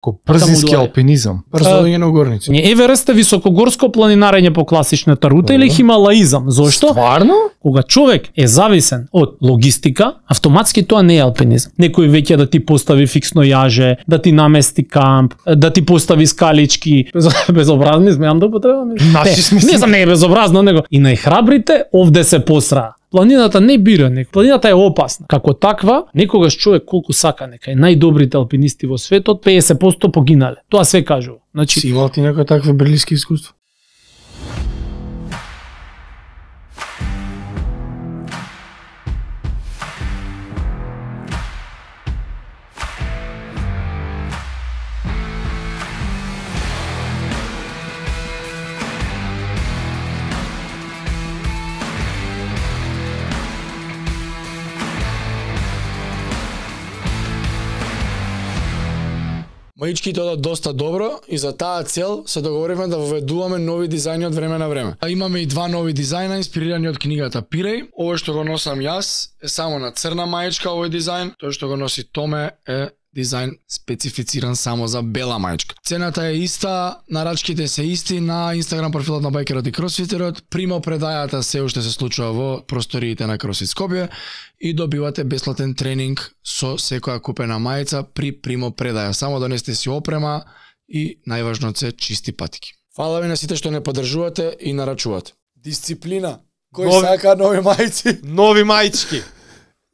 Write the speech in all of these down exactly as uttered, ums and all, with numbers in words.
Ко брзински алпинизам. Брзолење на горници. Не, Еверест е високогорско планинарење по класичната рута или хималаизам. Зошто? Стварно? Кога човек е зависен од логистика, автоматски тоа не е алпинизам. Некој веќе да ти постави фиксно јаже, да ти намести камп, да ти постави скалички. Безобразни сме, да употребам. Наши смисли. Не знам, не е безобразно, него и најхрабрите овде се посраа. Планината не бира некој. Планината е опасна. Како таква, некогаш човек колку сака нека е најдобрите алпинисти во светот, педесет проценти погинале. Тоа све кажува. Значи, Си имал ти некој такви брилиски искуства? Маичките одат доста добро и за таа цел се договоривме да воведуваме нови дизајни од време на време. А имаме и два нови дизајна инспирирани од книгата Пиреј. Овој што го носам јас е само на црна маичка овој дизајн, тој што го носи Томе е дизајн специфициран само за бела маичка. Цената е иста, нарачките се исти на Инстаграм профилот на Байкерот и Кросфитерот. Примо предајата се уште се случува во просториите на Кросфит Скопје и добивате бесплатен тренинг со секоја купена мајца при примо предаја. Само донесете си опрема и најважно се чисти патики. Фала ви на сите што не поддржувате и нарачувате. Дисциплина. Кој Нови- сака нови мајци? Нови маички.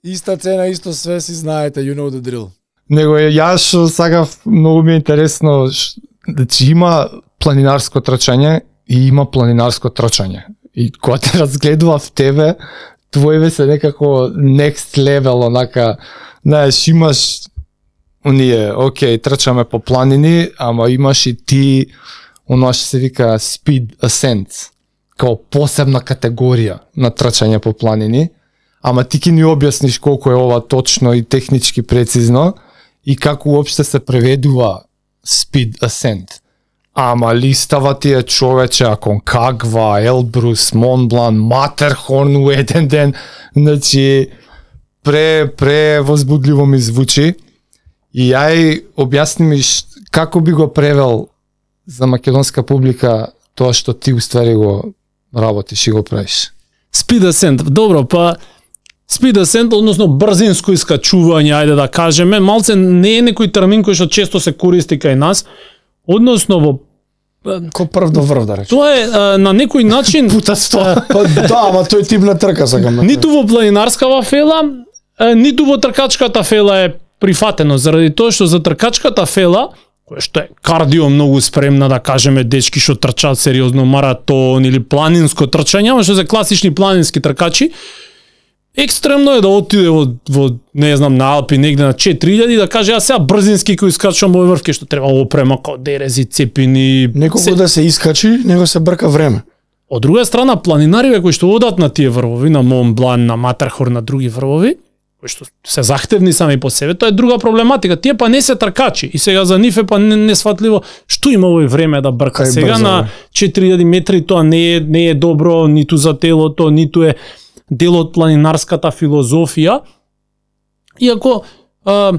Иста цена, исто све си знаете, you know the drill. Него е, јас што сакав, многу ми е интересно, ш- значи има планинарско трчање и има планинарско трчање. И кога те разгледував тебе, твоеве се некако next level, онака, знаеш, имаш оние, окей, трчаме по планини, ама имаш и ти, оно што се вика speed ascent, као посебна категорија на трчање по планини, ама ти ќе ни објасниш колку е ова точно и технички прецизно, и како уопште се преведува speed ascent. Ама листава ти е човече, Аконкагва, Елбрус, Монблан, Матерхорн у еден ден, значи пре, пре возбудливо ми звучи. И ај објасни ми ш- како би го превел за македонска публика тоа што ти уствари го работиш и го правиш. Speed ascent, добро, па speed ascent, односно брзинско искачување, ајде да кажеме, малце не е некој термин кој што често се користи кај нас, односно во Ко прв до врв, да речем. тоа е а, на некој начин Пута сто. Па да, ама тој тип на трка сакам. да ниту во планинарскава фела, а, ниту во тркачката фела е прифатено, заради тоа што за тркачката фела, која што е кардио многу спремна, да кажеме, дечки што трчаат сериозно маратон или планинско трчање, ама што за класични планински тркачи, екстремно е да отиде во, во не знам, на Алпи негде на четири илјади да каже, а сега брзински кој искачувам овој врвке што треба опрема као дерези, цепини. Неколку се- да се искачи, него се брка време. Од друга страна, планинариве кои што одат на тие врвови, на Мон Блан, на Матерхорн, на други врвови, кои што се захтевни сами по себе, тоа е друга проблематика. Тие па не се тркачи и сега за нив е па не, несфатливо што има овој време да брка. Кај Сега брзо, на бе. четири илјади метри тоа не е не е добро ниту за телото, ниту е дел од планинарската филозофија. Иако а,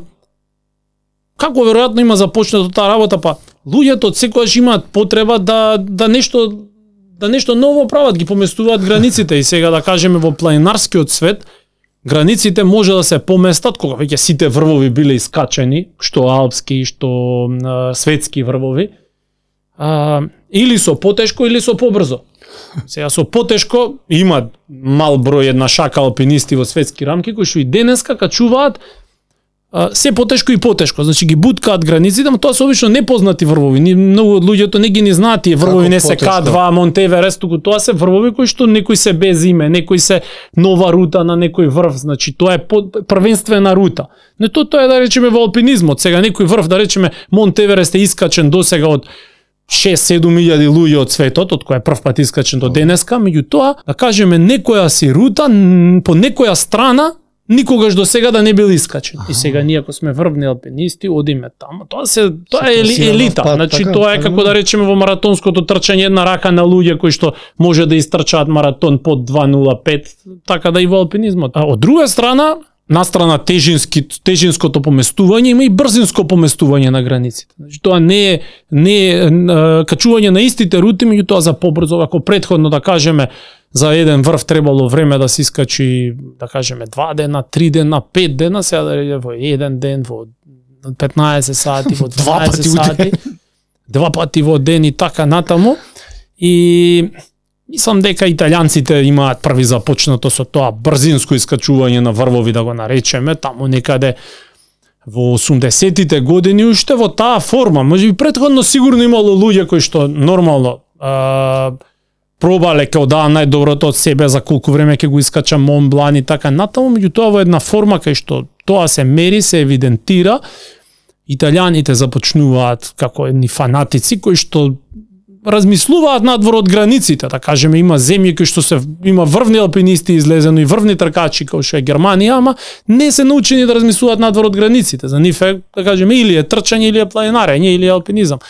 како веројатно има започнато таа работа, па луѓето секогаш имаат потреба да да нешто да нешто ново прават, ги поместуваат границите и сега да кажеме во планинарскиот свет границите може да се поместат кога веќе сите врвови биле искачени, што алпски, што а, светски врвови. А, или со потешко или со побрзо. Сега со потешко има мал број една шака алпинисти во светски рамки кои што и денеска качуваат а, се потешко и потешко, значи ги буткаат границите, но тоа се обично непознати врвови. Ни многу од луѓето не ги не знаат тие врвови, Како не се потешко? К два, Монтеверест, туку тоа се врвови кои што некои се без име, некои се нова рута на некој врв, значи тоа е под, првенствена рута. Не тоа тоа е да речеме во алпинизмот, сега некој врв да речеме Монтеверест е искачен досега од шест-седум илјади луѓе од светот, од која прв пат искачен до денеска, меѓутоа, да кажеме некоја си рута н- по некоја страна никогаш до сега да не бил искачен. И сега ние ако сме врвни алпинисти, одиме таму. Тоа се тоа е ели, класирано елита. пат, Значи така, тоа е така, како да. да речеме во маратонското трчање една рака на луѓе кои што може да истрчаат маратон под два нула пет, така да и во алпинизмот. А од друга страна, настрана тежински тежинското поместување, има и брзинско поместување на границите. Значи тоа не е не е качување на истите рути, меѓутоа за побрзо, ако претходно да кажеме за еден врв требало време да се искачи, да кажеме два дена, три дена, пет дена, сега да во еден ден, во петнаесет сати, во дваесет сати, два пати во ден и така натаму. И мислам дека италијанците имаат први започнато со тоа брзинско искачување на врвови, да го наречеме, таму некаде во осумдесетите години, уште во таа форма. Можеби претходно сигурно имало луѓе кои што нормално а, пробале као да најдоброто од себе за колку време ќе го искача Мон Блан и така натаму, меѓутоа во една форма кај што тоа се мери, се евидентира, италијаните започнуваат како едни фанатици кои што размислуваат надвор од границите, да кажеме, има земји кои што се има врвни алпинисти излезено и врвни тркачи како што е Германија, ама не се научени да размислуваат надвор од границите. За нив е, да кажеме, или е трчање, или е планинарење, или е алпинизам.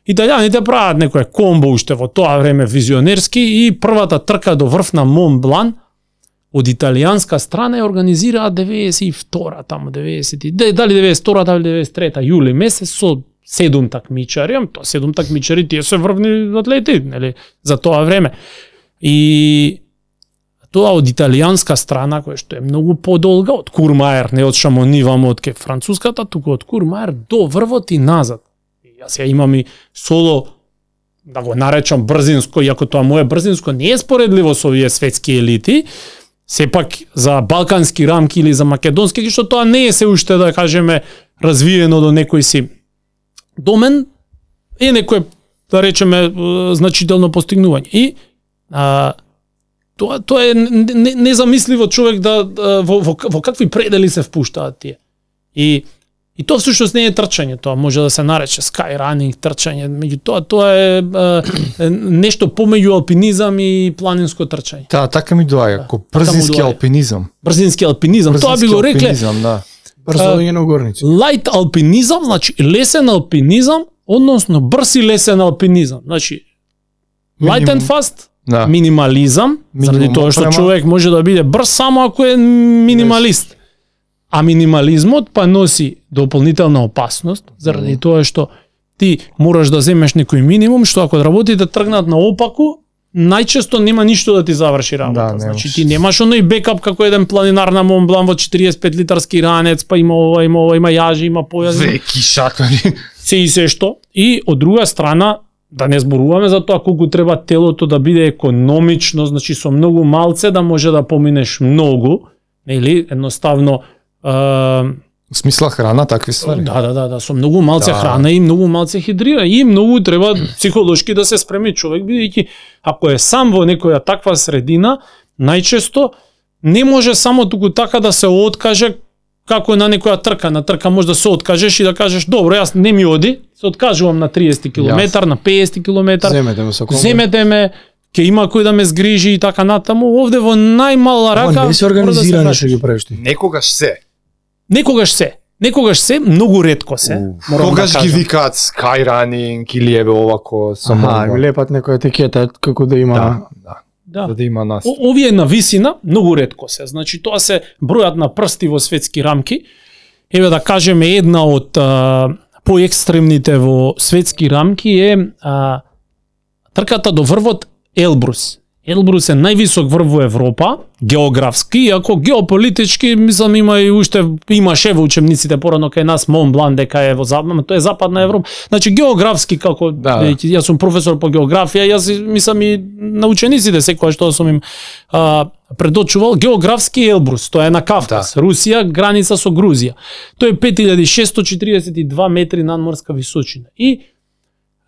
Италијаните прават некое комбо уште во тоа време визионерски и првата трка до врв на Мон Блан од италијанска страна е организираа деветдесет и втора, таму деветдесет, дали деветдесет и втора, дали деветдесет и трета јули месец со седум такмичари, тоа седум такмичари, тие се врвни атлети, нели, за тоа време. И тоа од италијанска страна, која што е многу подолга од Курмаер, не од Шамони вамо од ке француската, туку од Курмаер до врвот и назад. И јас ја имам и соло, да го наречам брзинско, иако тоа моје брзинско не е споредливо со овие светски елити, сепак за балкански рамки или за македонски, што тоа не е се уште, да кажеме, развиено до некој си домен, е некој, да речеме, значително постигнување. И а, тоа, тоа е незамисливо човек да, да во, во, во какви предели се впуштаат тие. И И тоа всушност не е трчање, тоа може да се нарече скайранинг, трчање, меѓутоа тоа е, е нешто помеѓу алпинизам и планинско трчање. Да, така ми доаѓа, како брзински алпинизам. Брзински алпинизам, брзински тоа би го рекле. Алпинизам, да. Брзовање на горници. Лајт алпинизам, значи лесен алпинизам, односно брз и лесен алпинизам. Значи light and fast, да. Минимализам, заради тоа што човек може да биде брз само ако е минималист. А минимализмот па носи дополнителна опасност, заради mm. тоа што ти мораш да земеш некој минимум, што ако работите тргнат наопаку, најчесто нема ништо да ти заврши работа. Да, значи ти немаш оној бекап како еден планинар на Мон Блан во четириесет и пет литарски ранец, па има ова, има ова, има јажи, има појази. Веки шатори. Се и се што. И од друга страна, да не зборуваме за тоа колку треба телото да биде економично, значи со многу малце да може да поминеш многу, нели, едноставно Uh, смисла храна, такви ствари. Да, да, да, да, со многу малце да. Храна и многу малце хидрира и многу треба психолошки да се спреми човек, бидејќи ако е сам во некоја таква средина, најчесто не може само туку така да се откаже како на некоја трка, на трка може да се откажеш и да кажеш добро, јас не ми оди, се откажувам на триесет километар, на петдесет километар. Земете ме со комбо. Земете ме, ќе има кој да ме згрижи и така натаму. Овде во најмала рака не се организирано што ги правиш ти. Некогаш се. Некогаш се. Некогаш се, многу ретко се. Когаш да ги викаат скайранинг или еве овако само. Аха, ми лепат некоја етикета како да има. Да, да. Да. да има нас. Овие на висина многу ретко се. Значи тоа се бројат на прсти во светски рамки. Еве да кажеме една од а, поекстремните во светски рамки е а, трката до врвот Елбрус. Елбрус е највисок врв во Европа, географски, иако геополитички, мислам, има и уште имаше во учебниците порано кај нас Мон Блан дека е во западна, тоа е западна Европа. Значи географски како да. Јас сум професор по географија, јас мислам и на учениците секоја што сум им а, предочувал, географски Елбрус, тоа е на Кавказ, да. Русија, граница со Грузија. Тоа е пет илјади шестоста четиридесет и два метри надморска височина. И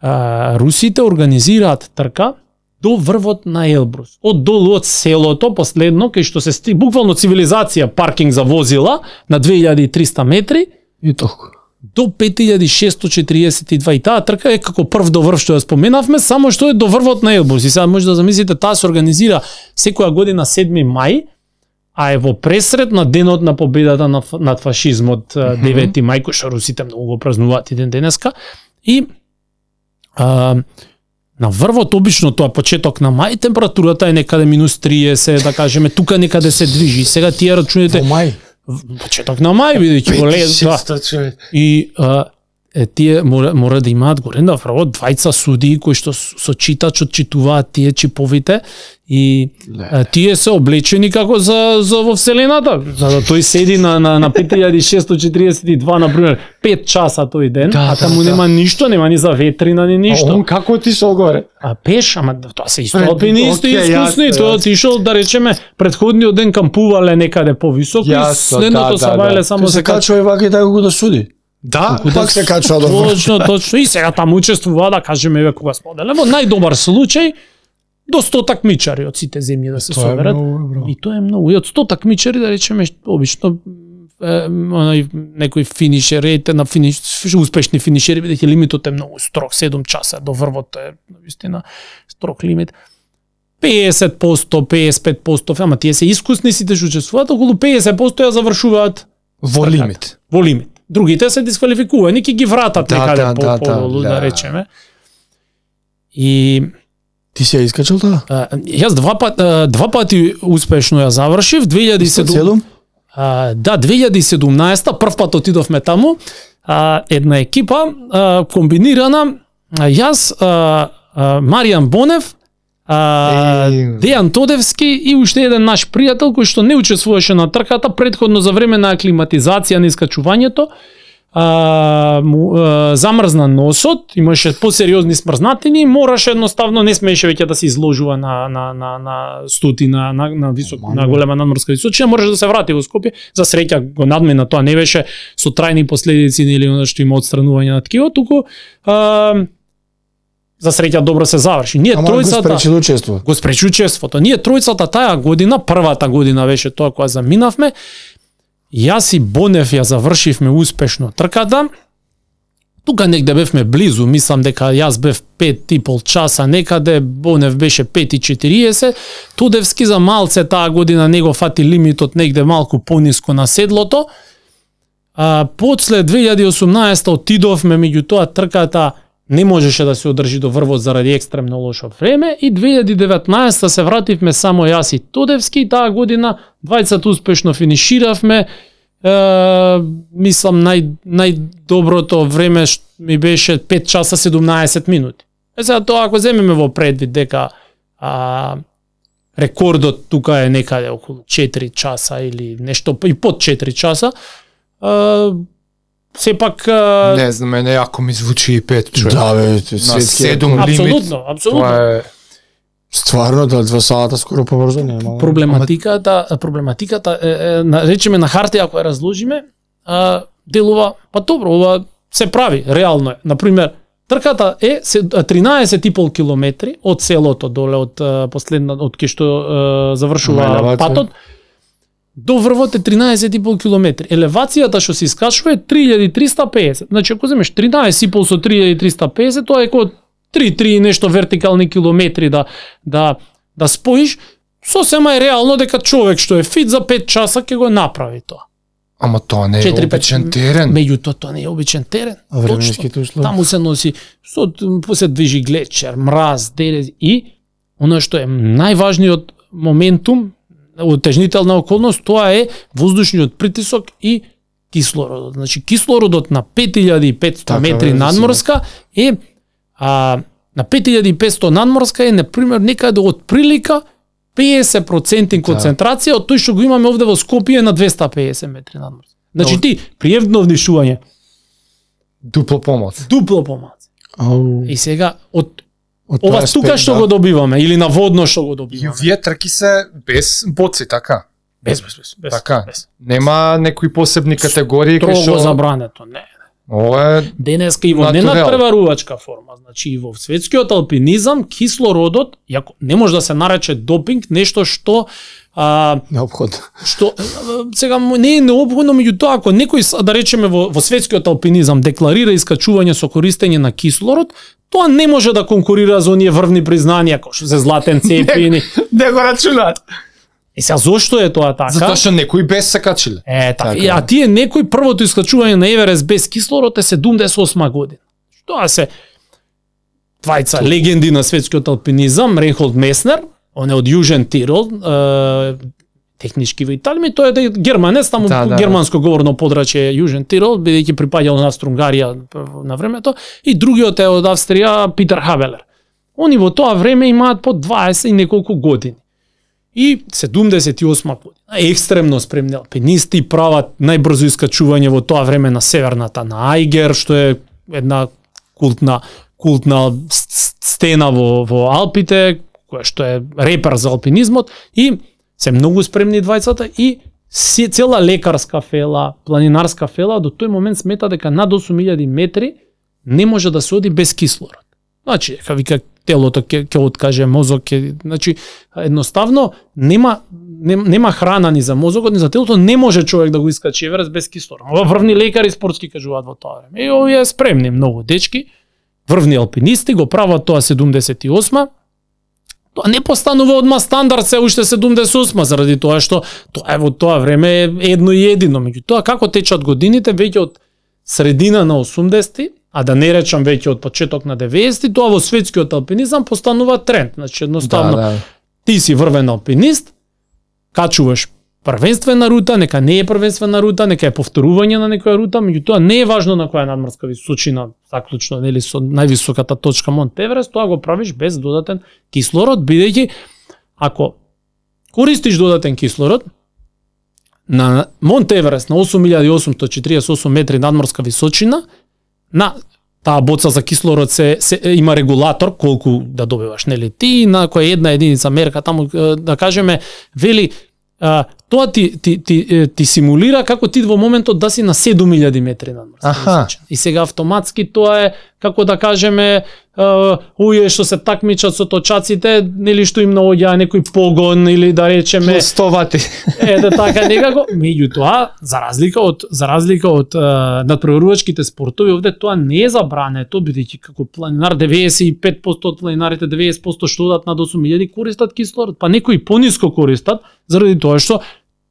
а, русите организираат трка до врвот на Елбрус. Од долу од селото, последно, кај што се сти, буквално цивилизација, паркинг за возила на две илјади и триста метри и толку. До пет илјади шестоста четиридесет и два. И таа трка е како прв до врв што ја споменавме, само што е до врвот на Елбрус. И сега може да замислите, таа се организира секоја година седми мај, а е во пресред на денот на победата над фашизмот, девети мај, кој што русите многу го празнуваат и ден денеска. И а, на врвот обично тоа почеток на мај, температурата е некаде минус триесет, да кажеме, тука некаде се движи. Сега тие рачуните во мај. почеток на мај бидејќи го лез, да. И а, е, тие мора, мора да имаат горе направо двајца судии кои што со читач отчитуваат тие чиповите и а, тие се облечени како за за во вселената, за да тој седи на на на пет илјади шестоста четиридесет и два на пример пет часа тој ден, да, а таму да, нема да. ништо, нема ни за ветрина ни ништо. А он како отишол горе? А пеш, ама тоа се исто Пред- алпинисти, окей, искусни, јасно, тоа јасно. отишол да речеме предходниот ден кампувале некаде повисоко и Јасно, следното да, се да, бајле да. само Се се качува и вака и така го да суди. Да, Пак се качува до Точно, точно. И сега таму учествува, да кажеме, еве кога споделе, во најдобар случај до сто такмичари од сите земји да се Тоа е соберат. многу, бро. И тоа е многу. И од сто такмичари, да речеме, обично е, онај некој финишер, ете на финиш, успешни финишери, бидејќи лимитот е многу строг, седум часа до врвот е навистина строг лимит. пеесет проценти, пеесет и пет проценти, ама тие се искусни сите што учествуваат, околу пеесет проценти ја завршуваат во лимит. во лимит. Другите се дисквалификувани, ќе ги вратат Да, некаде да, по да, подолу, да, да да. речеме. И Ти си ја искачал тоа? а, јас два пат а, два пати успешно ја завршив, две илјади и седум. Седум? А, да, две илјади и седумнаесета прв пат отидовме таму, а, една екипа а, комбинирана, а, јас, а, а, Маријан Бонев, а, Еј. Дејан Тодевски и уште еден наш пријател кој што не учествуваше на трката претходно за време на аклиматизација на искачувањето. А, му, а, замрзна носот, имаше посериозни смрзнатини, мораше едноставно не смееше веќе да се изложува на на на на стотина на на висок на голема надморска височина, мораше да се врати во Скопје. За среќа го надмина, тоа не беше со трајни последици или оно што има одстранување на ткиво, туку а, за среќа добро се заврши. Ние Ама го тројцата спречи да учествува. го спречи учеството. Ние тројцата таа година, првата година беше тоа кога заминавме, јас и Бонев ја завршивме успешно трката. Тука негде бевме близу, мислам дека јас бев пет и пол часа некаде, Бонев беше пет и четириесет, Тодевски за малце таа година не го фати лимитот негде малку пониско на седлото. А, после две илјади и осумнаесета отидовме, меѓутоа трката не можеше да се одржи до врвот заради екстремно лошо време и две илјади и деветнаесета се вративме само јас и Тодевски и таа година двајцата успешно финиширавме. Е, мислам нај најдоброто време што ми беше пет часа седумнаесет минути. Е сега тоа ако земеме во предвид дека а, рекордот тука е некаде околу четири часа или нешто и под четири часа, а, сепак а, Не знам, мене јако ми звучи и пет човек. Да, бе, На светски седум рекорд. лимит. апсолутно, апсолутно. Тоа е Стварно, да, два сата скоро побрзо нема. Проблематиката, проблематиката е, е, на, речеме на хартија ако ја разложиме, а, делува, па добро, ова се прави, реално е. Например, трката е се- тринаесет и пол километри од селото доле од а, последна од кај што а, завршува Елевација. патот. До врвот е тринаесет и пол километри. Елевацијата што се искачува е три илјади и триста и песет. Значи ако земеш тринаесет и пол со три илјади и триста и песет, тоа е како три три и нешто вертикални километри да да да споиш, сосема е реално дека човек што е фит за пет часа ќе го направи тоа. Ама тоа не е четири пет обичен терен. Меѓутоа тоа не е обичен терен. А временските услови? Таму се носи со се движи глечер, мраз, дерез и она што е најважниот моментум, утежнителна околност, тоа е воздушниот притисок и кислородот. Значи кислородот на пет илјади и петсто Така, метри бе, надморска е а, на пет илјади и петсто надморска е на пример некаде од прилика песет проценти концентрација од тој што го имаме овде во Скопје на двеста и песет метри надморска. Значи ти при евно внишување Дупло помоц. дупло помалку. Ау. И сега од Од ова тоа тука аспект, што да. го добиваме или на водно што го И добиваме. овие трки се без боци, така? Без, без, без, без. Така. без. Нема некои посебни категории кои Строго што забрането, не. ова е Денеска и во Натурел. ненадпреварувачка форма, значи и во светскиот алпинизам кислородот, јако не може да се нарече допинг, нешто што а, Неопходно. што а, сега му не е неопходно, меѓутоа ако некој с- да речеме во, во светскиот алпинизам декларира искачување со користење на кислород, тоа не може да конкурира за оние врвни признанија како што се златен цепини. не го рачунаат. И сега зошто е тоа така? Затоа што некои без се качиле. Е, така. Така И, е. а тие некој првото искачување на Еверест без кислород е седумдесет и осма година. Тоа се двајца легенди на светскиот алпинизам, Рейнхолд Меснер, он е од Јужен Тирол, е, технички во Италија, и тоа е германец, таму Да, да, германско говорно подрачје Јужен Тирол, бидејќи припаѓал на Австро-Унгарија на времето, и другиот е од Австрија Питер Хавелер. Они во тоа време имаат по дваесет и неколку години. И седумдесет и осма година, екстремно спремни алпинисти прават најбрзо искачување во тоа време на северната на Ајгер, што е една култна култна стена во во Алпите, која што е репер за алпинизмот, и се многу спремни двајцата, и си, цела лекарска фела, планинарска фела до тој момент смета дека над осум илјади метри не може да се оди без кислород. Значи, ка вика телото ќе ќе откаже, мозок ќе, значи едноставно нема нема, нема храна ни за мозокот, ни за телото, не може човек да го искачи Еверест без кислород. Ова врвни лекари спортски кажуваат во тоа време. И овие спремни многу дечки, врвни алпинисти го прават тоа седумдесет и осма. Тоа не постанува одма стандард се уште седумдесет и осма, заради тоа што тоа е во тоа време едно и едино. Меѓутоа, како течат годините, веќе од средина на осумдесети, а да не речам веќе од почеток на деветдесети, тоа во светскиот алпинизам постанува тренд. Значи, едноставно, Да, да. ти си врвен алпинист, качуваш првенствена рута, нека не е првенствена рута, нека е повторување на некоја рута, меѓутоа не е важно на која надморска височина, заклучно, нели, со највисоката точка Монт Еверест, тоа го правиш без додатен кислород, бидејќи ако користиш додатен кислород на Монт Еверест на осум илјади осумстотини четиридесет и осум метри надморска височина, на таа боца за кислород се, се има регулатор колку да добиваш, нели, ти на која една единица мерка таму, да кажеме, вели а, тоа ти, ти, ти, ти симулира како ти во моментот да си на седум илјади метри надморска Аха. височина. И сега автоматски тоа е, како да кажеме, а, уе што се такмичат со точаците, нели, што им наоѓа некој погон, или да речеме Плюс сто вати. е да така некако, меѓутоа за разлика од за разлика од а, надпреварувачките спортови, овде тоа не е забрането, бидејќи како планинар деветдесет и пет проценти од планинарите, деветдесет проценти што одат над осум илјади користат кислород, па некои пониско користат заради тоа што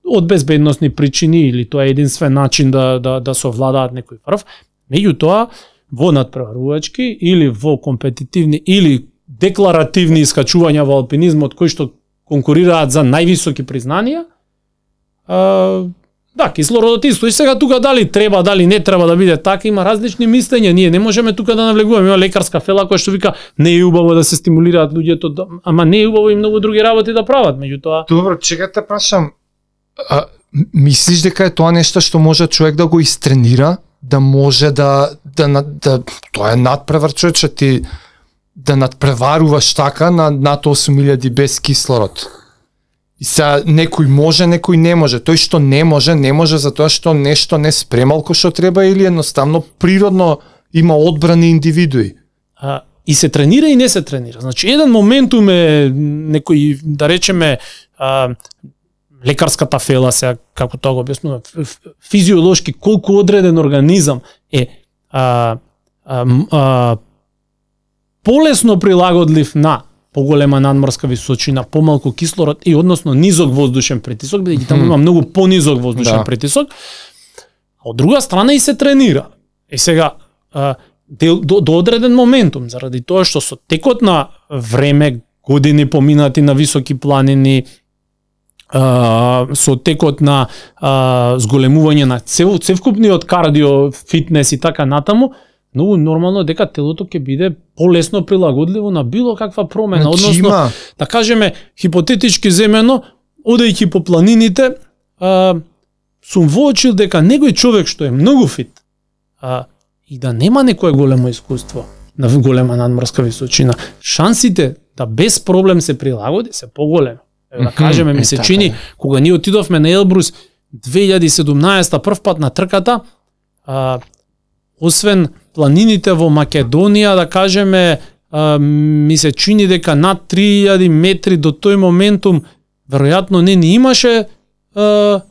од безбедносни причини или тоа е единствен начин да да да совладаат некој врв. Меѓутоа во надпреварувачки или во компетитивни или декларативни искачувања во алпинизмот кои што конкурираат за највисоки признанија, а, да, кислородот исто. И сега тука дали треба, дали не треба да биде така, има различни мислења. Ние не можеме тука да навлегуваме. Има лекарска фела која што вика не е убаво да се стимулираат луѓето, да, ама не е убаво и многу други работи да прават. Меѓутоа, Добро, чека те прашам. А, мислиш дека е тоа нешто што може човек да го истренира, да може да да да, да тоа е надпревар, човече, ти да надпреваруваш така на над осум илјади без кислород. И сега некој може, некој не може. Тој што не може, не може затоа што нешто не спремал кој што треба или едноставно природно има одбрани индивидуи. а, и се тренира и не се тренира. Значи, еден моментум е некој, да речеме, а, лекарската фела, сега, како тоа го објаснува, физиолошки, колку одреден организам е а, а, а, полесно прилагодлив на поголема надморска височина, помалку кислород и односно низок воздушен притисок, бидејќи таму има многу понизок воздушен Да. притисок. А од друга страна и се тренира. И сега а, до, до, до одреден моментум, заради тоа што со текот на време, години поминати на високи планини, а, со текот на а, зголемување на цел, целокупниот кардио, фитнес и така натаму, многу нормално дека телото ќе биде полесно прилагодливо на било каква промена. Значи, Односно, има. да кажеме, хипотетички земено, одејќи по планините, а, сум воочил дека некој човек што е многу фит, а, и да нема некое големо искуство на голема надморска височина, шансите да без проблем се прилагоди се поголеми. Да Мгм, кажеме, ми е, се така чини, е. кога ние отидовме на Елбрус две илјади и седумнаесета прв пат на трката, а, освен планините во Македонија, да кажеме, а, ми се чини дека над три илјади метри до тој моментум веројатно не ни имаше а,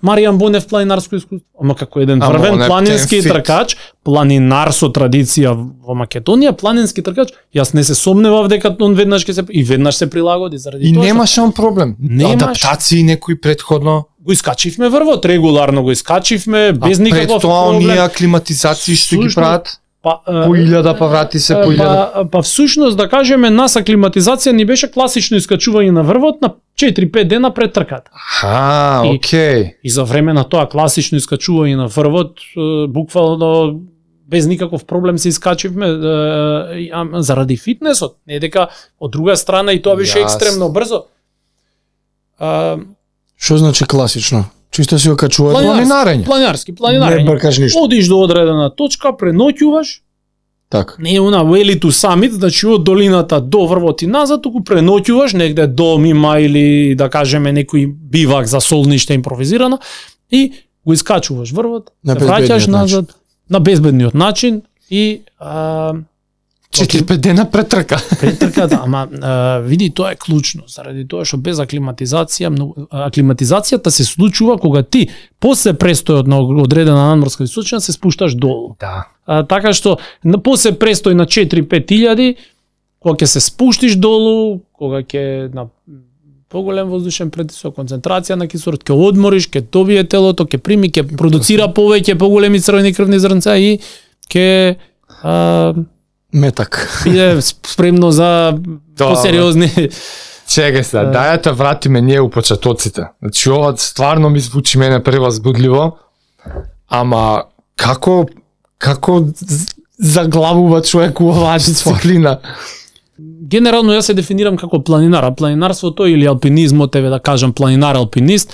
Маријан Бонев планинарско искуство. Ама како еден Ама врвен он е планински птен фит. тркач, планинар со традиција во Македонија, планински тркач, јас не се сомневав дека он веднаш ќе се и веднаш се прилагоди заради И тоа што немаше он проблем. Немаш. Адаптации некои предходно. го искачивме врвот, регуларно го искачивме без А никаков пред тоа проблем. оние аклиматизации што ги Сушно, прават. Па, По илјада, па врати се по илјада. Па, па всушност да кажеме нас аклиматизација ни беше класично искачување на врвот на четири-пет дена пред трката. А, И- окей. И за време на тоа класично искачување на врвот, е, буквално без никаков проблем се искачивме е, е, а, заради фитнесот, не дека од друга страна и тоа беше Јас. екстремно брзо. А, Што значи класично? Чисто си окачува Планинарски. Планинарење. планинаски, не планинарење. бркаш ништо. Одиш до одредена точка, преноќуваш, Така. не е она Вели ту Самит, значи од долината до врвот и назад, туку преноќуваш негде дом има или да кажеме некој бивак за солниште импровизирано и го искачуваш врвот, На се враќаш безбедниот назад на безбедниот начин и а, четири-пет дена пред трка. пред трката, ама а, види тоа е клучно, заради тоа што без аклиматизација, многу, аклиматизацијата се случува кога ти после престојот на одредена надморска височина се спушташ долу. Да. А, така што на после престој на четири-пет илјади, кога ќе се спуштиш долу, кога ќе на поголем воздушен притисок, концентрација на кислород, ќе одмориш, ќе добие телото, ќе прими, ќе продуцира повеќе поголеми црвени крвни зрнца и ќе а, Метак. биде спремно за Тоа, посериозни. Чекај се, дај да те вратиме ние у почетоците. Значи ова стварно ми звучи мене превозбудливо, ама како како з- заглавува човек у оваа дисциплина? Генерално јас се дефинирам како планинар, а планинарството или алпинизмот, еве да кажам планинар алпинист,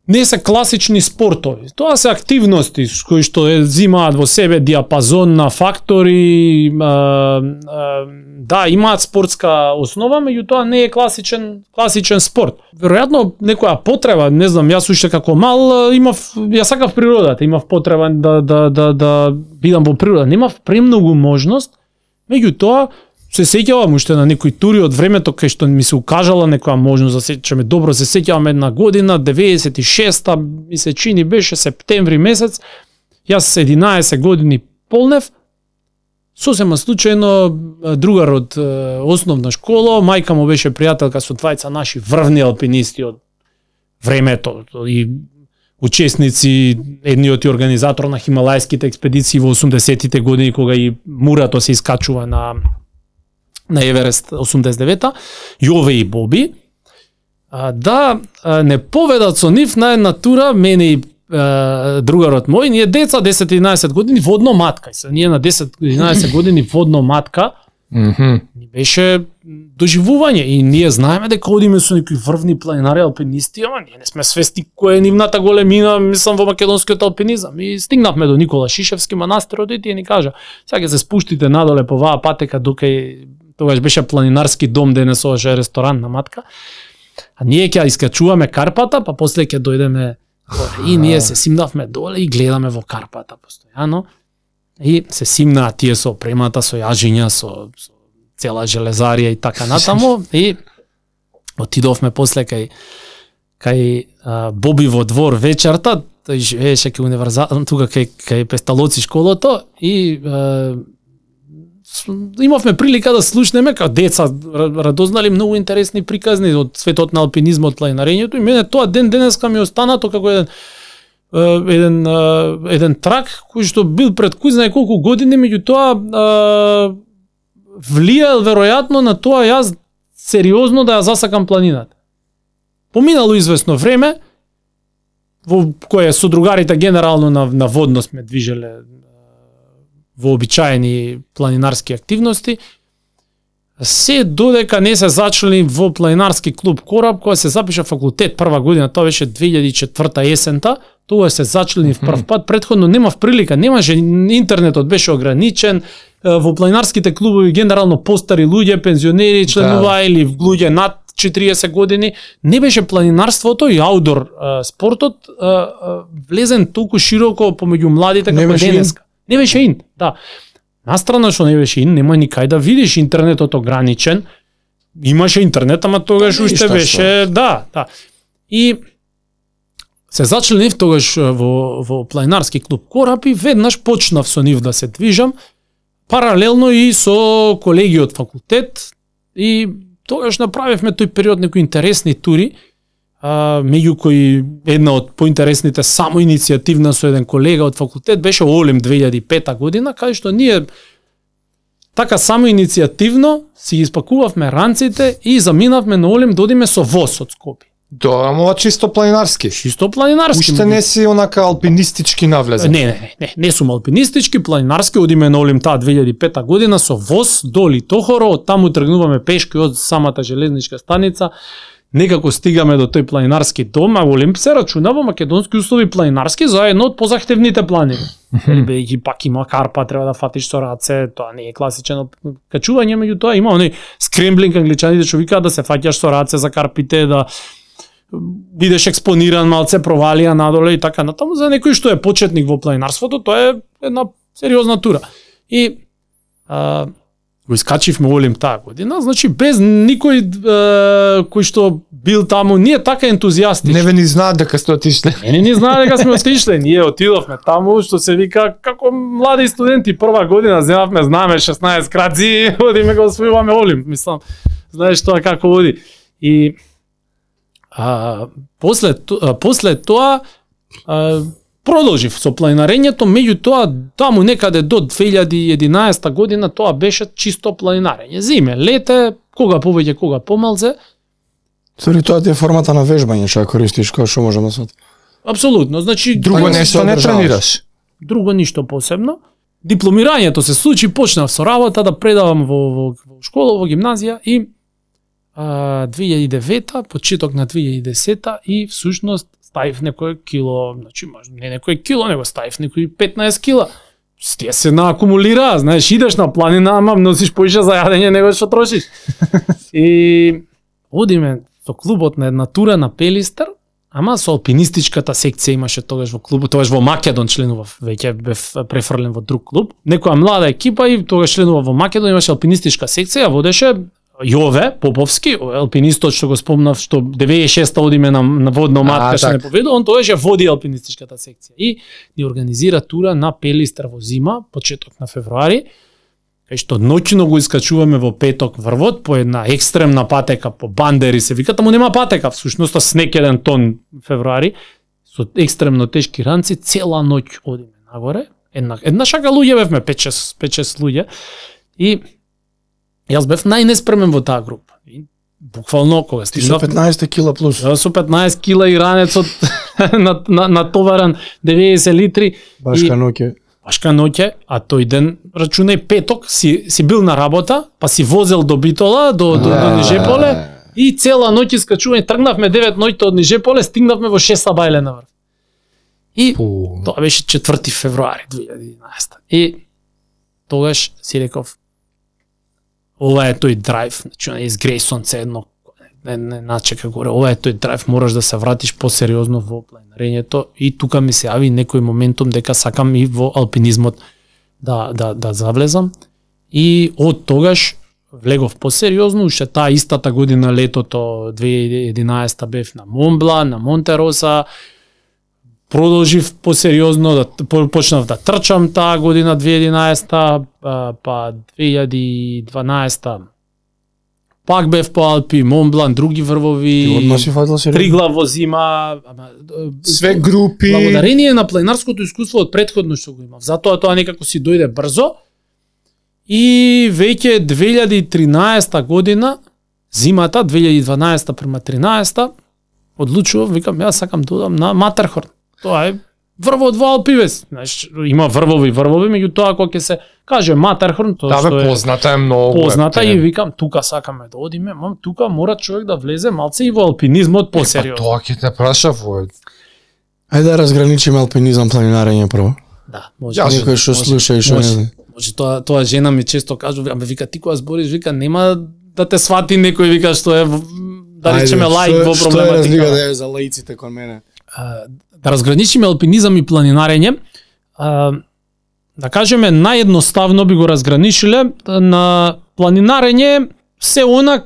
не се класични спортови. Тоа се активности кои што е зимаат во себе диапазон на фактори, а, а, да, имаат спортска основа, меѓутоа не е класичен класичен спорт. Веројатно некоја потреба, не знам, јас уште како мал имав, ја сакав природата, имав потреба да да да да бидам во природа, немав премногу можност, меѓутоа се сеќавам уште на некои тури од времето кај што ми се укажала некоја можност, да сеќаме добро, се сеќавам една година, деветдесет и шеста, ми се чини беше септември месец, јас единаесет години полнев, сосема случајно другар од е, основна школа, мајка му беше пријателка со двајца наши врвни алпинисти од времето и учесници, едниот и организатор на хималајските експедиции во осумдесетите години кога и Мурато се искачува на на Еверест осумдесет и девета, Јове и Боби, а, да а, не поведат со нив на една тура, мене и а, другарот мој, ние деца десет-единаесет години водно матка. И се, ние на десет-единаесет години водно матка, Мгм. ни беше доживување и ние знаеме дека одиме со некои врвни планинари алпинисти, ама ние не сме свесни која е нивната големина, мислам во македонскиот алпинизам. И стигнавме до Никола Шишевски манастир, и тие ни кажа: "Сега ќе се спуштите надоле по оваа патека докај тогаш беше планинарски дом, денес ова е ресторан на матка. А ние ќе искачуваме Карпата, па после ќе дојдеме горе." И ние се симнавме доле и гледаме во Карпата постојано. И се симнаа тие со опремата, со јажиња, со, со цела железарија и така натаму. И отидовме после кај кај а, Боби во двор вечерта, тој живееше кај универзал, тука кај кај Песталоци школото и а, имавме прилика да слушнеме како деца, радознали многу интересни приказни од светот на алпинизмот, планинарењето, и мене тоа ден денеска ми останато како еден еден еден трак кој што бил пред кој знае колку години, меѓутоа влијал веројатно на тоа јас сериозно да ја засакам планината. Поминало известно време во кое со другарите генерално на на водно сме движеле вообичаени планинарски активности, се додека не се зачли во планинарски клуб Кораб, која се запиша факултет прва година, тоа беше две илјади и четврта есента, тоа се зачли в прв пат, предходно немав прилика, немаше, интернетот беше ограничен, во планинарските клубови генерално постари луѓе, пензионери членуваа, да, или луѓе над четириесет години, не беше планинарството и аудор спортот влезен толку широко помеѓу младите како денеска. Не беше ин, да. Настрана што не беше ин, нема никај да видиш, интернетот ограничен. Имаше интернет, ама тогаш уште беше, да, да. И се зачленив тогаш во во планинарски клуб Кораб и веднаш почнав со нив да се движам, паралелно и со колеги од факултет, и тогаш направивме тој период некои интересни тури. а, меѓу кои една од поинтересните само иницијативна со еден колега од факултет беше Олим две илјади и пета година, кај што ние така само иницијативно си испакувавме ранците и заминавме на Олим да одиме со воз од Скопје. Добро, ама чисто планинарски. Чисто планинарски. Уште не си онака алпинистички навлезен. Не, не, не, не сум алпинистички, планинарски, одиме на Олим таа две илјади и пета година со воз до Литохоро, од таму тргнуваме пешки од самата железничка станица, некако стигаме до тој планинарски дом, а Олим се рачуна во македонски услови планинарски за едно од позахтевните планини. Бидејќи пак има карпа, треба да фатиш со раце, тоа не е класичен качување, меѓутоа има оној скремблинг, англичаните што викаат да се фаќаш со раце за карпите, да бидеш експониран, малце провалија надоле и така натаму. За некој што е почетник во планинарството, тоа е една сериозна тура. И а, го искачивме Олим таа година, значи без никој а, кој што бил таму, ние така ентузијастични. Не ве ни знаат дека сте отишле. Не, не ни знаат дека сме отишле, ние отидовме таму, што се вика како млади студенти прва година, земавме знаме шеснаесет краци, одиме го освојуваме Олим, мислам. Знаеш тоа како оди. И А, после, а, после тоа а, продолжив со планинарењето, меѓутоа таму некаде до две илјади и единаесета година тоа беше чисто планинарење. Зиме, лете, кога повеќе, кога помалце. Сори, тоа ти е формата на вежбање што ја користиш, кој што може да се. Апсолутно, значи Друго нешто не тренираш. Друго ништо посебно. Дипломирањето се случи, почнав со работа да предавам во, во, во школа, во гимназија и Uh, две илјади и девета, почеток на две илјади и десета и всушност ставив некој кило, значи може не некој кило, него ставив некои петнаесет кила. Тие се наакумулира, знаеш, идеш на планина, ама носиш поише за јадење него што трошиш. И одиме со клубот на една тура на Пелистер, ама со алпинистичката секција имаше тогаш во клубот, тогаш во Македон членував, веќе бев префрлен во друг клуб. Некоја млада екипа и тогаш членував во Македон, имаше алпинистичка секција, водеше Јове Поповски, алпинистот што го спомнав, што деветдесет и шеста одиме на, на водна матка, што не поведу, он тогаш ја води алпинистичката секција. И ни организира тура на Пелистер во зима, почеток на февруари, кај што ноќно го искачуваме во петок врвот, по една екстремна патека, по бандери се вика, таму нема патека, всушност снег еден тон февруари, со екстремно тешки ранци, цела ноќ одиме нагоре, една, една шака луѓе бевме, пет-шест луѓе, и јас бев најнеспремен во таа група. И буквално кога стигнав со петнаесет кила плюс. Ја со петнаесет кила и ранецот на, на, натоваран деветдесет литри. Башка ноќе. Башка ноќе, а тој ден рачунај петок си си бил на работа, па си возел до Битола, до до, до Нижеполе и цела ноќ искачување, тргнавме девет ноќта од Нижеполе, стигнавме во шест сабајле на врв. И Пу. Тоа беше четврти февруари две илјади и единаесета. И тогаш си реков, ова е тој драйв, значи не изгреј сонце едно, не, не начека горе, ова е тој драйв, мораш да се вратиш посериозно во планинарењето и тука ми се јави некој моментум дека сакам и во алпинизмот да, да, да завлезам и од тогаш влегов посериозно, уште таа истата година летото две илјади и единаесета бев на Монблан, на Монтероса, продолжив посериозно, да почнав да трчам таа година две илјади и единаесета, па две илјади и дванаесета пак бев по Алпи, Монблан, други врвови, Триглав во зима, све групи. Благодарение на планинарското искуство од претходно што го имав. Затоа тоа некако си дојде брзо. И веќе две илјади и тринаесета година, зимата две илјади и дванаесета према тринаесета, одлучував, викам, јас сакам да одам на Матерхорн. Тоа е врвот во Алпивес. Знаеш, има врвови, врвови, меѓутоа кога ќе се каже Матерхорн, тоа што е позната е многу. Позната е, и викам, тука сакаме да одиме, мам, тука мора човек да влезе малце и во алпинизмот посериозно. Е, па тоа ќе те праша во. Ајде да разграничиме алпинизам, планинарење прво. Да, може. Ја некој што слуша и што не. Може, тоа тоа жена ми често кажува, аме вика ти кога збориш, вика нема да те свати некој, вика што е да речеме лаик во проблематика. Што е разлика да е за лаиците кон мене? Да разграничиме алпинизам и планинарење, да кажеме наједноставно би го разграничиле, на планинарење се она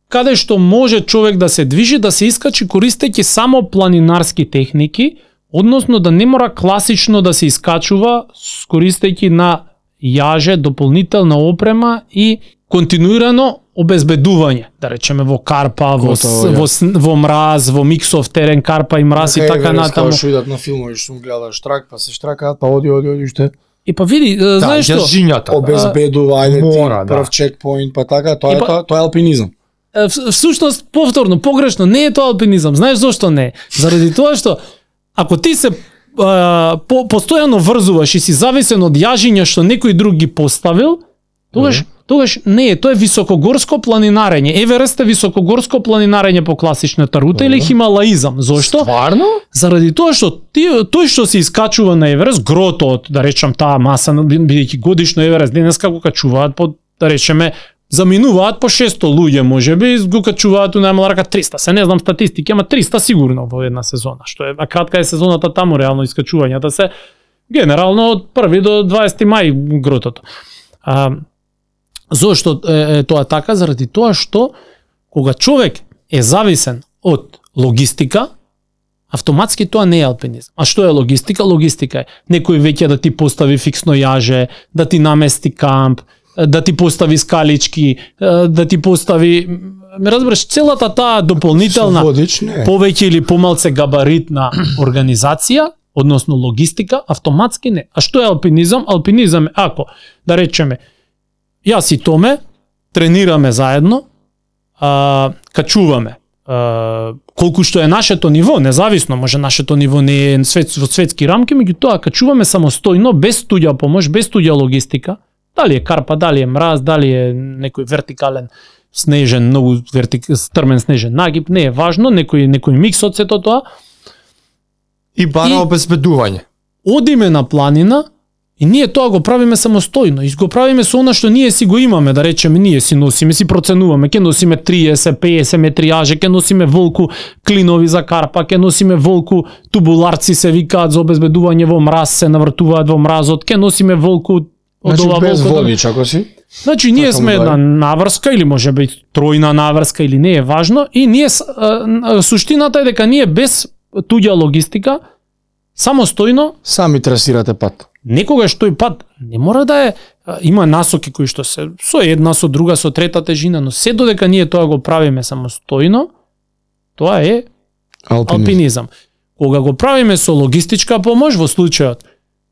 каде што може човек да се движи, да се искачи користејќи само планинарски техники, односно да не мора класично да се искачува користејќи на јаже, дополнителна опрема и континуирано обезбедување, да речеме во карпа, во Готово, во, во мраз, во миксов терен, карпа и мраз и така натаму. Што идат на филмови, што гледаш штрак, па се штракаат, па оди, оди, оди, уште. И па види, да, знаеш што? Јажињата. Обезбедување, мора, да. прв чекпоинт, па така, тоа И е па- тоа, тоа е алпинизам. Всушност, повторно, погрешно, не е тоа алпинизам. Знаеш зошто не е? Заради тоа што, ако ти се а, по, постојано врзуваш и си зависен од јажиња што некој друг ги поставил, тогаш, тогаш не е, тоа е високогорско планинарење. Еверест е високогорско планинарење по класичната рута или хималаизам. Зошто? Стварно? Заради тоа што ти, тој што се искачува на Еверест, грото од, да речам, таа маса, бидејќи годишно Еверест денеска го качуваат по, да речеме, заминуваат по шесто луѓе, можеби, го качуваат у најмала рака триста. Се не знам статистики, ама триста сигурно во една сезона, што е, а кратка е сезоната таму, реално искачувањата се генерално од први до дваесети мај гротото. А, зошто е, е тоа така? Заради тоа што кога човек е зависен од логистика, автоматски тоа не е алпинизам. А што е логистика? Логистика е некој веќе да ти постави фиксно јаже, да ти намести камп, да ти постави скалички, да ти постави, ме разбереш, целата таа дополнителна Водич, не. повеќе или помалце габаритна организација, односно логистика, автоматски не. А што е алпинизам? Алпинизам е ако, да речеме, јас и Томе тренираме заедно, а, качуваме, а, колку што е нашето ниво, независно, може нашето ниво не е свет, во светски рамки, меѓутоа качуваме самостојно, без туѓа помош, без туѓа логистика, дали е карпа, дали е мраз, дали е некој вертикален снежен, многу вертик, стрмен снежен нагиб, не е важно, некој некој микс од сето тоа. И бара И- обезбедување. Одиме на планина и ние тоа го правиме самостојно. И го правиме со она што ние си го имаме, да речеме, ние си носиме, си проценуваме, ќе носиме триесет пеесет метри јаже, ќе носиме волку клинови за карпа, ќе носиме волку тубуларци се викаат за обезбедување во мраз, се навртуваат во мразот, ќе носиме волку од Значи ова без волку. водич, ако си. Значи ние Така сме му една дај. наврска или може би тројна наврска или не е важно и ние с- а, а, суштината е дека ние без туѓа логистика самостојно Сами трасирате пат. некогаш тој пат не мора да е а, има насоки кои што се со една, со друга, со трета тежина, но се додека ние тоа го правиме самостојно, тоа е Алпинизм. алпинизам. Кога го правиме со логистичка помош, во случајот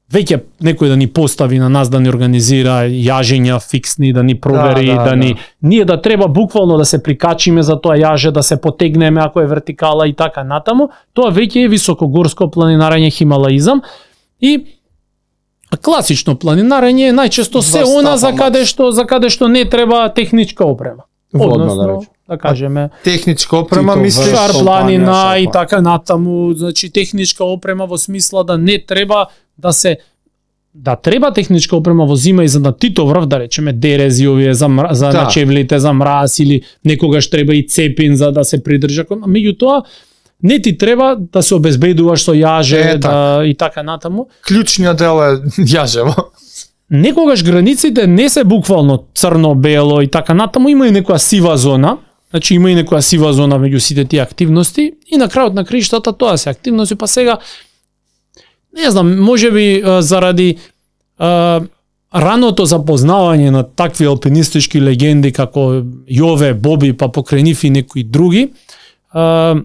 веќе некој да ни постави на нас да ни организира јажења фиксни, да ни провери, Да, да, да, да ни да. ние да треба буквално да се прикачиме за тоа јаже, да се потегнеме ако е вертикала и така натаму, тоа веќе е високогорско планинарење хималаизам и класично планинарење е најчесто се Два она стапа за каде макс. што за каде што не треба техничка опрема. Водна, да Односно, речем. да кажеме, Техничка опрема, Тито мислиш? врш. шар компанија, планина шар и планина. така натаму, значи техничка опрема во смисла да не треба да се да треба техничка опрема во зима и за на Тито врв, да речеме дерези овие за мра, за Да. начевлите за мраз или некогаш треба и цепин за да се придржа. Меѓутоа не ти треба да се обезбедуваш со јаже Е, да, и така натаму. Клучниот дел е јажево. Некогаш границите не се буквално црно-бело и така натаму, има и некоја сива зона, значи има и некоја сива зона меѓу сите тие активности и на крајот на криштата тоа се активности, па сега не знам, можеби а, заради а, раното запознавање на такви алпинистички легенди како Јове, Боби, па покрај нив и некои други, а,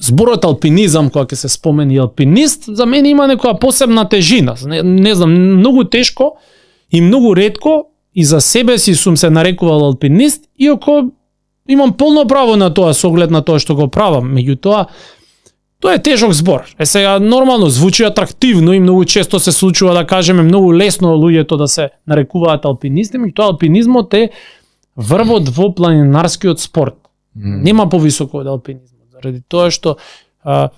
зборот алпинизам, кога ќе се спомени алпинист, за мене има некоја посебна тежина. Не, не знам, многу тешко и многу ретко и за себе си сум се нарекувал алпинист, иако имам полно право на тоа со оглед на тоа што го правам. Меѓутоа, тоа е тежок збор. Е сега нормално звучи атрактивно и многу често се случува да кажеме многу лесно луѓето да се нарекуваат алпинисти, меѓутоа алпинизмот е врвот во планинарскиот спорт. Нема повисоко од алпинизмот. Заради тоа што а,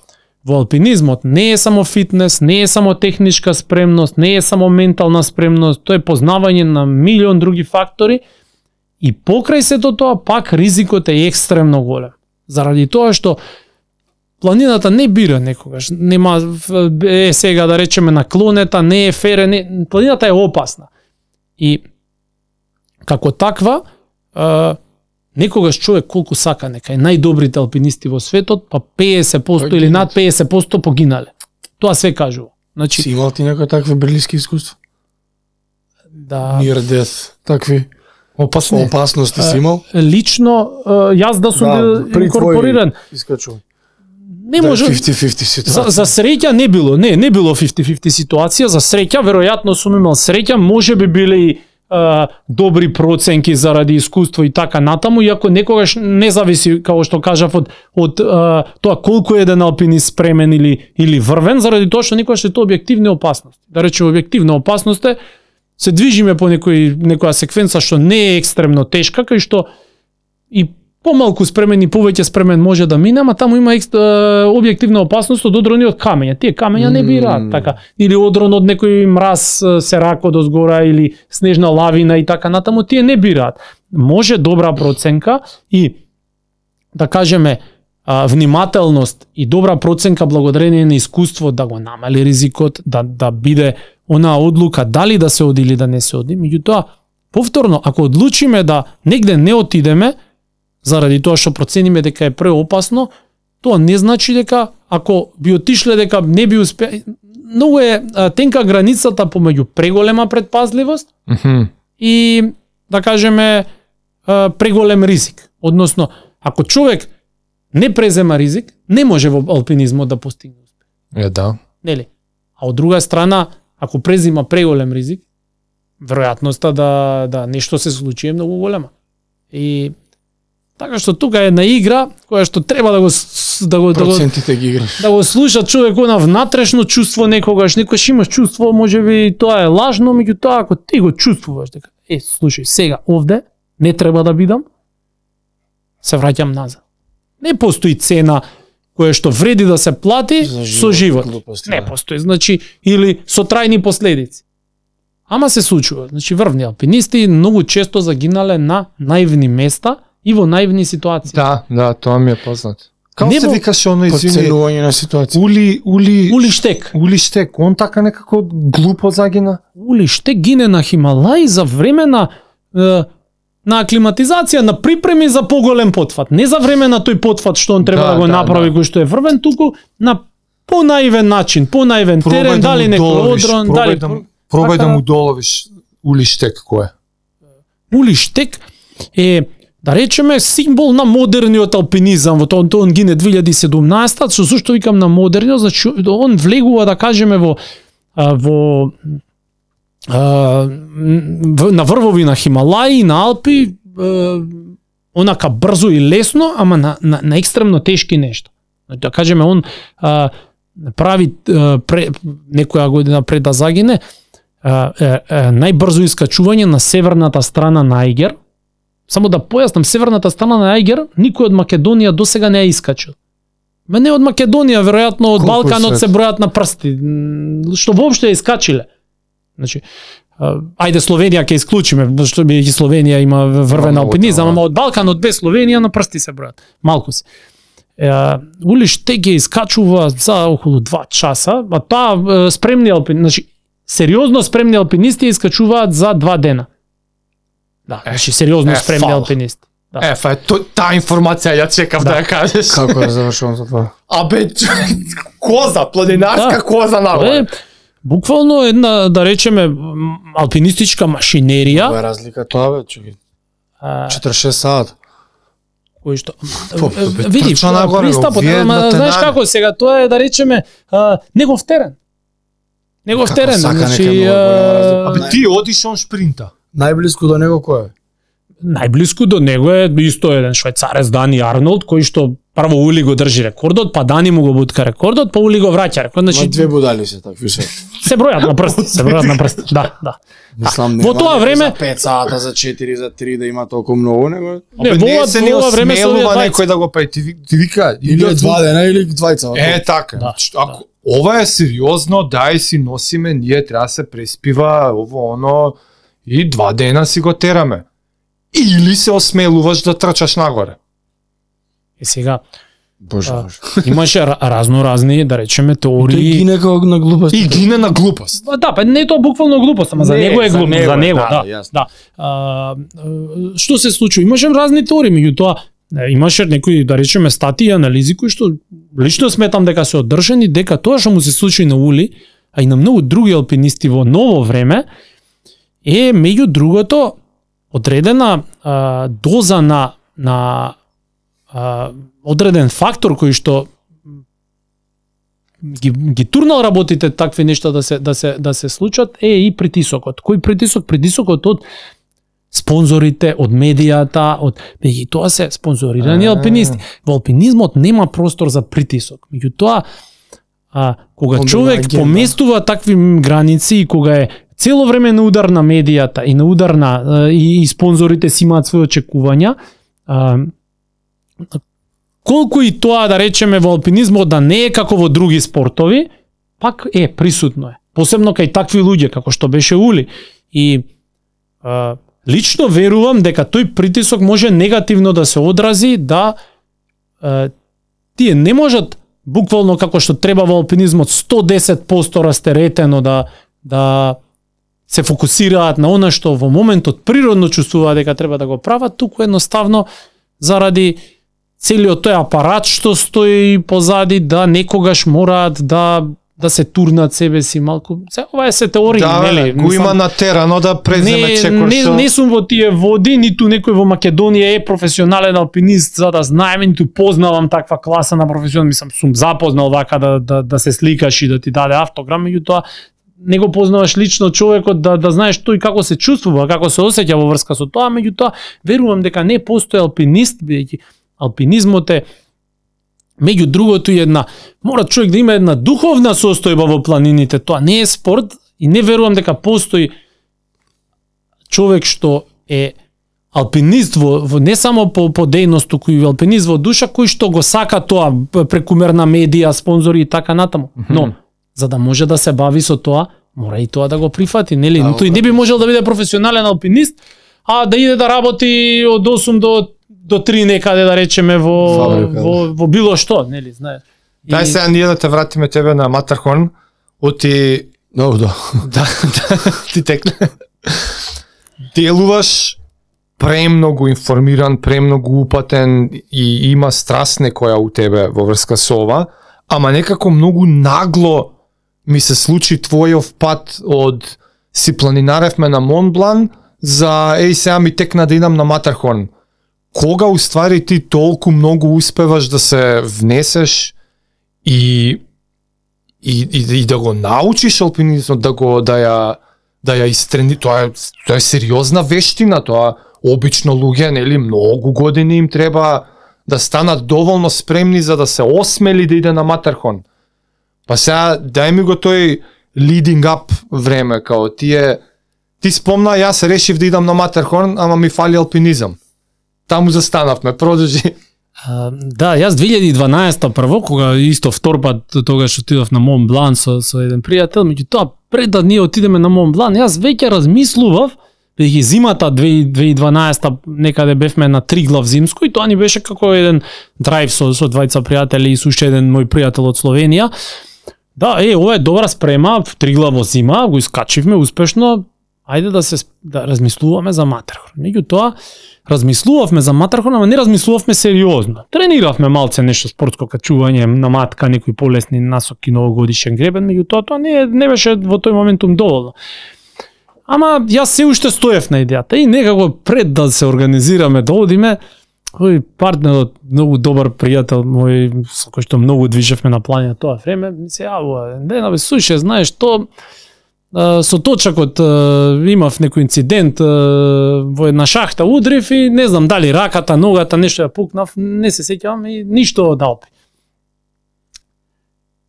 во алпинизмот не е само фитнес, не е само техничка спремност, не е само ментална спремност, тоа е познавање на милион други фактори и покрај сето тоа пак ризикот е екстремно голем. Заради тоа што планината не бира некогаш, нема е сега да речеме наклонета, не е фере, не, планината е опасна. И како таква а, некогаш човек колку сака нека е најдобрите алпинисти во светот, па пеесет проценти или над пеесет проценти погинале. Тоа све кажува. Значи, Си имал ти некои такви брилиски искуства? да, Near death, такви Опасно. Опасности си имал? Лично јас да сум Да, бил при инкорпориран. Искачува. Не може. фифти-фифти За, ситуација. за среќа не било, не, не било фифти-фифти ситуација, за среќа веројатно сум имал среќа, може би биле а, добри проценки заради искуство и така натаму, иако некогаш не зависи, како што кажав, од, од а, тоа колку е еден алпинист спремен или, или врвен, заради тоа што некогаш е тоа објективни опасности. Да речеме, објективна опасност е, се движиме по некој, некоја секвенца што не е екстремно тешка, кај што и помалку спремен и повеќе спремен може да мине, ама таму има екст, објективна опасност од одрони од камења. Тие камења не бираат, Mm. така. Или одрон од некој мраз се рако до згора или снежна лавина и така натаму, тие не бираат. Може добра проценка и да кажеме а, внимателност и добра проценка благодарение на искуство да го намали ризикот, да да биде онаа одлука дали да се оди или да не се оди. Меѓутоа, повторно, ако одлучиме да негде не отидеме, заради тоа што процениме дека е преопасно, тоа не значи дека ако би отишле дека не би успе. Многу е а, тенка границата помеѓу преголема предпазливост Мгм. и да кажеме а, преголем ризик. Односно, ако човек не презема ризик, не може во алпинизмот да постигне успех. Е, да. Нели? А од друга страна, ако презима преголем ризик, веројатноста да да нешто се случи е многу голема. И така што тука е една игра која што треба да го с- да го да го, Процентите ги играш. да го слуша човек она внатрешно чувство некогаш, некогаш имаш чувство, можеби тоа е лажно, меѓутоа ако ти го чувствуваш дека е, слушај, сега овде не треба да бидам, се враќам назад. Не постои цена која што вреди да се плати За со живот, живот. глупости, Не да. постои, значи или со трајни последици. Ама се случува, значи врвни алпинисти многу често загинале на наивни места и во наивни ситуации. Да, да, тоа ми е познато. Како Не се во- викаше оно, извини? Подценување на ситуација. Ули, ули, Ули Штек. Ули Штек, он така некако глупо загина. Ули Штек гине на Хималај за време на е, на аклиматизација, на припреми за поголем потфат. Не за време на тој потфат што он треба Да, да, го да, направи да. кој што е врвен, туку на понаивен начин, понаивен Пробај терен, да дали му некој доловиш, одрон, пробај дали да му- Пробај да Така- му доловиш Ули Штек кој е. Ули Штек е, да речеме, символ на модерниот алпинизам. Во тоа он гине две илјади и седумнаесета, што зашто викам на модерниот, значи он влегува, да кажеме, во а, во а, в- на врвови на Хималаи, на Алпи, а, онака брзо и лесно, ама на, на, на екстремно тешки нешта. Да кажеме, он а, прави а, пре, некоја година пред да загине, а, е, е, најбрзо искачување на северната страна на Ајгер. Само да појаснам, северната страна на Ајгер никој од Македонија досега не е искачил. Ме не од Македонија, веројатно од Колку Балканот се- се бројат на прсти, м, што воопшто ја искачиле. Значи, а, ајде Словенија ќе исклучиме, што би и Словенија има врвен Много алпинизам, тоа. ама од Балканот без Словенија на прсти се бројат. Малку се. Е, Ули Штек ја искачува за околу два часа, а таа е, спремни алпинисти, значи сериозно спремни алпинисти ја искачуваат за два дена. Да, значи сериозно е, спремни фала. алпинисти. Да. Е, фа, то, таа информација ја чекав да, Да. ја кажеш. Како е завршено за тоа? Абе, коза, планинарска Да. коза Е, нагоре. буквално една, да речеме, м, алпинистичка машинерија, Каква е разлика тоа бе, чуки? а, четиридесет и шест сата. кој што По, Е, бе, види, трча нагоре, пристапот, вие ама на знаеш тенар. како сега, тоа е да речеме а, негов терен. Негов Како терен, сака значи нека многу голема разлика. а, Абе, ти одиш он шпринта. Најблиску до него кој е? најблиску до него е исто еден швајцарец Дани Арнолд, кој што прво Ули го држи рекордот, па Дани му го бутка рекордот, па Ули го враќа рекордот. Ма Значи две будали се такви се. се бројат на прсти, се бројат на прсти. Да, да. Мислам, Во тоа некој време- за пет сата, за четири, за три да има толку многу, него Не, Абе, во не ова- се во не ова време се осмелува овие некој да го прави. Ти, ви- ти вика, или идат два дена или двајца. Е, така. Да, Значи, ако ова е сериозно, дај си носиме, ние треба да се преспива, ово оно и два дена си го тераме. Или се осмелуваш да трчаш нагоре. И сега Боже, А, боже. имаше ра- разно разни, да речеме, Тој теории. гине како на глупост. И гине на глупост. Па да, па не е тоа буквално глупост, ама за Не, него е за глупост, него за е, него, да, да. да, јасно. Да. А, а, што се случи? Имаше разни теории, меѓутоа е, имаше некои, да речеме, статии и анализи кои што лично сметам дека се одржани, дека тоа што му се случи на Ули, а и на многу други алпинисти во ново време, е меѓу другото одредена а, доза на на а, одреден фактор кој што ги, ги турнал работите такви нешта да се да се да се случат е и притисокот. Кој притисок? Притисокот од спонзорите, од медијата, од и тоа се спонзорирани алпинисти. Во алпинизмот нема простор за притисок. Меѓутоа, а кога Онда човек агенда. поместува такви граници и кога е цело време на удар на медијата и на удар на и, и спонзорите си имаат своји очекувања, а, колку и тоа да речеме во алпинизмот да не е како во други спортови, пак е присутно е. Посебно кај такви луѓе како што беше Ули. И а, лично верувам дека тој притисок може негативно да се одрази, да а, тие не можат буквално како што треба во алпинизмот сто и десет проценти растеретено да да се фокусираат на она што во моментот природно чувствуваат дека треба да го прават, туку едноставно заради целиот тој апарат што стои позади, да некогаш мораат да да се турнат себе си малку. Се, ова е се теорија, Да, нели? го има на терано да преземе не, чекор не, со... не сум во тие води, ниту некој во Македонија е професионален алпинист за да знаеме, ниту познавам таква класа на професионал, мислам сум запознал вака да да да се сликаш и да ти даде автограм, меѓутоа не го познаваш лично човекот да да знаеш тој како се чувствува, како се осеќа во врска со тоа, меѓутоа верувам дека не постои алпинист, бидејќи алпинизмот е меѓу другото и една, мора човек да има една духовна состојба во планините, тоа не е спорт и не верувам дека постои човек што е алпинист во, во не само по, по дејност, туку и алпинист во душа, кој што го сака тоа прекумерна медија, спонзори и така натаму. Mm -hmm. Но, за да може да се бави со тоа, мора и тоа да го прифати, нели? Но тој не би можел да биде професионален алпинист, а да иде да работи од осум до до три некаде да речеме во Фабрика. во, во било што, нели, знаеш. Дај сега ние да те вратиме тебе на Матархон, оти No, да. да, да ти текне. Делуваш премногу информиран, премногу упатен и има страст некоја у тебе во врска со ова, ама некако многу нагло ми се случи твојов пат од си планинаревме на Монблан за еј сега ми текна да идам на Матархон. Кога уствари ти толку многу успеваш да се внесеш и и, и, и да го научиш алпинизмот, да го да ја да ја истрени, тоа е тоа е сериозна вештина, тоа обично луѓе, нели, многу години им треба да станат доволно спремни за да се осмели да иде на Матархон. Па сега дај ми го тој leading up време, као тие ти спомна, јас решив да идам на Матархон, ама ми фали алпинизам. Таму застанавме, продолжи. А, да, јас две илјади и дванаесета прво, кога исто втор пат тогаш отидов на Мон Блан со, со еден пријател, меѓутоа пред да ние отидеме на Мон Блан, јас веќе размислував, бидејќи зимата две илјади и дванаесета некаде бевме на Триглав зимско и тоа ни беше како еден драйв со, со двајца пријатели и со уште еден мој пријател од Словенија. Да, е, ова е добра спрема, Триглав во зима, го искачивме успешно, ајде да се да размислуваме за Матархон. Меѓутоа, размислувавме за Матархон, ама не размислувавме сериозно. Трениравме малце нешто спортско качување на матка, некои полесни насоки, новогодишен гребен, меѓутоа тоа не не беше во тој моментум доволно. Ама јас се уште стоев на идејата и некако пред да се организираме да одиме, овој партнерот, многу добар пријател мој, со кој што многу движевме на планина тоа време, ми се јавува, Дена бе, слушај, знаеш, то со точакот имав некој инцидент во една шахта, удрив и не знам дали раката, ногата, нешто ја пукнав, не се сеќавам и ништо од Алпи.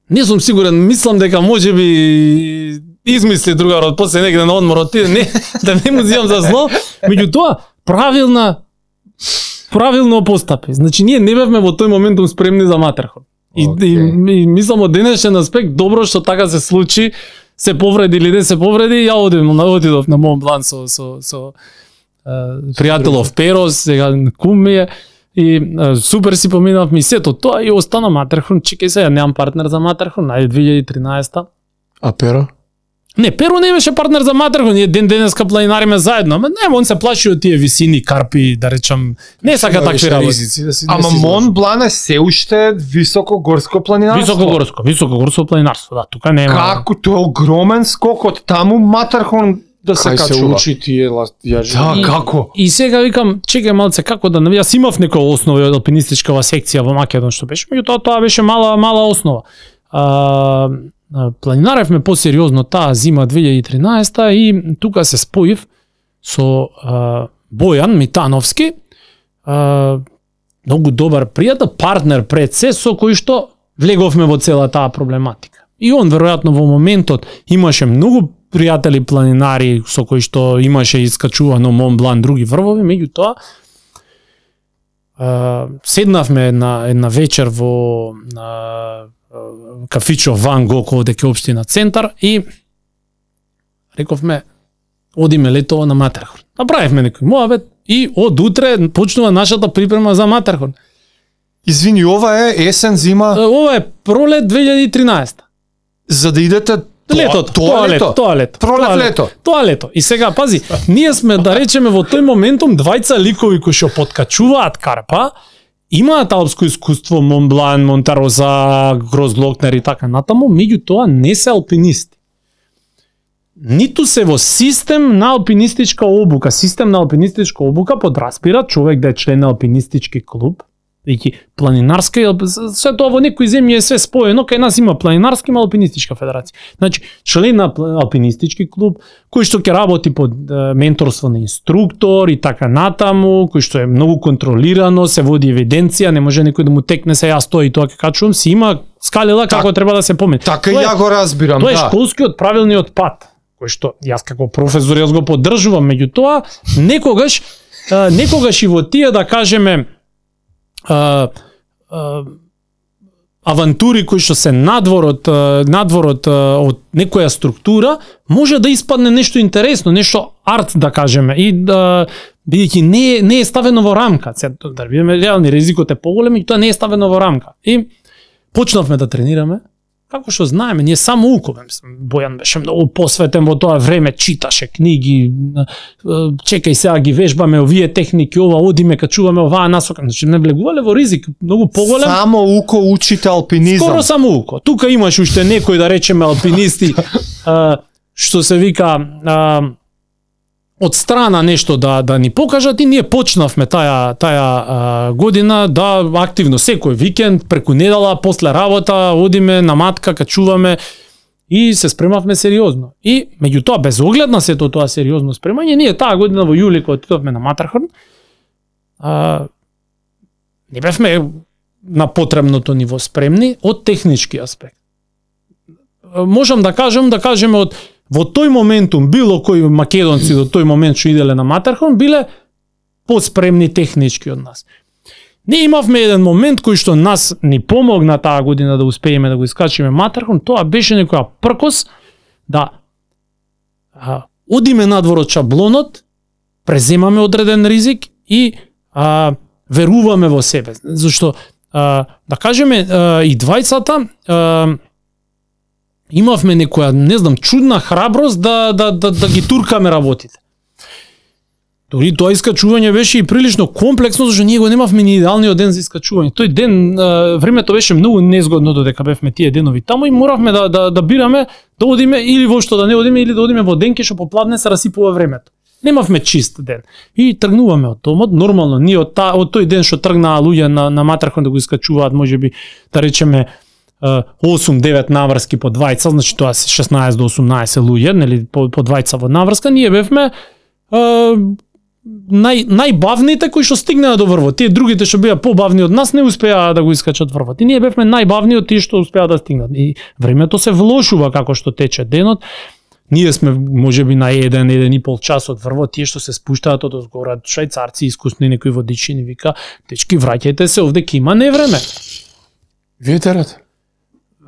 Не сум сигурен, мислам дека можеби измисли другарот после негде на одмор отиде, не, да не му зимам за зло, меѓутоа правилна правилно постапи. Значи ние не бевме во тој моментум спремни за Матархон. И, okay. и, и мислам од денешен аспект добро што така се случи, се повреди или не се повреди, ја одим на одидов на Мон Блан со со со е, пријателов Перос, сега кум ми е и е, супер си поминав ми сето тоа и остана Матархон. Чекај се, ја немам партнер за Матархон, најде две илјади и тринаесета. А Перо? Не, Перо не беше партнер за Матархон, ние ден денеска планинариме заедно, ама не, он се плаши од тие висини, карпи, да речам, не сака такви работи. Да си, Ама Мон Блан е се уште високогорско планинарство. Високогорско, високогорско планинарство, да, тука нема. Како тоа е огромен скок од таму Матархон да се Кај се качува. учи тие ја Да, И- како? И сега викам, чекај малце како да навија, јас имав некоја основа од алпинистичкава секција во Македон што беше, меѓутоа тоа беше мала мала основа. А, а, планинаревме посериозно таа зима две илјади и тринаесета и тука се споив со а, Бојан Митановски, а, многу добар пријател, партнер пред се, со кој што влеговме во цела таа проблематика. И он веројатно во моментот имаше многу пријатели планинари со кои што имаше искачувано Мон Блан, други врвови, меѓутоа а, седнавме една една вечер во а, кафичо Ван Гог овде ке општина Центар и рековме одиме летово на Матерхорн. Направивме некој муабет и од утре почнува нашата припрема за Матерхорн. Извини, ова е есен, зима, Ова е пролет две илјади и тринаесета. за да идете Летото, тоа, тоа лето. лето, тоа лето. Пролет, тоа лето. Тоа лето. И сега пази, ние сме да речеме во тој моментум двајца ликови кои што подкачуваат Карпа, имаат алпско искуство, Монблан, Монтароза, Грозглокнер и така натаму, меѓутоа не се алпинисти. Ниту се во систем на алпинистичка обука. Систем на алпинистичка обука подразбира човек да е член на алпинистички клуб, веќе планинарска, се тоа во некои земји е све споено, кај нас има планинарска и алпинистичка федерација. Значи, член на алпинистички клуб, кој што ќе работи под е, менторство на инструктор и така натаму, кој што е многу контролирано, се води евиденција, не може некој да му текне се јас тоа и тоа ќе качувам, си има скалела Так, како треба да се помени. Така Тоа е- ја го разбирам, Тоа е да. школскиот правилниот пат, кој што јас како професор јас го поддржувам, меѓутоа некогаш а, некогаш и во тие да кажеме а, а, авантури кои што се надвор од а, надвор од, а, од некоја структура, може да испадне нешто интересно, нешто арт да кажеме и да бидејќи не е, не е ставено во рамка. Се да бидеме реални, ризикот е поголем и тоа не е ставено во рамка. И почнавме да тренираме. Како што знаеме, ние само укове, Бојан беше многу посветен во тоа време, читаше книги, чекај сега ги вежбаме овие техники, ова одиме, качуваме оваа насока, значи не влегувале во ризик, многу поголем. Само уко учите алпинизам. Скоро само уко. Тука имаш уште некои да речеме алпинисти а, што се вика а, од страна нешто да да ни покажат и ние почнавме таа таа а, година да активно секој викенд преку недела после работа одиме на матка, качуваме и се спремавме сериозно. И меѓутоа без оглед на сето тоа сериозно спремање, ние таа година во јули кога отидовме на Матерхорн, а, не бевме на потребното ниво спремни од технички аспект. Можам да кажам, да кажеме од во тој моментум било кои македонци до тој момент што иделе на Матерхорн биле поспремни технички од нас. Ние имавме еден момент кој што нас ни помогна таа година да успееме да го искачиме Матерхорн, тоа беше некоја пркос да а, одиме надвор од шаблонот, преземаме одреден ризик и а, веруваме во себе. Зашто а, да кажеме а, и двајцата а, имавме некоја, не знам, чудна храброст да, да, да, да ги туркаме работите. Дори тоа искачување беше и прилично комплексно, зашто ние го немавме ни идеалниот ден за искачување. Тој ден, а, времето беше многу незгодно додека бевме тие денови таму и моравме да, да, да бираме да одиме или воопшто да не одиме или да одиме во ден кај што попладне се расипува времето. Немавме чист ден. И тргнуваме од домот, нормално, ние од, та, од тој ден што тргнаа луѓе на, на Матерхорн да го искачуваат, можеби да речеме осум девет наврски по двајца, значи тоа се шеснаесет до осумнаесет луѓе, нели по, по двајца во наврска, ние бевме а, нај најбавните кои што стигнаа до врвот. Тие другите што беа побавни од нас не успеа да го искачат врвот. И ние бевме најбавни од тие што успеа да стигнат. И времето се влошува како што тече денот. Ние сме можеби на еден, еден и пол час од врвот, тие што се спуштаат од озгора, швајцарци, искусни некои водичи ни вика, дечки враќајте се овде ке има невреме. Ветерот.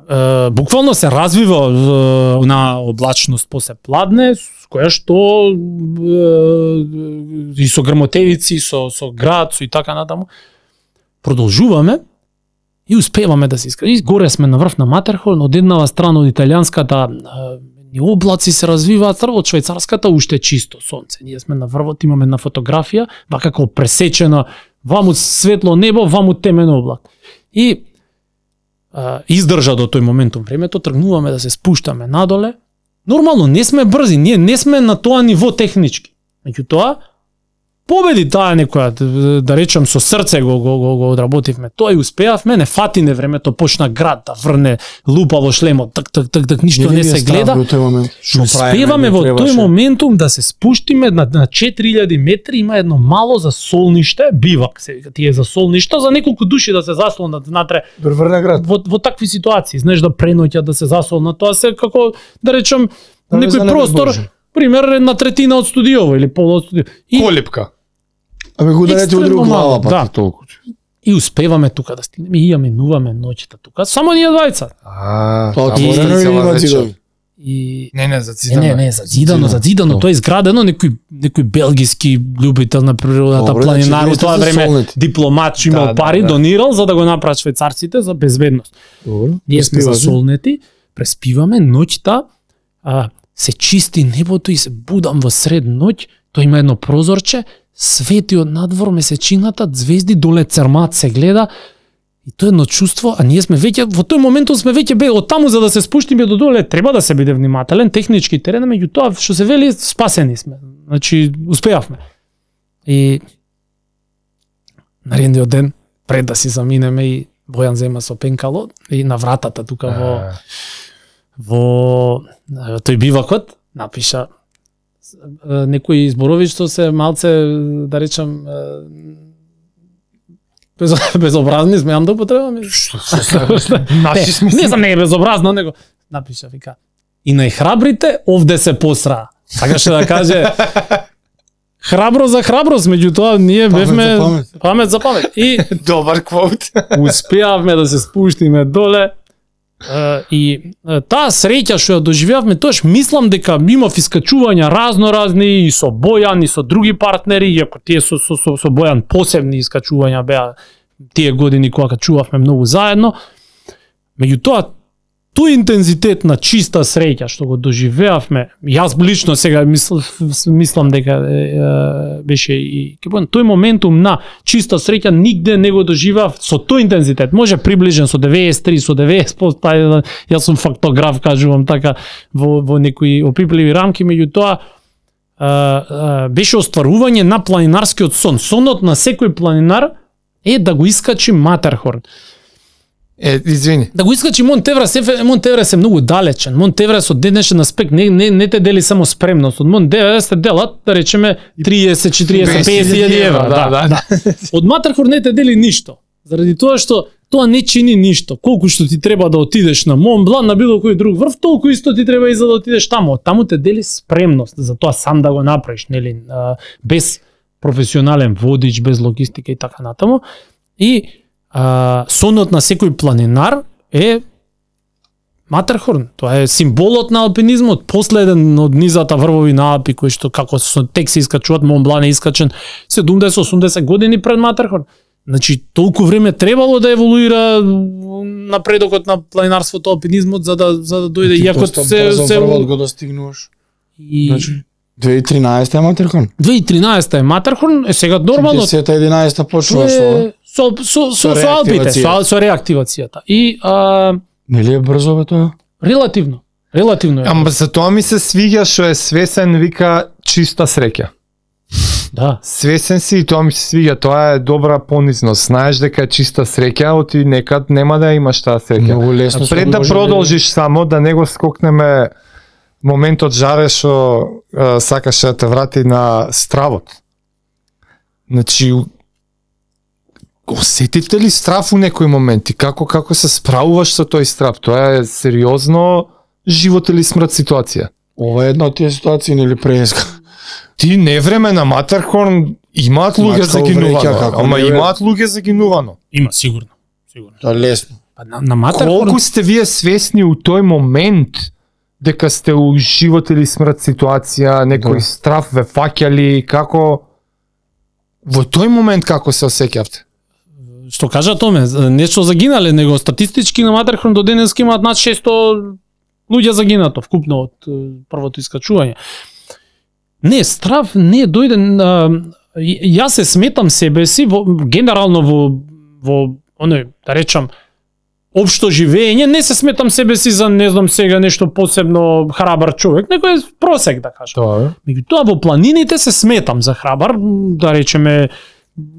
Uh, буквално се развива uh, на облачност после пладне, с која што uh, и со грмотевици, со, со град, со и така натаму. Продолжуваме и успеваме да се искажеме. И горе сме на врв на Матерхорн, од еднава страна од италијанската uh, и облаци се развиваат, од швајцарската уште чисто сонце. Ние сме на врвот, имаме една фотографија, вака како пресечена, ваму светло небо, ваму темен облак. И издржа до тој моментум времето, тргнуваме да се спуштаме надоле Нормално, не сме брзи, ние не сме на тоа ниво технички. Меѓутоа, победи таа некоја, да речам со срце го го го, го одработивме. Тоа и успеавме, не фати не времето, почна град да врне лупа во шлемот, так так так так ништо не, не се гледа. Успеваме во тој моментум да се спуштиме на, на четири илјади метри, има едно мало засолниште, бивак се вика, тие засолништа за неколку души да се заслонат внатре. Врне град. Во, во такви ситуации, знаеш да преноќат да се засолнат, тоа се како да речам да некој простор, пример една третина од студиово или пол од студиово. И Колипка. Абе го ударете од друг глава, па да. толку. И успеваме тука да стигнеме и ја минуваме ноќта тука, само ние двајца. А, Тоа таму отворено е или цела има вечер. зидови? И не, не, за Не, зидано. не, не, зазидано, зазидано, тоа е изградено некој некој белгиски љубител на природата, Добре, планинар, значи, во тоа вие сте време засолнети. дипломат, што имал Да, да, пари, да. донирал за да го направат швајцарците за безбедност. Добро. Ние сме Преспивате? засолнети, преспиваме ноќта, а, се чисти небото и се будам во сред ноќ, тоа има едно прозорче, свети од надвор месечината, звезди доле црмат се гледа. И тоа е едно чувство, а ние сме веќе во тој момент сме веќе бе од таму за да се спуштиме до доле, треба да се биде внимателен, технички терен, меѓутоа што се вели спасени сме. Значи успеавме. И наредниот ден пред да си заминеме и Бојан зема со пенкало и на вратата тука во во тој бивакот напиша некои зборови што се малце да речам без, безобразни, смеам да употребам. Што се наши сме. Не знам, не е безобразно, него напиша вика. И најхрабрите овде се посраа. Сакаше да каже храбро за храброст, меѓутоа ние Памет бевме за памет. памет за памет. И Добар квот. успеавме да се спуштиме доле. Uh, и uh, таа среќа што ја доживеавме, тоаш мислам дека имав искачувања разно разни и со Бојан и со други партнери, иако тие со со со, со Бојан посебни искачувања беа тие години кога качувавме многу заедно. Меѓутоа тој интензитет на чиста среќа што го доживеавме, јас лично сега мисл, мислам дека е, е, беше и кепон, тој моментум на чиста среќа нигде не го доживеав со тој интензитет. Може приближен со деветдесет и три, со деветдесет проценти, јас сум фактограф, кажувам така, во, во некои опипливи рамки, меѓутоа беше остварување на планинарскиот сон. Сонот на секој планинар е да го искачи Матерхорн. Е, извини. Да го искачи Монт Еврест, Монт Еврест е многу далечен. Монт Еврест од денешен аспект не, не, не те дели само спремност. Од Монт Еврест те делат, да речеме, триесет, четириесет, песет илјади евра. Да, да, да. Од Матерхорн не те дели ништо. Заради тоа што тоа не чини ништо. Колку што ти треба да отидеш на Мон Блан, на било кој друг врв, толку исто ти треба и за да отидеш таму. Таму те дели спремност за тоа сам да го направиш, нели, без професионален водич, без логистика и така натаму. И а, сонот на секој планинар е Матерхорн. Тоа е символот на алпинизмот, последен од низата врвови на Алпи кои што како со тек се искачуваат, Мон Блан е искачен седумдесет осумдесет години пред Матерхорн. Значи толку време требало да еволуира напредокот на планинарството, алпинизмот за да за да дојде иако се се првот го достигнуваш. и Значи две илјади и тринаесета е Матерхорн. две илјади и тринаесета е Матерхорн, е сега нормално десета единаесета почнува со е, со со со, со Алпите, со, со реактивацијата. И а, нели е брзо бе тоа? релативно, релативно е. Ама за тоа ми се свиѓа што е свесен, вика чиста среќа. Да. Свесен си и тоа ми се свиѓа, тоа е добра понизност. Знаеш дека е чиста среќа, оти некад нема да имаш таа среќа. Многу лесно. Пред да продолжиш само, да не го скокнеме моментот жаре што е, сакаше да те врати на стравот. Значи, осетите ли страв у некои моменти? Како како се справуваш со тој страв? Тоа е сериозно живот или смрт ситуација. Ова е една од тие ситуации нели преска. Ти не време на Матерхорн имаат луѓе Мачка загинувано, увреќа, како ама не бе. имаат луѓе загинувано. Има сигурно, сигурно. Тоа е лесно. Па на, на Матерхорн Колку сте вие свесни у тој момент дека сте у живот или смрт ситуација, некој Да. страв ве фаќали, како во тој момент како се осеќавте? што кажа Томе, нешто загинале, него статистички на Матерхорн до денеска имаат над шесто луѓе загинато вкупно од е, првото искачување. Не, страв не дојде а, јас се сметам себе си во, генерално во во оној, да речам, општо живење, не се сметам себе си за не знам сега нешто посебно храбар човек, некој е просек да кажам. Тоа е. Меѓутоа во планините се сметам за храбар, да речеме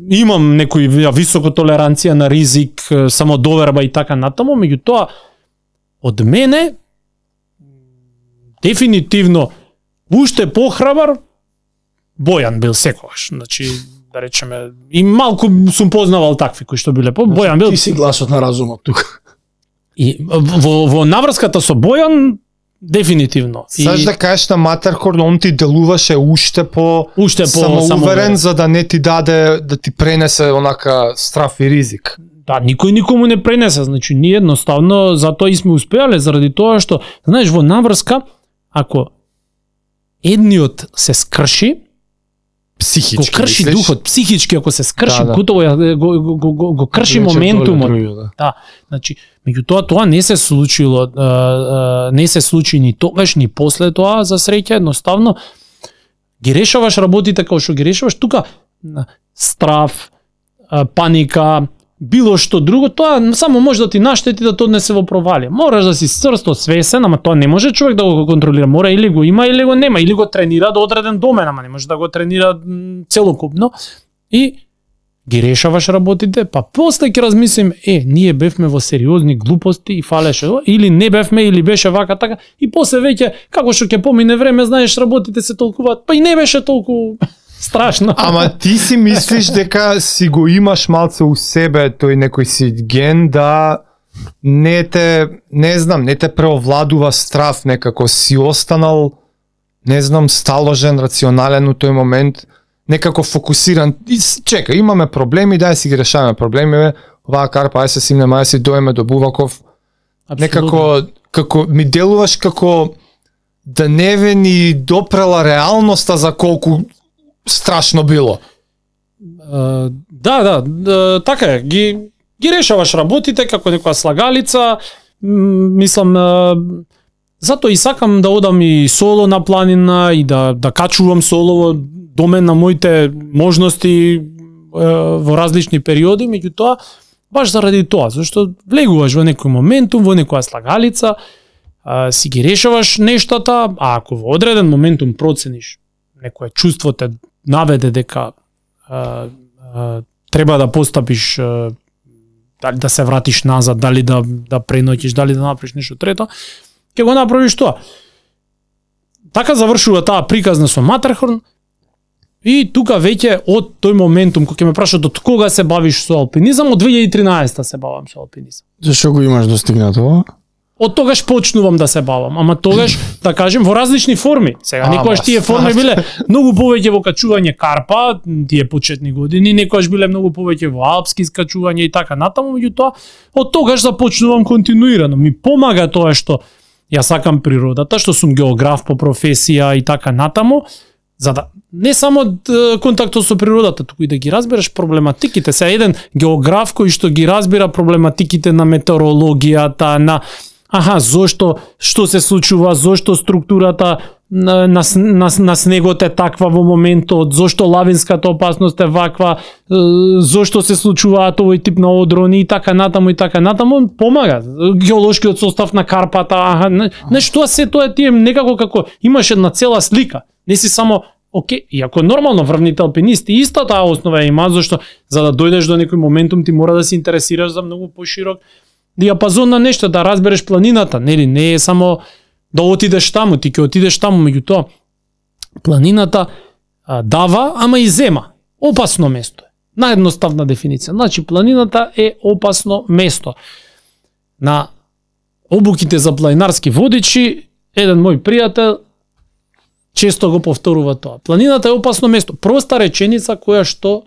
имам некој висока толеранција на ризик, самодоверба и така натаму, меѓутоа од мене дефинитивно уште похрабар Бојан бил секогаш. Значи, да речеме, и малку сум познавал такви кои што биле по Бојан бил. Ти си гласот на разумот тука. И во, во наврската со Бојан дефинитивно. Саш И да кажеш на Матерхорн, он ти делуваше уште по уште по самоуверен самоуверен. за да не ти даде да ти пренесе онака страф и ризик. Да, никој никому не пренесе, значи ние едноставно затоа и сме успеале заради тоа што знаеш во наврска ако едниот се скрши, Психички, го крши мислиш? духот, психички ако се скрши, Да, да. готово ја- го, го, го, го, го крши Вече моментумот. доле други, да. Да, значи, меѓутоа тоа не се случило, а, а, не се случи ни тогаш ни после тоа, за среќа, едноставно ги решаваш работите како што ги решаваш тука, на, страв, а, паника, било што друго, тоа само може да ти наштети да тоа не се во провалија. Мораш да си црсто свесен, ама тоа не може човек да го контролира, мора или го има или го нема, или го тренира до одреден домен, ама не може да го тренира м, целокупно. И ги решаваш работите, па после ќе размислим, е, ние бевме во сериозни глупости и фалеше, или не бевме, или беше вака така, и после веќе, како што ќе помине време, знаеш, работите се толкуваат, па и не беше толку страшно. Ама ти си мислиш дека си го имаш малце у себе тој некој си ген да не те, не знам, не те преовладува страф, некако си останал, не знам, сталожен, рационален у тој момент, некако фокусиран. И, с- чека, имаме проблеми, дај си ги решаваме проблеми, оваа карпа, ај се симнеме, ај си доеме до Буваков. Некако, како, ми делуваш како да не ве ни допрела реалноста за колку страшно било. Uh, да, да, да, така е. Ги, ги решаваш работите како некоја слагалица. М, Мислам, uh, затоа и сакам да одам и соло на планина и да, да качувам солово домен на моите можности uh, во различни периоди, меѓутоа, баш заради тоа, зашто влегуваш во некој моментум, во некоја слагалица, uh, си ги решаваш нештата, а ако во одреден моментум процениш, некое чувство те наведе дека а, а, треба да постапиш, а, дали да се вратиш назад, дали да да преноќиш, дали да направиш нешто трето, ќе го направиш тоа. Така завршува таа приказна со Матерхорн и тука веќе од тој моментум кога ќе ме прашат од кога се бавиш со алпинизам, од две илјади и тринаесета се бавам со алпинизам. Зашо го имаш достигнато? Од тогаш почнувам да се бавам, ама тогаш, да кажем, во различни форми. Сега, Ама, некојаш тие форми стварно. биле многу повеќе во качување карпа, тие почетни години, некојаш биле многу повеќе во алпски скачување и така натаму, меѓутоа, од тогаш започнувам континуирано. Ми помага тоа што ја сакам природата, што сум географ по професија и така натаму, за да не само д- контактот со природата, туку и да ги разбереш проблематиките. Се еден географ кој што ги разбира проблематиките на метеорологијата, на аха, зошто, што се случува, зошто структурата на, на, с- на, с- на снегот е таква во моментот, зошто лавинската опасност е ваква, е, зошто се случуваат овој тип на одрони и така натаму и така натаму, помага. Геолошкиот состав на карпата, аха, не, знаеш, тоа се тоа е тие некако како имаш една цела слика. Не си само окей, иако нормално врвните алпинисти иста таа основа ја има, зашто за да дојдеш до некој моментум ти мора да се интересираш за многу поширок диапазон на нешто, да разбереш планината, нели, не е само да отидеш таму, ти ќе отидеш таму, меѓутоа планината а, дава, ама и зема. Опасно место е. Наедноставна дефиниција. Значи планината е опасно место. На обуките за планинарски водичи, еден мој пријател често го повторува тоа. Планината е опасно место. Проста реченица која што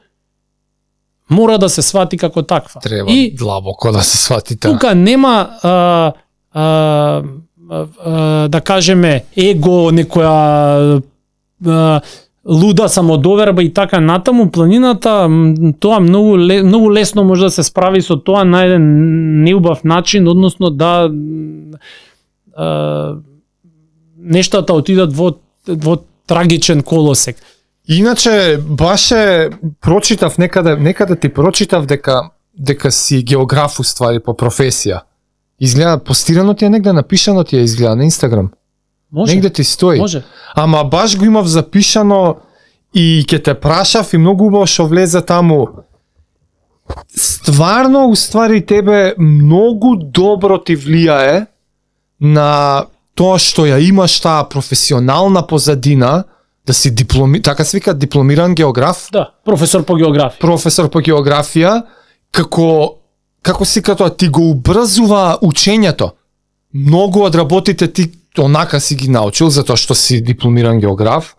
мора да се свати како таква. Треба И длабоко да се свати таа. тука нема а, а, а, а, да кажеме его, некоја а, луда самодоверба и така натаму. Планината м, тоа многу ле, многу лесно може да се справи со тоа на еден неубав начин, односно да а, нештата отидат во во трагичен колосек. Иначе, баше прочитав некаде, некаде ти прочитав дека дека си географ уствари по професија. Изгледа постирано ти е негде, напишано ти е изгледа на Инстаграм. Може. Негде ти стои. Може. Ама баш го имав запишано и ќе те прашав и многу убаво што влезе таму. Стварно, уствари тебе многу добро ти влијае на тоа што ја имаш таа професионална позадина, да си дипломи, така се вика дипломиран географ, Да, професор по географија. професор по географија, како како си като ти го убрзува учењето. Многу од работите ти онака си ги научил затоа што си дипломиран географ,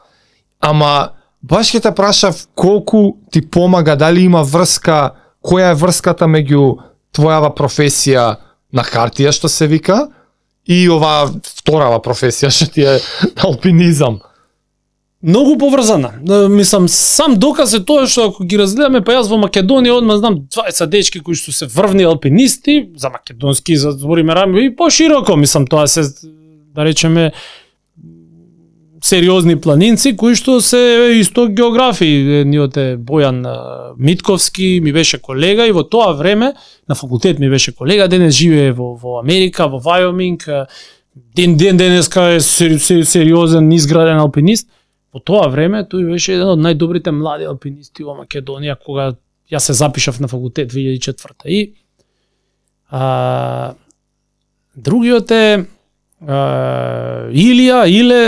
ама баш ќе те прашав колку ти помага, дали има врска, која е врската меѓу твојава професија на хартија што се вика и оваа вторава професија што ти е алпинизам. Многу поврзана. Да, мислам, сам доказ е тоа што ако ги разгледаме, па јас во Македонија одма знам дваесет дечки кои што се врвни алпинисти, за македонски, за збориме рами, и пошироко, мислам, тоа се, да речеме, сериозни планинци, кои што се исто географи. Едниот е Бојан Митковски, ми беше колега и во тоа време, на факултет ми беше колега, денес живее во, во Америка, во Вајоминг, ден, ден денеска е сериозен, изграден алпинист. По тоа време тој беше еден од најдобрите млади алпинисти во Македонија кога јас се запишав на факултет две илјади и четврта. И а, другиот е а, Илија, Иле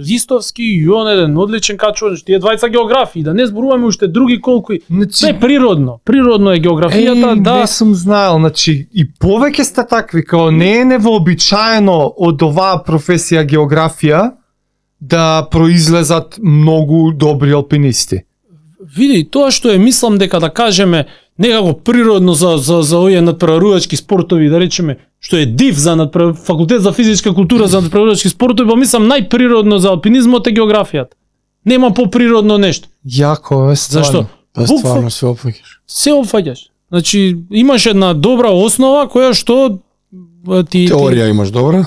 Ристовски, и он еден одличен качувач, тие двајца географи, да не зборуваме уште други колку. Се природно, природно е географијата, Еј, да. не сум знаел, значи и повеќе сте такви, као не е невообичаено од оваа професија географија да произлезат многу добри алпинисти. Види, тоа што е, мислам дека да кажеме некако природно за за за овие надпреварувачки спортови, да речеме, што е див за надпрев... факултет за физичка култура за надпреварувачки спортови, па мислам најприродно за алпинизмот е географијата. Нема поприродно нешто. Јако е стварно. Зашто? Па стварно се опфаќаш. Се опфаќаш. Значи, имаш една добра основа која што ти Теорија имаш добра.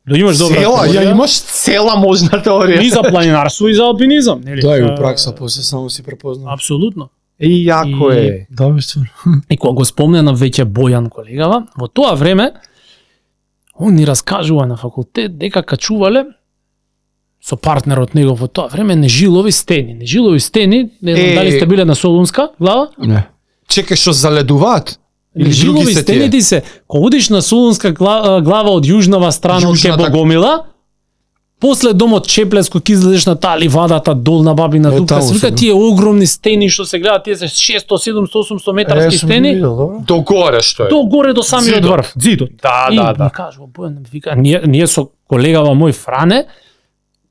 Да имаш добра Цела, теорија. ја имаш цела можна теорија. И за планинарство и за алпинизам, нели? Да, и Е, во пракса после само си препознав. Апсолутно. И јако И- е. Да, бе, стварно. И кога го спомнена веќе Бојан колегава, во тоа време он ни раскажува на факултет дека качувале со партнерот негов во тоа време Нежилови стени. Нежилови стени, не знам Е. дали сте биле на Солунска глава? Не. Чекај, што заледуваат? Или Нежилови други се стени тие? ти се, кога одиш на Солунска гла- глава од јужнава страна од Јужната- ке Богомила, после домот Чеплеско ки излезеш на таа ливадата долна Бабина Е, Дупка, таму се вика се, да. тие огромни стени што се гледаат, тие се шесто, седумсто, осумсто метарски стени. До горе што е. До горе до самиот Зидот. врв, зидот. Да, И да, да. ми кажува Бојан, вика, ние, ние со колегава мој Фране,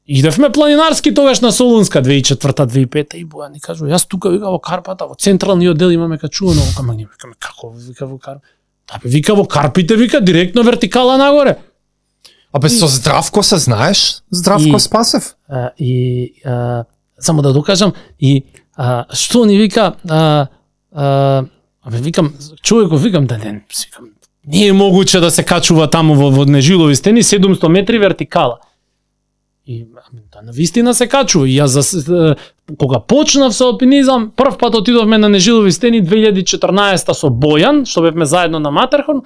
идевме планинарски тогаш на Солунска две илјади и четврта две илјади и пета и Бојан ни кажува, јас тука вика во Карпата, во централниот дел имаме качувано, ама ние викаме како вика во Карпата. Да бе, вика во Карпите, вика директно вертикала нагоре. Абе со Здравко се знаеш? Здравко И- Спасев? А, и а, само да докажам и а, што ни вика а, а, абе викам човеков викам да не викам не е могуче да се качува таму во, во Нежилови стени седумсто метри вертикала. И ами, да на вистина се качува. И јас за, кога почнав со алпинизам, прв пат отидовме на Нежилови стени две илјади и четрнаесета со Бојан, што бевме заедно на Матерхорн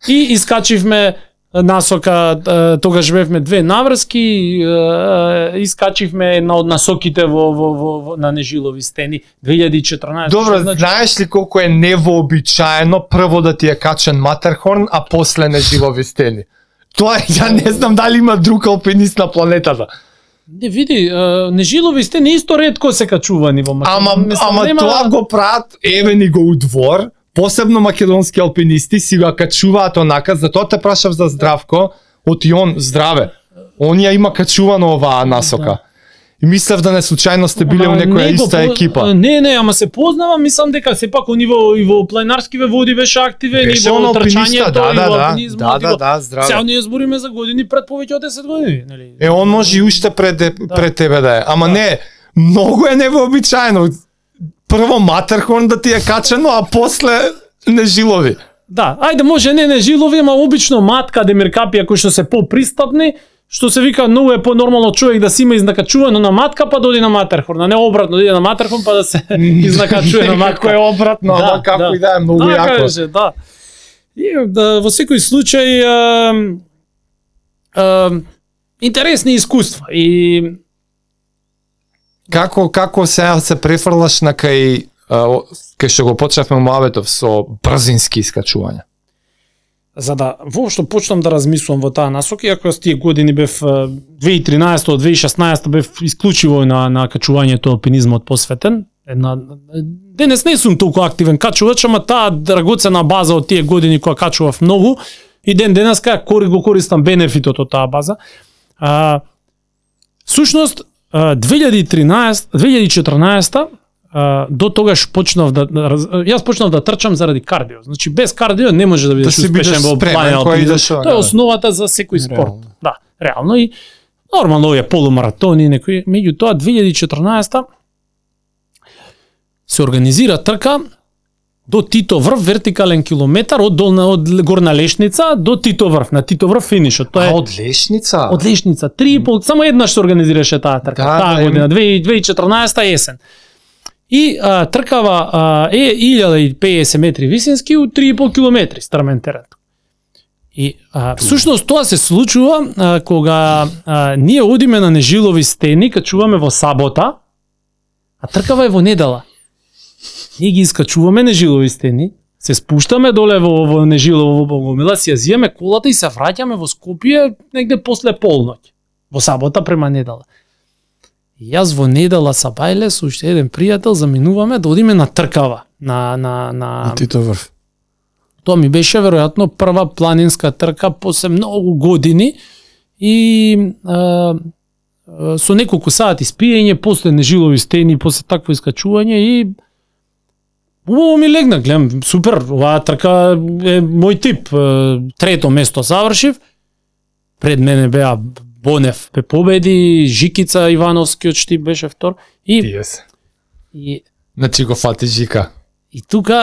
и искачивме насока, е, тогаш бевме две наврски, е, искачивме една од насоките во, во, во, во на Нежилови стени две илјади и четрнаесета. Добро, Што значи, знаеш ли колку е невообичаено прво да ти е качен Матерхорн, а после Нежилови стени? Тоа е, ја не знам дали има друг алпинист на планетата. не види, е, Нежилови стени исто ретко се качувани во Македонија. Ама, Мислам, ама нема- тоа го прават, еве ни го у двор, посебно македонски алпинисти си го качуваат онака, затоа те прашав за Здравко, од он здраве. Он ја има качувано оваа насока. И мислев да не случајно сте биле Ама у некоја не го иста по- екипа. Не, не, ама се познава, мислам дека сепак у ниво и во планинарскиве води беше активен, Беше и он во алпиниста, трчањето, да, и да, во да, алпинизмот, да, и да, во- да, здраве. Сега ние збориме за години пред повеќе од десет години, нели? Е, он може и уште пред, пред тебе да е. Ама не, многу е невообичаено. Прво Матерхорн да ти е качено, а после Нежилови. Да, ајде може не Нежилови, ама обично матка Демиркапија кои што се попристапни, што се вика многу е понормално човек да си има изнакачувано на матка па да оди на Матерхорн, а не обратно да иде на Матерхорн па да се изнакачува на матка. Некако е обратно, ама како и да е, многу да, јако. Каже, да. И, да, во секој случај а, а, интересни искуства и Како како сега се префрлаш на кај а, о- кај што го почнавме муабетов со брзински искачувања? за да воопшто почнам да размислувам во таа насока, иако јас тие години бев а, две илјади и тринаесета до две илјади и шеснаесета бев исклучиво на на качувањето алпинизмот посветен. Една денес не сум толку активен качувач, ама таа драгоцена база од тие години која качував многу и ден денеска кори го користам бенефитот од таа база. А, сушност две илјади и тринаесета две илјади и четрнаесета Uh, до тогаш почнав да раз- јас почнав да трчам заради кардио. Значи без кардио не може да бидеш си успешен бидеш во спремен планина кој алпинизам. идеш во- Тоа е да. основата за секој спорт. Реално. Да, реално и нормално овие полумаратони, некои, меѓутоа две илјади и четрнаесета се организира трка до Тито врв, вертикален километар од долна од горна лешница до Тито врв, на Тито врв финишот. Тоа е А, од Лешница? од лешница три и пол, само еднаш се организираше таа трка. Да, таа да, година им- две илјади и четрнаесета есен. И а, тркава а, е илјада и педесет метри висински у три и пол километри стрмен терен. И а, всушност тоа се случува а, кога а, ние одиме на нежилови стени, качуваме во сабота, а тркава е во недела. Ние ги искачуваме нежилови стени, се спуштаме доле во, во нежилово во Гомила, си ја зиеме колата и се враќаме во Скопје негде после полноќ. Во сабота према недела. И јас во недела са бајле со уште еден пријател заминуваме да одиме на тркава, на на на На Тито врв. Тоа ми беше веројатно прва планинска трка после многу години и а, а, со неколку сати спиење, после нежилови стени, после такво искачување и убаво ми легна, гледам, супер, оваа трка е мој тип. Е, Трето место завршив, пред мене беа Бонев бе победи, Жикица Ивановскиот Штип беше втор и, Тие се. и Значи го фати Жика. И тука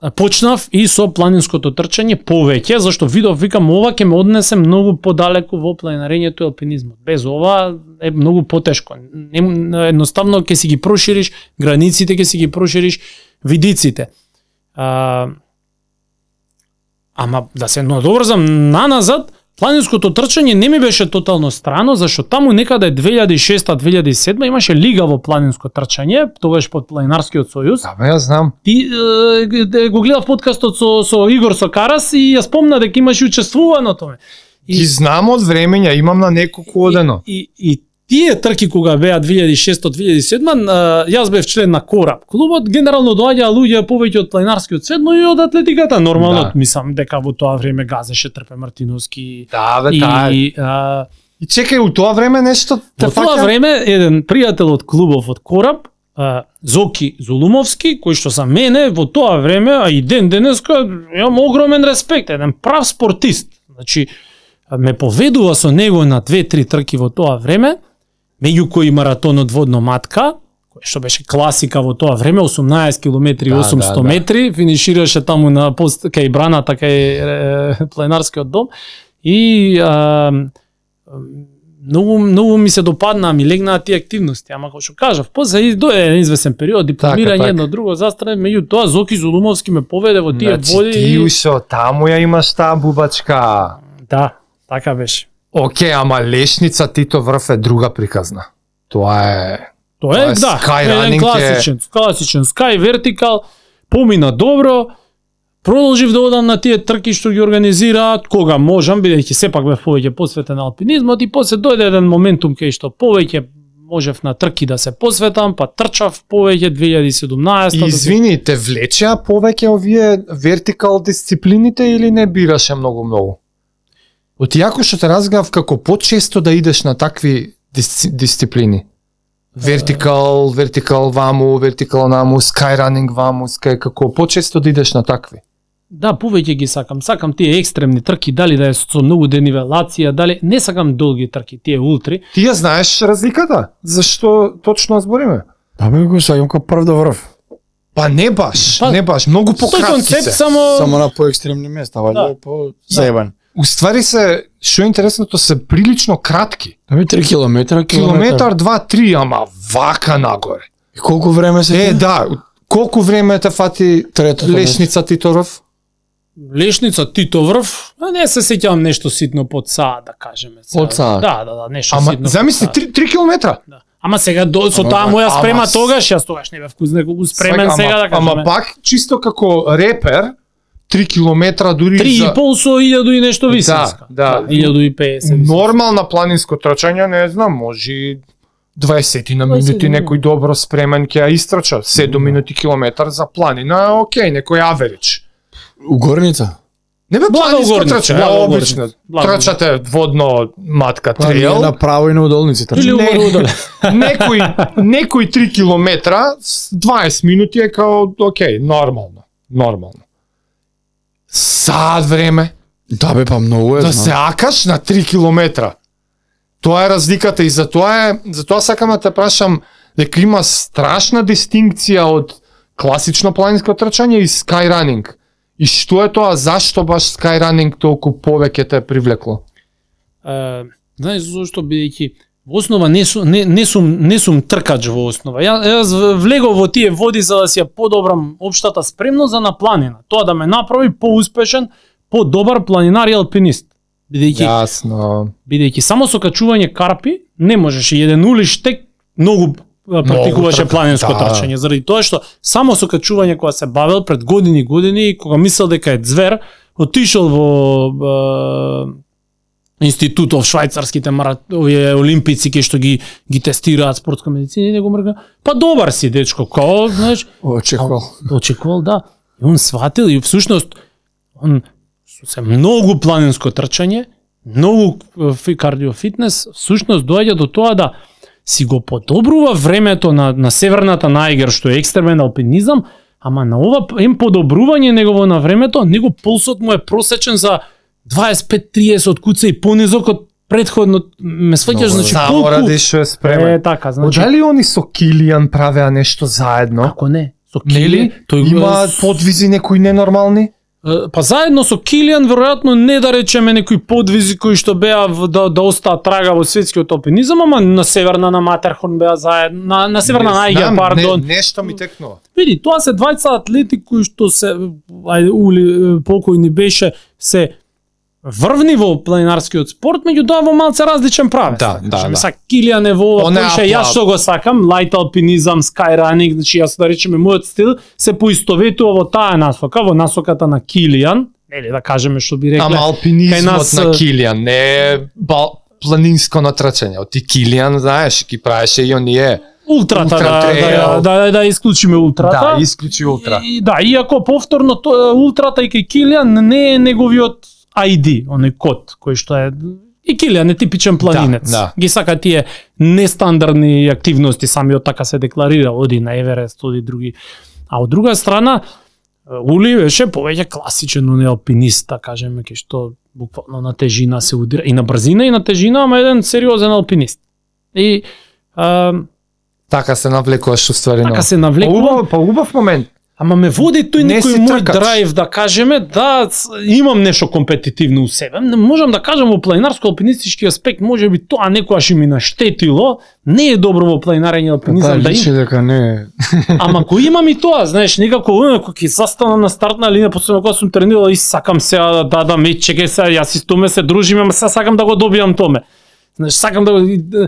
а, почнав и со планинското трчање повеќе, зашто видов, викам, ова ќе ме однесе многу подалеку во планинарењето и алпинизмот. Без ова е многу потешко. Не, едноставно ќе си ги прошириш границите, ќе си ги прошириш видиците. А, ама да се надоврзам наназад, планинското трчање не ми беше тотално страно, зашто таму некаде две илјади и шеста две илјади и седма имаше лига во планинско трчање, тогаш под Планинарскиот сојуз. Да, бе, ја знам. Ти е, го гледав подкастот со со Игор Сокарас и ја спомна дека имаш учествувано тоа. И, Ги знам од времења, имам на неколку одено. и, и, и тие трки кога беа две илјади и шеста две илјади и седма, а, јас бев член на Кораб. Клубот генерално доаѓаа луѓе повеќе од планинарскиот свет, но и од атлетиката нормално. Да. Мислам дека во тоа време газеше Трпе Мартиновски. Да, бе, таа е. И а, И чекај, у тоа време нешто Во тоа време еден пријател од клубов од Кораб, а, Зоки Зулумовски, кој што за мене во тоа време, а и ден денеска, имам огромен респект, еден прав спортист. Значи, ме поведува со него на две-три трки во тоа време, меѓу кои маратонот водно матка, кој што беше класика во тоа време, осумнаесет километри и Да, осумсто да, да. метри, финишираше таму на пост кај браната кај е, Планинарскиот дом и а, многу многу ми се допадна, ми легнаа тие активности, ама како што кажав, после и дојде еден извесен период дипломирање Така, така. едно друго застране, меѓутоа Зоки Зулумовски ме поведе во тие Значи, води. ти и- ушо, таму ја имаш таа бубачка. Да, така беше. Оке, ама Лешница Тито врв е друга приказна. Тоа е... Тоа Тоа е, е да, Sky еден Running класичен, класичен Sky Vertical, помина добро, продолжив да одам на тие трки што ги организираат кога можам, бидејќи сепак бев повеќе посветен на алпинизмот и после дојде еден моментум кај што повеќе можев на трки да се посветам, па трчав повеќе две илјади и седумнаесета. И извини, те влечеа повеќе овие вертикал дисциплините или не бираше многу-многу? Од јако што те разгледав како почесто да идеш на такви дисци, дисциплини. Вертикал, вертикал ваму, вертикал наму, скайранинг ваму, скај, како почесто да идеш на такви. Да, повеќе ги сакам. Сакам тие екстремни трки, дали да е со многу денивелација, дали не сакам долги трки, тие ултри. Ти ја знаеш разликата? Зашто точно збориме? Да бе го саѓам како прв до врв. Па не баш, Па, не баш, многу Тој пократки концепт се. само Само на поекстремни места, вајде Да. по заебан. Уствари се, што е интересното, се прилично кратки. Да бе три километра, Километар, два, три, ама вака нагоре. И колку време се? Е, да, колку време те фати Третото Лешница Титоров? Лешница Титоврв, а не се сеќавам нешто ситно под Саа, да кажеме. Од Саа? Да, да, да, нешто Ама ситно. замисли три километра. Да. Ама сега до, со Ама, таа моја ама спрема с- тогаш, јас тогаш не бев неколку спремен Ама- сега да кажеме. Ама пак чисто како репер три километра дури три за и пол со илјаду и нешто висинска. да. илјаду и педесет висинска. нормално планинско трчање, не знам, може дваесет на минути дваесет некој добро спремен ќе ја истрча, седум минути километар за планина, е окей, некој аверидж. Угорница? Не бе Благо планинско горница, трчање, благо обично. горница, благо Трчате водно матка Па ние трейл, направо и на удолници трча. Или Не. угорудале. некој некој три километра, с дваесет минути е као окей, нормално, нормално. Саат време Да бе, па многу е, да знам. се акаш на три километра. Тоа е разликата и затоа е, затоа сакам да те прашам дека има страшна дистинкција од класично планинско трчање и скайранинг. И што е тоа, зашто баш скайранинг толку повеќе те привлекло? Е, знаеш зошто, бидејќи во основа не сум не, не сум не сум тркач во основа. Ја, јас влегов во тие води за да си ја подобрам општата спремност за на планина. Тоа да ме направи поуспешен, подобар планинар и алпинист. Бидејќи Јасно. бидејќи само со качување карпи не можеш и еден улиштек многу а, практикуваше трка, планинско да. трчање, заради тоа што само со качување кога се бавел пред години и години и кога мислел дека е звер, отишол во е, институтов швајцарските марат, овие олимпици кои што ги ги тестираат спортска медицина и него мрга. Па добар си дечко, као, знаеш, Очекувал. очекувал да. И он сватил и всушност он се многу планинско трчање, многу фи- кардиофитнес, всушност доаѓа до тоа да си го подобрува времето на, на северната најгер, што е екстремен алпинизам, ама на ова им подобрување негово на времето, него пулсот му е просечен за дваесет пет триесет куца и понизок од предходно, ме сваќаш, значи Само колку... ради што е спремен. Е, така, значи... Дали они со Килијан правеа нешто заедно? Ако не, со Нели? Кили, тој го Има подвизи некои ненормални? Е, па заедно со Килијан веројатно не да речеме некои подвизи кои што беа в- да да остаат трага во светскиот алпинизам, ама на северна на Матерхорн беа заедно, на на северна Не Најгер, знам, пардон. Не, нешто ми текнува. Види, тоа се двајца атлети кои што се ајде ули покојни беше се врвни во планинарскиот спорт, меѓутоа во малце различен правец. Да, да, Кажеме, да. Са Килијан е во ова, Он е кој ше апла- јас што го сакам, лајт алпинизам, скайранинг, значи јас да речеме мојот стил се поистоветува во таа насока, во насоката на Килијан, нели да кажеме што би рекле. Ама кај алпинизмот нас, на е, Килијан не е бал, планинско натрчање. Од ти Килијан, знаеш, ги правеше и оние. Ултрата, Ултра да, трейл. да, да, да исклучиме ултрата. Да, исклучи ултра. И, да, иако повторно то, ултрата и кај Килијан не е неговиот ай ди, оној код кој што е и Килијан е типичен планинец. Да, да. Ги сака тие нестандардни активности, самиот така се декларира, оди на Еверест, оди други. А од друга страна, Ули беше повеќе класичен оној алпинист, да кажеме, кај што буквално на тежина се удира и на брзина и на тежина, ама еден сериозен алпинист. И а, Така се навлекуваш уствари. така но- се Па навлекувам. убав, па убав момент. Ама ме води тој Не некој си мој тркач. драйв да кажеме, да с- имам нешто компетитивно у себе. Не можам да кажам во планинарско-алпинистички аспект, може би тоа некојаш и ми наштетило, не е добро во планинарење Па алпинизам да личи има. дека не е. Ама кој имам и тоа, знаеш, некако кога ќе застанам на стартна линија, после кога сум тренирал и сакам сега да дадам и чекај сега, јас и с томе се дружиме, ама сега сакам да го добијам томе. Знаеш, сакам да го и да,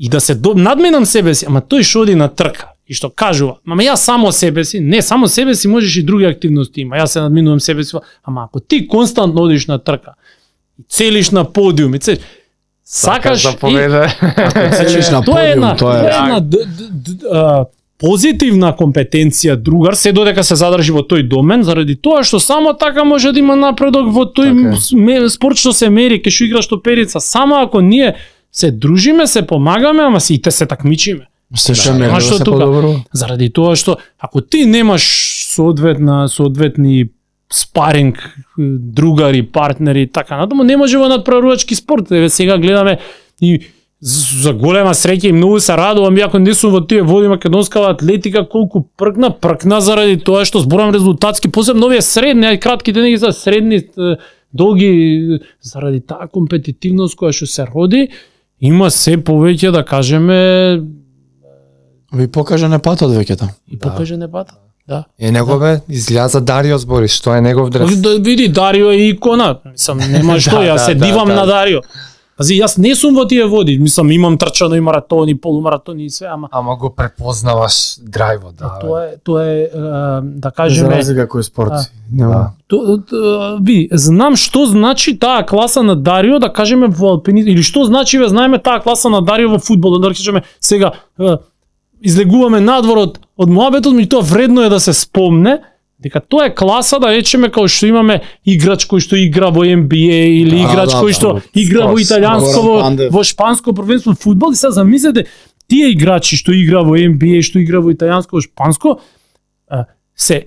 и да се до, надменам себе си, ама тој што оди на трка и што кажува, ама јас само себе си, не само себе си, можеш и други активности има. Јас се надминувам себе си, ама ако ти константно одиш на трка и целиш на подиум, и целиш, сакаш да и поведе. Целиш на тоа е една, подиум, тоа е. тоа е една д, д, д, а, позитивна компетенција другар, се додека се задржи во тој домен, заради тоа што само така може да има напредок во тој Така е. с- ме- спорт што се мери, кај што играш топерица, само ако ние се дружиме, се помагаме, ама сите се такмичиме. Се што Да, не ама да што се тука? подобрува. Заради тоа што ако ти немаш соодветна соодветни спаринг, другари, партнери, така натаму, не може во надпреварувачки спорт. Еве сега гледаме и з- за голема среќа и многу се радувам, иако не сум во тие води македонскава атлетика, колку пркна, пркна заради тоа што зборам резултатски, посебно овие средни, ај кратките не ги за средни, е, долги, заради таа компетитивност која што се роди, има се повеќе да кажеме Ви покажа не патот веќе таму. и покаже не пата. Да. Е негове, излеа за Дарио збори, што е негов дрес. Да, види, Дарио е икона. Мислам, нема што, Да, јас да, се да, дивам да. на Дарио. Пази, јас не сум во тие води, мислам, имам трчано и маратони, полумаратони и све, ама Ама го препознаваш драйвот, да. тоа е, тоа е, е, да За кажеме, разлика кој спорт. А. Нема. То, то, види, знам што значи таа класа на Дарио, да кажеме во алпинизм, или што значи, ве знаеме таа класа на Дарио во фудбал, да кажеме сега е, излегуваме надвор од, од муабетот, меѓутоа вредно е да се спомне дека тоа е класа, да речеме, као што имаме играч кој што игра во Н Б А или Да, играч да, кој да, што да, игра во скос, италијанско, во, Горан Пандев. во шпанско првенство фудбал, и сега замислете тие играчи што игра во Н Б А, што игра во италијанско, во шпанско, а, се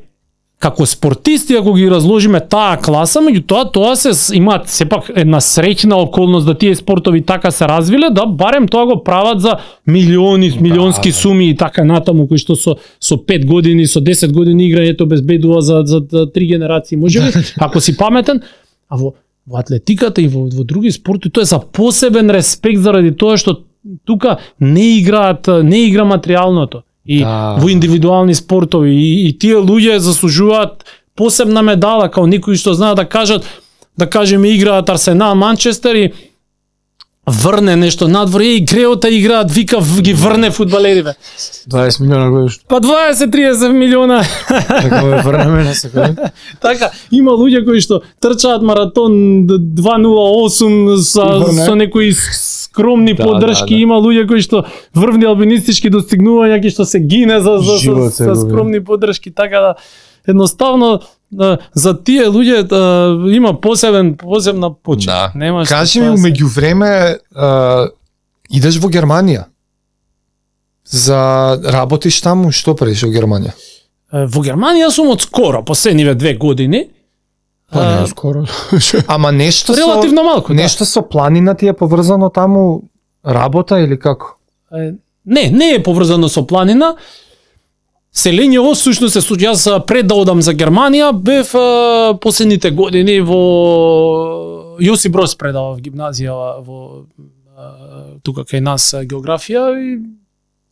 како спортисти, ако ги разложиме таа класа, меѓутоа тоа се с- имаат сепак една среќна околност да тие спортови така се развиле, да барем тоа го прават за милиони, милионски да. суми и така натаму, кои што со со пет години, со десет години играњето обезбедува за за, за три генерации, можеби, ако си паметен, а во во атлетиката и во, во други спорти тоа е за посебен респект заради тоа што тука не играат, не игра материјалното. И Да. во индивидуални спортови и, и тие луѓе заслужуваат посебна медала, као некои што знаат да кажат, да кажеме играат Арсенал, Манчестер и врне нешто надвор, и Греота играат, вика в- ги врне фудбалериве. дваесет милиона годишно. Па дваесет до триесет милиона. Така ме врнеме на секој. Така, има луѓе кои што трчаат маратон два нула осум со, Врне. со некои скромни Да, поддршки, да, да. има луѓе кои што врвни алпинистички достигнувања кои што се гине за за, за, Живот се за губи. скромни поддршки, така да едноставно да, за тие луѓе да, има посебен посебна почит. Да. Нема што Кажи ми, тоа се- меѓу време а, идеш во Германија. За работиш таму, што правиш во Германија? Е, во Германија сум од скоро, последниве две години. Па А, не скоро. Ама нешто Релативно со малку, да. нешто со планина ти е поврзано таму, работа или како? Е, Не, не е поврзано со планина. Селењево сушност се случи. Јас а, пред да одам за Германија бев а, последните години во Јосип Брос предавав в гимназија во а, тука кај нас а, географија и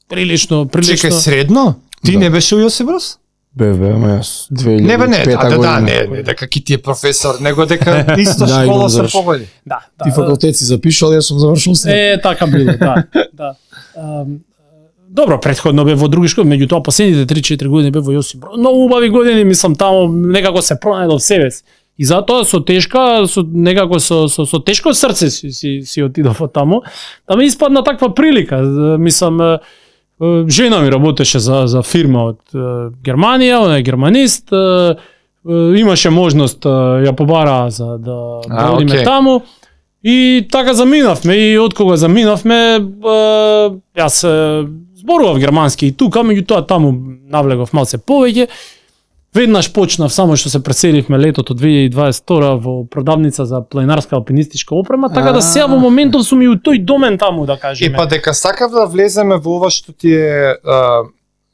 прилично прилично Чекај, средно? Ти Да. не беше у Јосип Брос? Бе, бе, ама јас две илјади Не бе, не, и пета да, да, да, година. не, не, дека ки ти е професор, него дека исто Да, имам школа се завршен. погоди. Да, Ти да. факултет си запишал, јас сум завршил се. Е, така било, да. да. Ам, Добро, претходно бе во други школи, меѓутоа последните три-четири години бе во Јосип Брос. Многу убави години, мислам, таму некако се пронајдов себе си. И затоа со тешка, со некако со со, со тешко срце си си, си отидов од таму. Да ми испадна таква прилика. Мислам, е, е, жена ми работеше за за фирма од е, Германија, она е германист. е, е, Имаше можност, е, ја побара за да, да А, одиме окей. таму. И така заминавме, и од кога заминавме, е, јас е, зборував германски и тука, меѓутоа таму навлегов малце повеќе. Веднаш почнав, само што се преселивме летото две илјади и дваесет и втора во продавница за планинарска алпинистичка опрема, така да сега во моментов сум и у тој домен таму, да Е, кажеме. па дека сакав да влеземе во ова што ти е... А,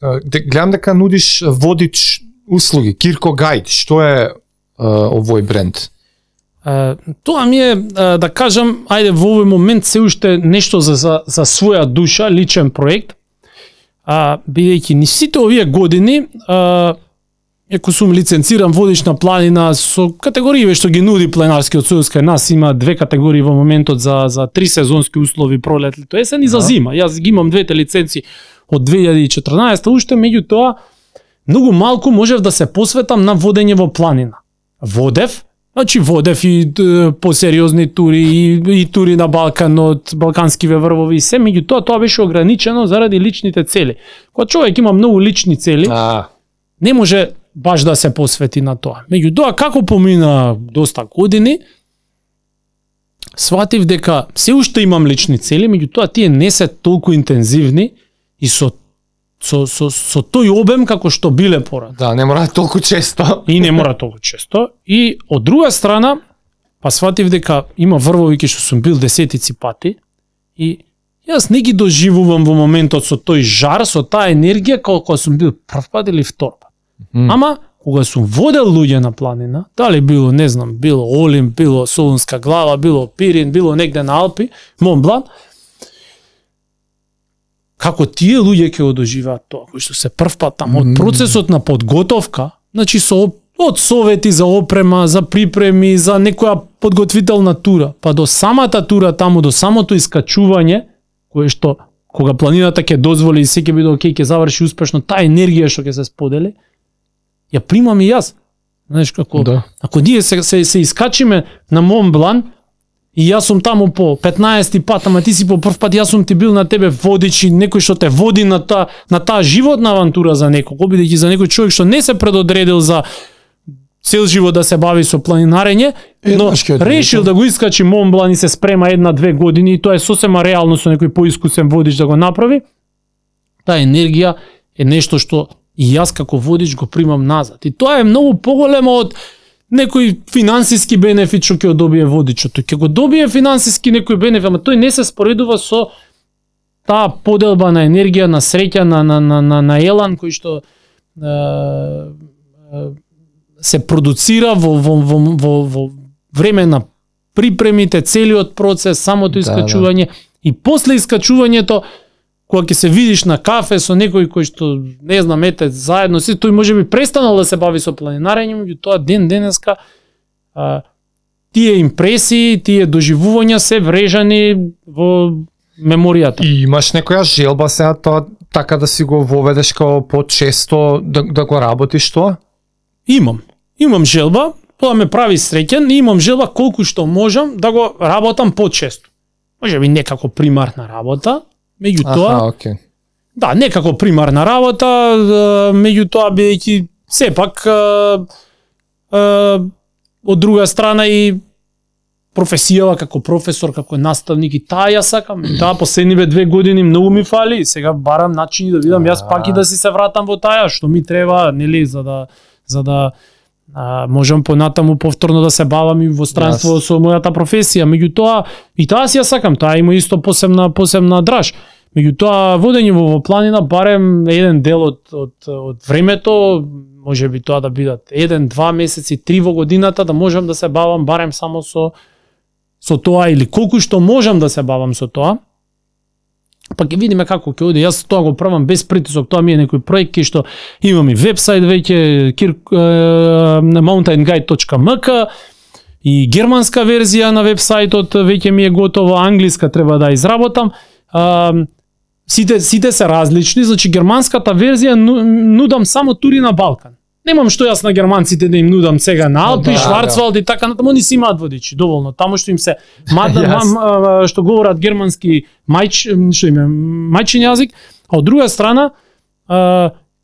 а, де, гледам дека нудиш водич услуги, Кирко Гајд, што е а, овој бренд? Е, Тоа ми е, е, да кажам, ајде во овој момент се уште нешто за, за, за своја душа, личен проект, а, бидејќи ни сите овие години, а, Еко сум лиценциран водич на планина со категории што ги нуди Планинарскиот сојуз, кај нас има две категории во моментот за за три сезонски услови пролет, лето, есен и за зима. Јас ги имам двете лиценци од две илјади и четрнаесета уште, меѓутоа многу малку можев да се посветам на водење во планина. Водев, значи водев и д, посериозни тури и, и тури на Балканот, балканскиве врвови и се, меѓутоа тоа беше ограничено заради личните цели. Кога човек има многу лични цели, А, не може баш да се посвети на тоа. Меѓутоа, како помина доста години, сватив дека се уште имам лични цели, меѓутоа тие не се толку интензивни и со со со, со тој обем како што биле порад. да, не мора толку често. И не мора толку често. И од друга страна, па сватив дека има врвови ки што сум бил десетици пати и јас не ги доживувам во моментот со тој жар, со таа енергија како кога сум бил прв пат или втор пат. Мм. Ама кога сум водел луѓе на планина, дали било, не знам, било Олимп, било Солунска глава, било Пирин, било негде на Алпи, Монблан, како тие луѓе ќе го доживеат тоа, кои што се прв пат таму, од процесот на подготовка, значи со од совети за опрема, за припреми, за некоја подготвителна тура, па до самата тура таму, до самото искачување, кое што кога планината ќе дозволи и се ќе биде окей, ќе заврши успешно, таа енергија што ќе се сподели, ја примам и јас. Знаеш како, Да. ако ние се, се, се искачиме на Мон Блан, и јас сум таму по петнаесети пат, ама ти си по прв пат, јас сум ти бил на тебе водич и некој што те води на таа на таа животна авантура за некој, бидејќи за некој човек што не се предодредил за цел живот да се бави со планинарење, но Еднаш ќе решил да го искачи Мон Блан и се спрема една-две години и тоа е сосема реално со некој поискусен водич да го направи. Таа енергија е нешто што и јас како водич го примам назад. И тоа е многу поголемо од некој финансиски бенефит што ќе го добие водичот. Тој ќе го добие финансиски некој бенефит, ама тој не се споредува со таа поделба на енергија, на среќа, на на на на, на елан кој што е, е, се продуцира во во во во, во време на припремите, целиот процес, самото искачување, да, да. И после искачувањето, кога ќе се видиш на кафе со некој кој што не знам, ете заедно си, тој можеби престанал да се бави со планинарење, меѓутоа ден денеска а, тие импресии, тие доживувања се врежани во меморијата. И имаш некоја желба сега тоа така да си го воведеш као почесто да, да го работиш тоа? Имам. Имам желба, тоа ме прави среќен и имам желба колку што можам да го работам почесто. Можеби некако примарна работа, меѓутоа, Аха, окей. да, некако примарна работа, меѓутоа бидејќи сепак од друга страна и професијава како професор, како наставник и таа ја сакам. Таа последниве две години многу ми фали и сега барам начини да видам јас пак и да си се вратам во таа што ми треба, нели, за да за да а, можам понатаму повторно да се бавам и во странство yes. со мојата професија. Меѓутоа и таа си ја сакам, таа има исто посебна посебна драж. Меѓутоа водење во, во планина барем еден дел од од од времето, можеби тоа да бидат еден, два месеци, три во годината, да можам да се бавам барем само со со тоа или колку што можам да се бавам со тоа. Па ќе видиме како ќе оди. Јас тоа го правам без притисок. Тоа ми е некој проект кај што имам и вебсајт веќе mountain guide точка m k и германска верзија на вебсајтот веќе ми е готова, англиска треба да изработам. А, сите сите се различни, значи германската верзија нудам само тури на Балкан. Немам што јас на германците да им нудам сега на Алпи, да, Шварцвалд и така натаму, они си имаат водичи доволно. Таму што им се мада, мам, што говорат германски мајч, што им е мајчин јазик, а од друга страна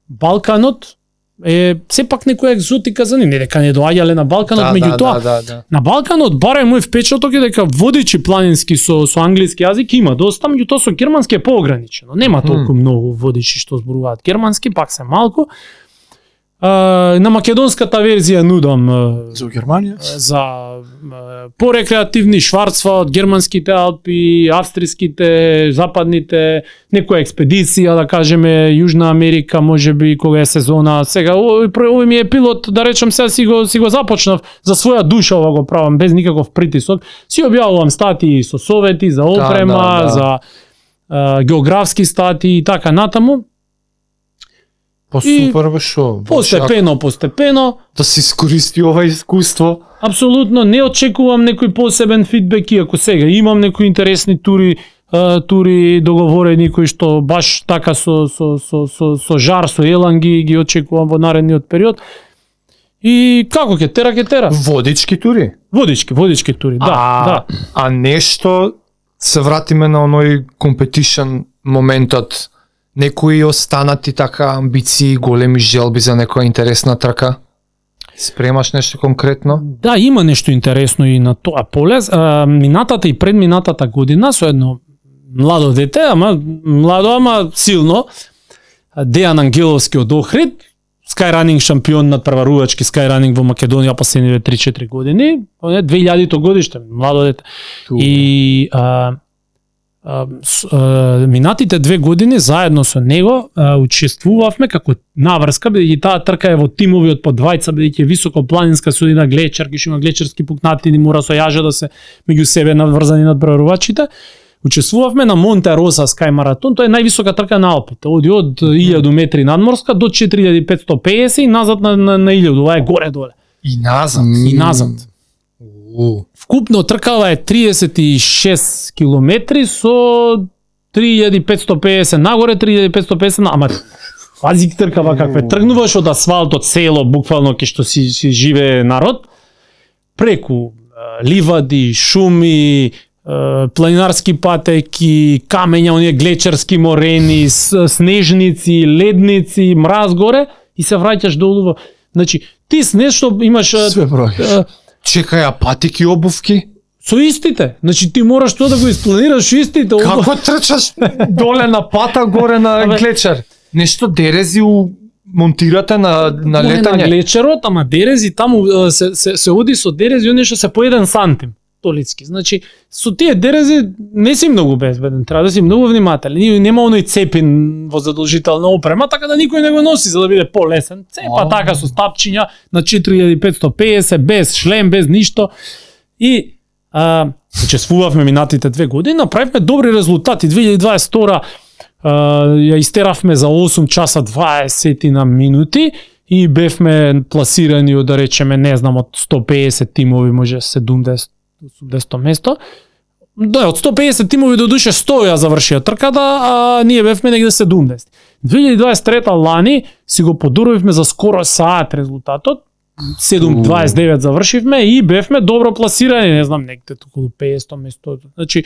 Балканот е сепак некоја екзотика за нив, не дека не доаѓале на Балканот, да, меѓутоа да, да, да. на Балканот барем мој впечаток е дека водичи планински со со англиски јазик има доста, меѓутоа со германски е поограничено. Нема толку hmm. многу водичи што зборуваат германски, пак се малку. Uh, на македонската верзија нудам uh, за Германија, за uh, порекреативни Шварцвалд, германските Алпи, австриските, западните, некоја експедиција, да кажеме Јужна Америка, можеби кога е сезона. Сега овој овој ми е пилот, да речем, сега си го си го започнав за своја душа, ова го правам без никаков притисок. Си објавувам статии со совети за опрема, да, да, да. за uh, географски статии и така натаму. По супер бе шо. Постепено, постепено. Да се искористи ова искуство. Апсолутно не очекувам некој посебен фидбек, иако сега имам некои интересни тури, uh, тури договорени кои што баш така со со со со, со жар, со елан ги, ги очекувам во наредниот период. И како ќе тера, ќе тера. Водички тури. Водички, водички тури, да, а, да. А нешто се вратиме на оној компетишн моментот. Некои останати така амбиции, големи желби за некоја интересна трка? Спремаш нешто конкретно? Да, има нешто интересно и на тоа поле. Минатата и предминатата година со едно младо дете, ама младо, ама силно, Дејан Ангеловски од Охрид, скајранинг шампион на прварувачки скајранинг во Македонија последниве три-четири години, две илјадито годиште, младо дете. Туба. И а, минатите две години заедно со него учествувавме како наврска, бидејќи таа трка е во тимови од по двајца, бидејќи е високопланинска судина глечарки, што има глечарски пукнатини, мора со јажа да се меѓу себе наврзани над преварувачите. учествувавме на Монте Роса Sky Marathon, тоа е највисока трка на Алпите, оди од илјаду метри надморска до четири илјади и петстотини и песет и назад на, на, на илјаду, ова е горе доле. И назад. И назад. Вкупно тркава е триесет и шест километри со три илјади петстотини и песет нагоре, три илјади петстотини и песет на... Ама, пази тркава каква тргнуваш од асфалтот село, буквално ке што си, си живее народ, преку ливади, шуми, планинарски патеки, камења, оние глечерски морени, снежници, ледници, мраз горе и се враќаш долу. Значи, ти с нешто имаш... Све бројаш. Чекај, а патики обувки? Со истите. Значи ти мораш тоа да го испланираш истите. Како трчаш доле на пата, горе на глечер? Нешто дерези у монтирате на на летање. На глечерот, ама дерези таму се се се оди со дерези, оние што се по еден сантим. Толицки. Значи, со тие дерези не си многу безбеден, треба да си многу внимателен. Нема оној цепин во задолжителна опрема, така да никој не го носи за да биде полесен. Цепа oh. така со стапчиња на четири илјади петстотини и песет, без шлем, без ништо. И а, учествувавме минатите две години, направивме добри резултати. две илјади дваесет и втора ја истеравме за осум часа дваесет на минути и бевме пласирани од, да речеме, не знам, од сто и песет тимови, може седумдесет осумдесет место. Да, од сто и песет тимови до душе сто ја завршија трката, а ние бевме негде седумдесет. две илјади дваесет и трета лани си го подуровивме за скоро саат резултатот. седум дваесет и девет завршивме и бевме добро пласирани, не знам, негде околу петстотини место. Значи,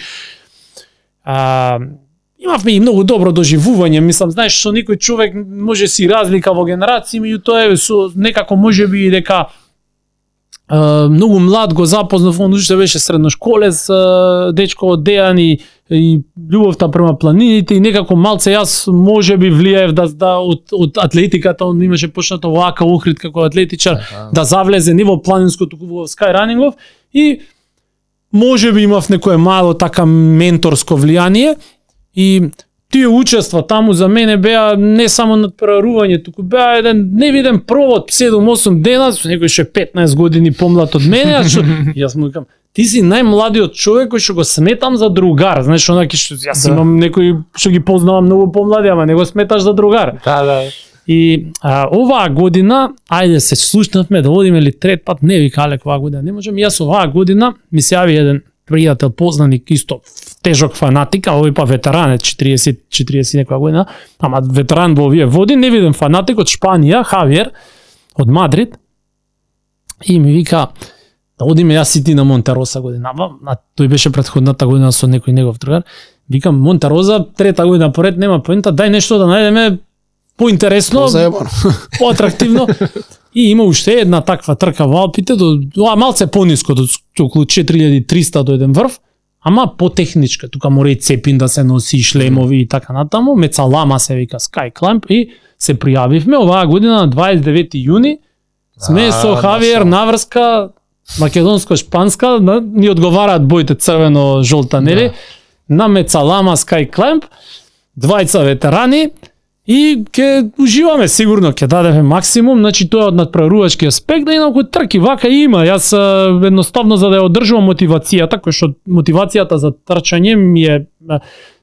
а, имавме и многу добро доживување, мислам, знаеш, со некој човек може си разлика во генерации, меѓутоа е со некако можеби и дека Uh, многу млад го запознав, он уште беше средношколец, uh, дечко од Дејан и, и љубовта према планините и некако малце јас можеби влијаев да, да од, од атлетиката, он имаше почнато во АК Охрид како атлетичар, ага. да завлезе не во планинско, туку во скайранингов и можеби имав некое мало така менторско влијание и тие учества таму за мене беа не само надпреварување, туку беа еден невиден провод седум-осум дена, со некој ше петнаесет години помлад од мене, а што јас му викам, ти си најмладиот човек кој што го сметам за другар, знаеш, онаки што јас да. имам некои што ги познавам многу помлади, ама не го сметаш за другар. Да, да. И а, оваа година, ајде се слушнавме да одиме ли трет пат, не вика Алек, оваа година не можам, јас оваа година ми се јави еден пријател, познаник, исто тежок фанатик, а овој па ветеран, четириесет четириесет некоја година, ама ветеран во овие води, невиден фанатик од Шпанија, Хавиер, од Мадрид, и ми вика, да одиме јас и ти на Монте Роса година, а тој беше претходната година со некој негов другар, викам, Монте Роса, трета година поред, нема поента, дај нешто да најдеме поинтересно, поатрактивно. И има уште една таква трка во Алпите, до, до малце пониско, до околу четири илјади и триста до еден врв, ама потехничка, тука мора и цепин да се носи, шлемови и така натаму, Мецалама се вика Sky Climb и се пријавивме оваа година на дваесет и девети јуни, сме со Хавиер наврска, македонско-шпанска, ни одговараат боите црвено-жолта, нели, на Мецалама Sky Climb, двајца ветерани, и ќе уживаме сигурно, ќе дадеме максимум, значи тоа од надпреварувачки аспект, да инаку трки вака има. Јас едноставно за да ја одржувам мотивацијата, кој што мотивацијата за трчање ми е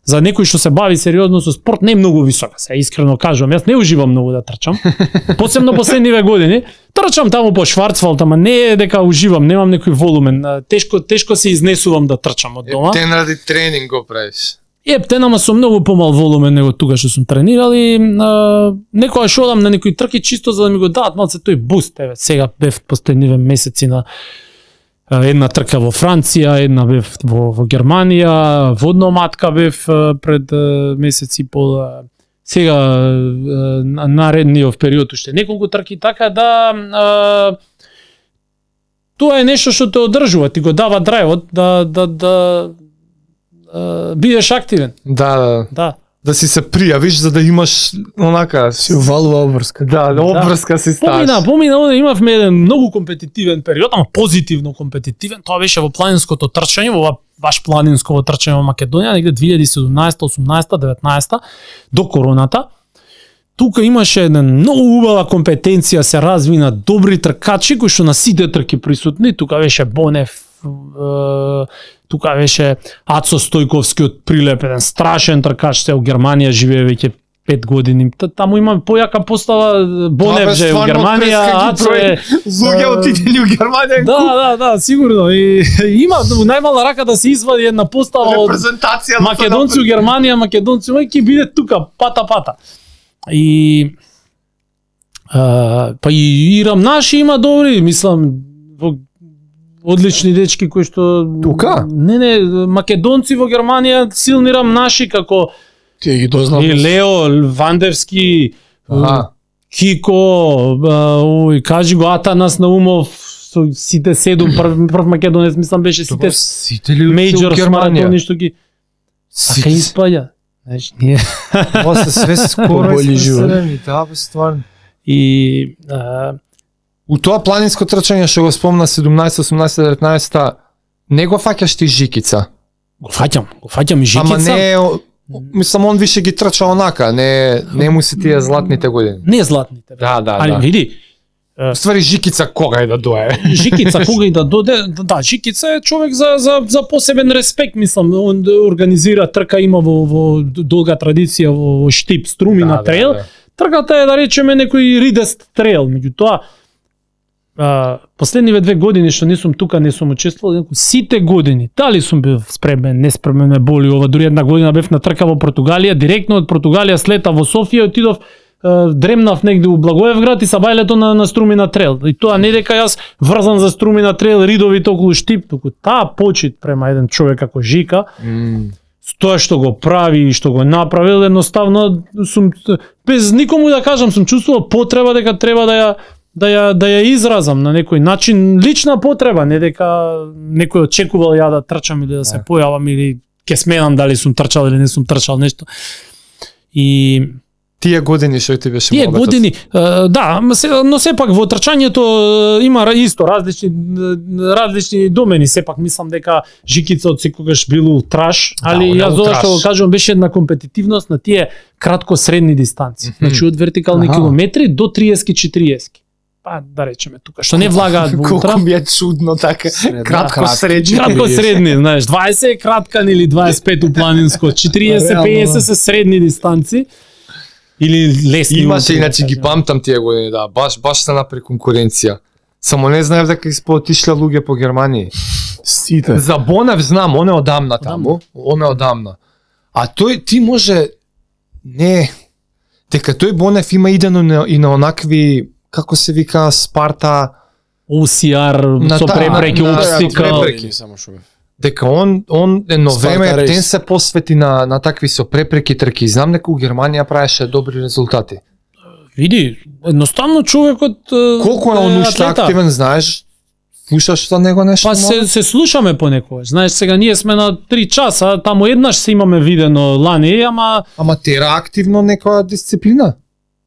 за некој што се бави сериозно со спорт не е многу висока, се искрено кажувам. Јас не уживам многу да трчам. Посебно последниве години. Трчам таму по Шварцвалд, ама не е дека уживам, немам некој волумен. Тешко тешко се изнесувам да трчам од дома. Ептен ради тренинг го правиш. Ептен, ама со многу помал волумен него тука што сум тренирал и а, некоја што одам на некои трки чисто за да ми го дадат малце тој буст. Еве, сега бев последниве месеци на а, една трка во Франција, една бев во, во Германија, водно матка бев а, пред а, месеци и пол. А, сега а, наредниот период уште неколку трки, така да а, тоа е нешто што те одржува, ти го дава драйвот да да да Uh, бидеш активен. Да, да. Да. Да си се пријавиш за да имаш онака си увалува обврска. Да, да обврска да. Си ставиш. Помина, помина, имавме еден многу компетитивен период, ама позитивно компетитивен. Тоа беше во планинското трчање, во баш планинско трчање во Македонија, негде две илјади и седумнаесета, осумнаесета, деветнаесета до короната. Тука имаше една многу убава компетенција, се развина добри тркачи кои што на сите трки присутни. Тука беше Бонев, е, тука беше Ацо Стојковски од Прилеп, еден страшен тркач, се у Германија живее веќе пет години. Таму има појака постава, Бонев же у Германија, Ацо е... Луѓе отидени у Германија. Да, да, да, сигурно. И, има најмала рака да се извади една постава од репрезентација македонци у Германија, македонци, ќе биде тука, пата-пата. И... А, па и Ирам наши има добри, мислам, во одлични дечки кои што... Тука? Не, не, македонци во Германија силни Ирам наши, како... Тие ги дознав. И Лео, Вандевски, Ага. Кико, ој, кажи го Атанас Наумов, со сите седум, прв, прв македонец, мислам беше сите Сите ли мејџор Германија? ништо ги... А кај испаѓа? Знаеш, ние... Ова се све скоро Боли живот. испресени, да, бе, стварно. И... А, У тоа планинско трчање што го спомна седумнаесет, осумнаесет, деветнаесет, не го фаќаш ти Жикица. го фаќам, го фаќам и Жикица. Ама не, о- мислам, он више ги трча онака, не, не му се тие златните години. Не златните. бе. Да, да, Али да. види, Ствари Жикица кога е да дое. Жикица кога и да доде, да, Жикица е човек за за за посебен респект, мислам, он организира трка, има во во долга традиција во, во Штип, Струмина трейл. Трката е, да речеме, некој ридест трейл, меѓутоа а, последниве две години што не сум тука, не сум учествувал, сите години, дали сум бил спремен, не спремен, ме боли ова, дури една година бев на трка во Португалија, директно од Португалија слета во Софија, отидов, е, дремнав негде у Благоевград и сабајлето на, на Струмина трейл. И тоа не дека јас врзан за Струмина трейл, ридовите околу Штип, туку таа почит према еден човек како Жика, Mm. тоа што го прави и што го направил, едноставно сум без никому да кажам, сум чувствувал потреба дека треба да ја да ја да ја изразам на некој начин, лична потреба, не дека некој очекувал ја да трчам или да се појавам или ќе сменам дали сум трчал или не сум трчал нешто. И Тие години што ти беше тие мобетот? години, е, да, ма се- но сепак во трчањето е, има ра- исто различни е, различни домени, сепак мислам дека Жикица од секогаш бил ултраш, али он е јас зошто ултраш. го кажувам беше една компетитивност на тие кратко средни дистанци. Мгм. Значи од вертикални Аха. километри до триесет четириесет. Па да речеме тука, што не влагаат во ултра. Колку ми е чудно така. Средна, Кратко кратко. средни. Кратко средни, знаеш, дваесет е краткан или дваесет и пет у планинско, четириесет Реално, пеесет да. се средни дистанци или лесни. Имаше, ултри, да иначе ги кажеме. памтам тие години, да, баш баш се напри конкуренција. Само не знаев дека испоотишле луѓе по Германија. Сите. За Бонев знам, он е одамна таму, он е одамна. А тој ти може не дека тој Бонев има идено на, и на онакви како се вика Спарта, о си ар На со таа- препреки, на- на- обстикал. препреки. Само што бев. дека он он едно Спарта време рейс. ден се посвети на на такви со препреки трки. Знам дека у Германија правеше добри резултати. Види, едноставно човекот е, Колку е он уште атлета. активен, знаеш? Слушаш за него нешто? Па се, се слушаме понекогаш. Знаеш, сега ние сме на три часа, таму еднаш се имаме видено лани, ама Ама тера активно некоја дисциплина.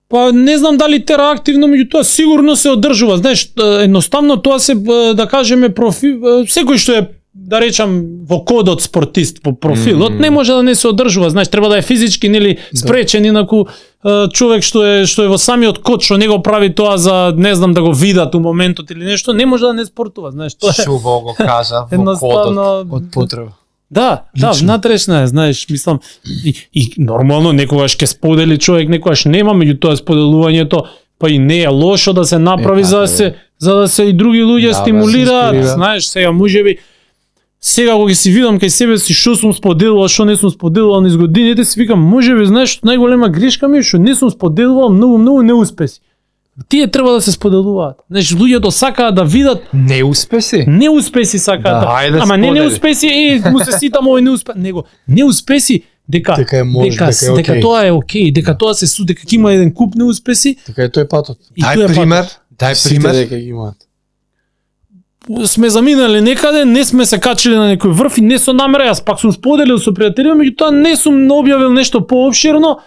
па не знам дали тера активно, меѓутоа сигурно се одржува. Знаеш, е, едноставно тоа се, е, да кажеме, профил, е, секој што е, да речам, во кодот спортист по профилот, Мм. не може да не се одржува. Знаеш, треба да е физички нели спречен, инаку е, човек што е што е во самиот код, што не го прави тоа за не знам да го видат у моментот или нешто, не може да не спортува, знаеш, тоа е Шубо го кажа во кодот. едноставно. Од потреба. Да, да, внатрешна е, знаеш, мислам, и, и нормално некогаш ќе сподели човек, некогаш нема, меѓутоа споделувањето па и не е лошо да се направи Е, за да така се за да се и други луѓе Да, бе, стимулираат, се инспирира. знаеш, сега можеби сега кога си видам кај себе си што сум споделувал, што не сум споделувал низ годините, си викам, можеби знаеш, најголема грешка ми е што не сум споделувал многу многу неуспеси. Тие треба да се споделуваат. Знаеш, луѓето сакаат да видат Не успеси? неуспеси сакаат. Да, ајде Ама не сподели. неуспеси, е, му се ситам овој неуспех, него неуспеси дека Дека е може, дека, дека е дека окей. тоа е окей, дека тоа се су, дека ќе има еден куп неуспеси Така е тој патот. и тоа Дај е пример, дај Сите пример. дека ги имаат. пат. Сме заминали некаде, не сме се качили на некој врв и не со намера, јас пак сум споделил со пријателите, меѓутоа не сум објавил нешто поопширно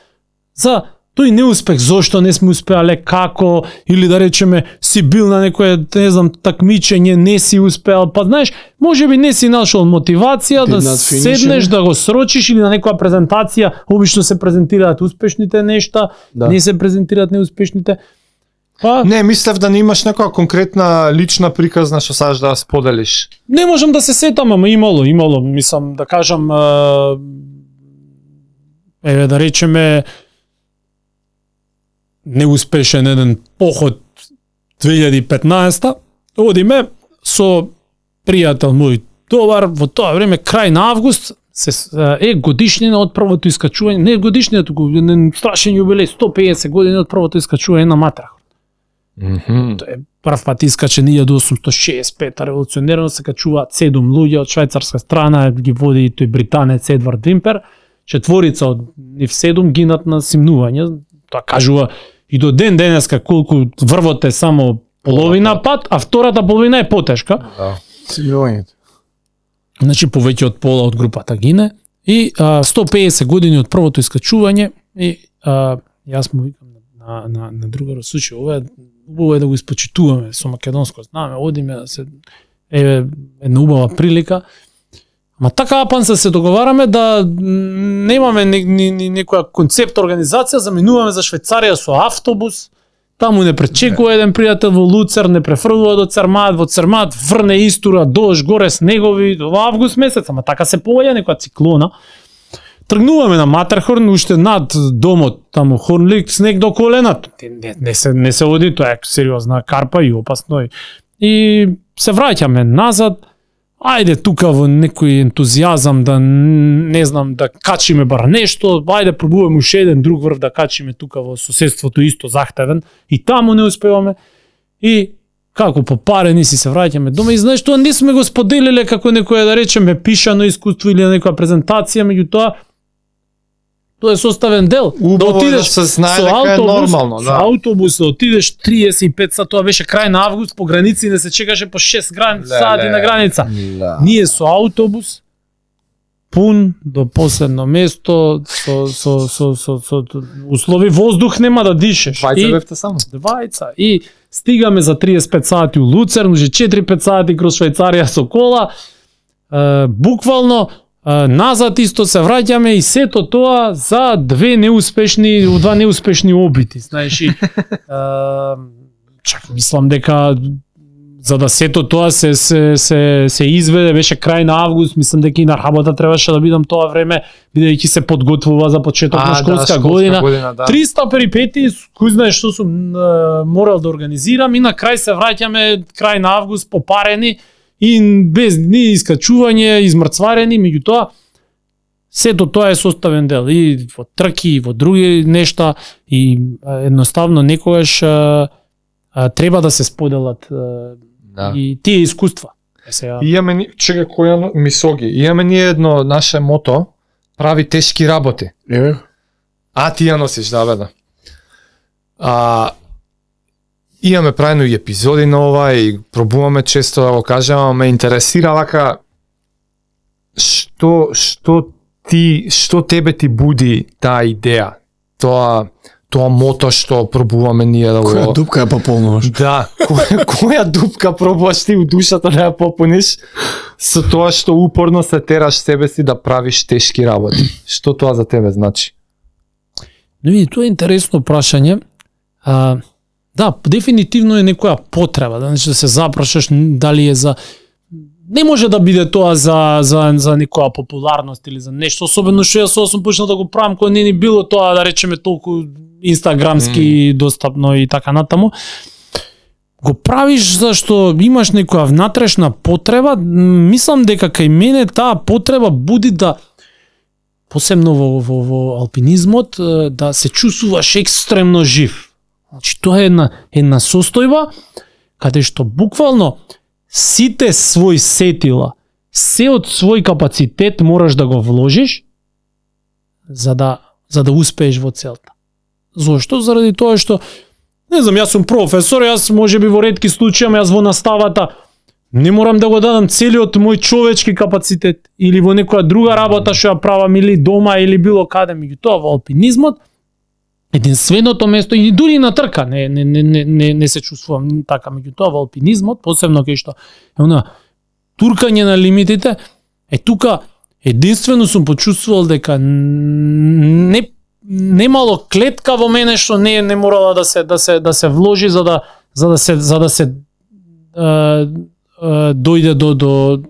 за тој неуспех, зошто не сме успеале, како, или да речеме си бил на некое, не знам, такмичење, не си успеал, па знаеш, можеби не си нашол мотивација да Did not finish седнеш, it. да го срочиш или на некоја презентација, обично се презентираат успешните нешта, Да. не се презентираат неуспешните. Па, Не, мислев да не имаш некоја конкретна лична приказна што сакаш да ја споделиш. не можам да се сетам, ама имало, имало, мислам да кажам, а, еве да речеме неуспешен еден поход две илјади и петнаесета, одиме со пријател мој добар, во тоа време крај на август се е годишнина од првото искачување, не годишнина, туку еден страшен јубилеј, сто и педесет години од првото искачување на Матерхорн. Мгм. Тоа е прв пат искачен илјада осумстотини шеесет и пета, револуционерно се качуваат седум луѓе од швајцарска страна, ги води и тој британец Едвард Вимпер, четворица од нив седум гинат на симнување, тоа кажува и до ден денеска колку врвот е само половина пат, а втората половина е потешка. Да. Симилувањето. Значи повеќе од пола од групата гине и а, сто и педесет години од првото искачување и а, јас му викам на на на другарот, слушај, ова е убаво е да го испочитуваме со македонско знаме, одиме да се е една убава прилика. Ама така апан се се договараме да немаме ни, ни, ни, некоја концепт организација, заминуваме за Швајцарија со автобус. Таму не пречекува еден пријател во Луцер, не префрлува до Цермат, во Цермат врне истура, дож, горе снегови, во август месец, ама така се појаја некоја циклона. Тргнуваме на Матерхорн, уште над домот, таму Хорнлик, снег до колената. Не, не, се, не се оди, тоа е сериозна карпа и опасно. И се враќаме назад, ајде тука во некој ентузијазам да не знам да качиме бар нешто, ајде пробуваме уште еден друг врв да качиме тука во соседството исто захтевен и таму не успеваме. И како попарени си се враќаме дома и знаеш тоа не сме го споделиле како некоја да речеме пишано искуство или некоја презентација, меѓутоа тоа е составен дел. Убаво е да се знае дека е нормално, со да. автобус да отидеш триесет и пет сати, тоа беше крај на август, по граници не се чекаше по шест грани, Ле, сати ле. на граница. Да. Ние со автобус пун до последно место со со со со, со, со услови воздух нема да дишеш. Двајца И- бевте само. Двајца. И стигаме за триесет и пет сати у Луцерн, уже четири до пет сати кроз Швајцарија со кола. Е, буквално е, назад исто се враќаме и сето тоа за две неуспешни, два неуспешни обити, знаеш и е, чак мислам дека за да сето тоа се се се се изведе беше крај на август, мислам дека и на работа требаше да бидам тоа време бидејќи се подготвува за почеток на школска година. година да. триста перипети, кој знае што сум е, морал да организирам и на крај се враќаме крај на август попарени и без ни искачување, измрцварени, меѓутоа сето тоа е составен дел и во трки и во други нешта и е, едноставно некогаш е, е, треба да се споделат е, Да. и тие искуства. Е, сега, Имаме ни, чека која мисоги. Имаме ни едно наше мото, прави тешки работи. Еве. А ти ја носиш, да бе да. А, имаме правено и епизоди на ова и пробуваме често да го кажем, ама ме интересира вака што што ти што тебе ти буди таа идеја, тоа тоа мото што пробуваме ние да Која го дупка ја пополнуваш? Да, која, која дупка пробуваш ти у душата да ја попуниш со тоа што упорно се тераш себе си да правиш тешки работи. Што тоа за тебе значи? Но види, тоа е интересно прашање. А, да, дефинитивно е некоја потреба, да, значи да се запрашаш дали е за не може да биде тоа за за за некоја популарност или за нешто, особено што јас сум почнал да го правам кога не ни било тоа да речеме толку инстаграмски mm. достапно и така натаму. Го правиш зашто имаш некоја внатрешна потреба, мислам дека кај мене таа потреба буди да посебно во, во, во алпинизмот да се чувствуваш екстремно жив. Значи тоа е една една состојба каде што буквално сите свој сетила, се од свој капацитет мораш да го вложиш за да за да успееш во целта. Зошто? Заради тоа што не знам, јас сум професор, јас можеби во ретки случаи, ама јас во наставата не морам да го дадам целиот мој човечки капацитет или во некоја друга работа што ја правам или дома или било каде, меѓутоа во алпинизмот единственото место и дури на трка не не не не не, не се чувствувам така, меѓутоа во алпинизмот, посебно кај што е она туркање на лимитите, е тука единствено сум почувствувал дека не немало клетка во мене што не не морала да се да се да се вложи за да за да се за да се е, е, дојде до до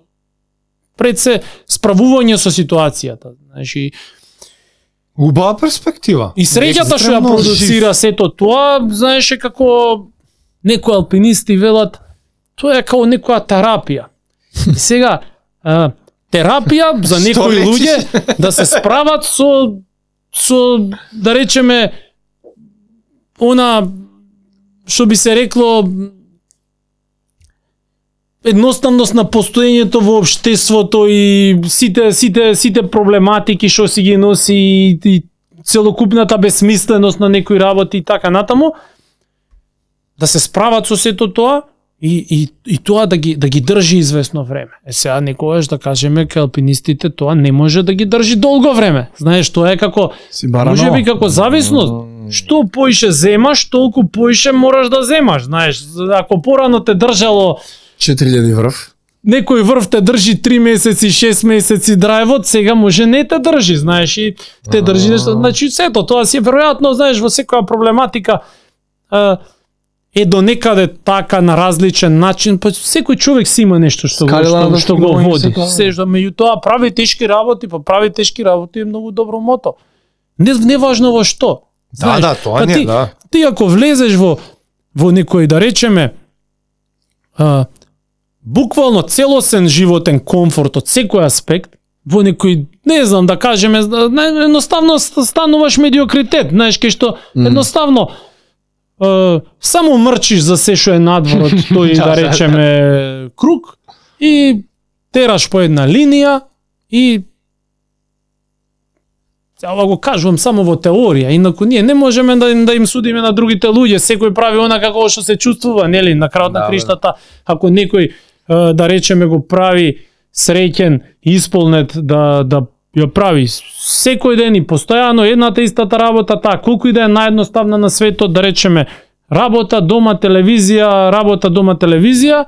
пред се справување со ситуацијата. Значи убава перспектива. и среќата што ја продуцира сето тоа, знаеше како некои алпинисти велат, тоа е како некоја терапија. И сега е, терапија за некои луѓе да се справат со со да речеме она што би се рекло едноставност на постоењето во општеството и сите сите сите проблематики што си ги носи и, и целокупната бесмисленост на некои работи и така натаму, да се справат со сето тоа и и и тоа да ги да ги држи известно време. Е сега некогаш да кажеме кај алпинистите тоа не може да ги држи долго време. Знаеш, тоа е како може би како зависност. Што поише земаш, толку поише мораш да земаш, знаеш. Ако порано те држало четири илјади врв. Некој врв те држи три месеци, шест месеци драйвот, сега може не те држи, знаеш, и те држи нешто. Значи сето тоа си веројатно, знаеш, во секоја проблематика е до некаде така на различен начин, па секој човек си има нешто што го што, што го води. Се што меѓутоа прави тешки работи, па прави тешки работи е многу добро мото. Не не важно во што. Да, да, тоа не, ти, да. Ти ако влезеш во во некој да речеме а, буквално целосен животен комфорт од секој аспект, во некој, не знам, да кажеме, едноставно стануваш медиокритет, знаеш, кај што едноставно е, само мрчиш за се што е надвор од тој, да речеме, круг и тераш по една линија и ова го кажувам само во теорија, инаку ние не можеме да, да им судиме на другите луѓе, секој прави она како што се чувствува, нели, на крајот на криштата, ако некој да речеме го прави среќен, исполнет да да ја прави секој ден и постојано едната истата работа, таа колку и да е наједноставна на светот, да речеме работа, дома, телевизија, работа, дома, телевизија,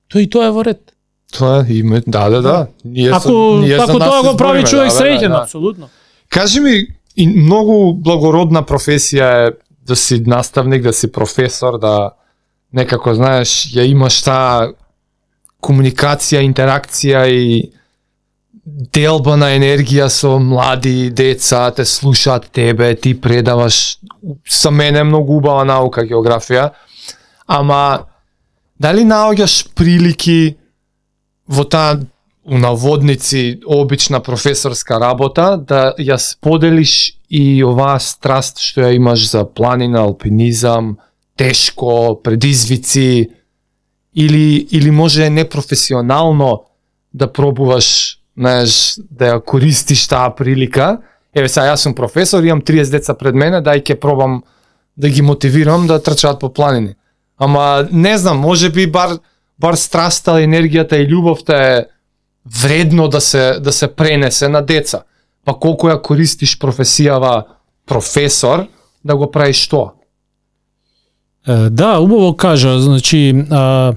тоа и тоа е во ред. Тоа е име, да, да, да. Ние ако са, ние ако тоа го прави човек да, среќен, да, да. апсолутно. Кажи ми, и многу благородна професија е да си наставник, да си професор, да некако, знаеш, ја имаш таа комуникација, интеракција и делба на енергија со млади деца, те слушаат тебе, ти предаваш. За мене е многу убава наука географија, ама дали наоѓаш прилики во таа у наводници обична професорска работа да ја споделиш и оваа страст што ја имаш за планина, алпинизам, тешко, предизвици, или или може непрофесионално да пробуваш, знаеш, да ја користиш таа прилика. Еве сега јас сум професор, имам триесет деца пред мене, дај ќе пробам да ги мотивирам да трчаат по планини. Ама не знам, може би бар бар страста, енергијата и љубовта е вредно да се да се пренесе на деца. Па колку ја користиш професијава професор да го правиш тоа? Да, убаво кажа, значи а,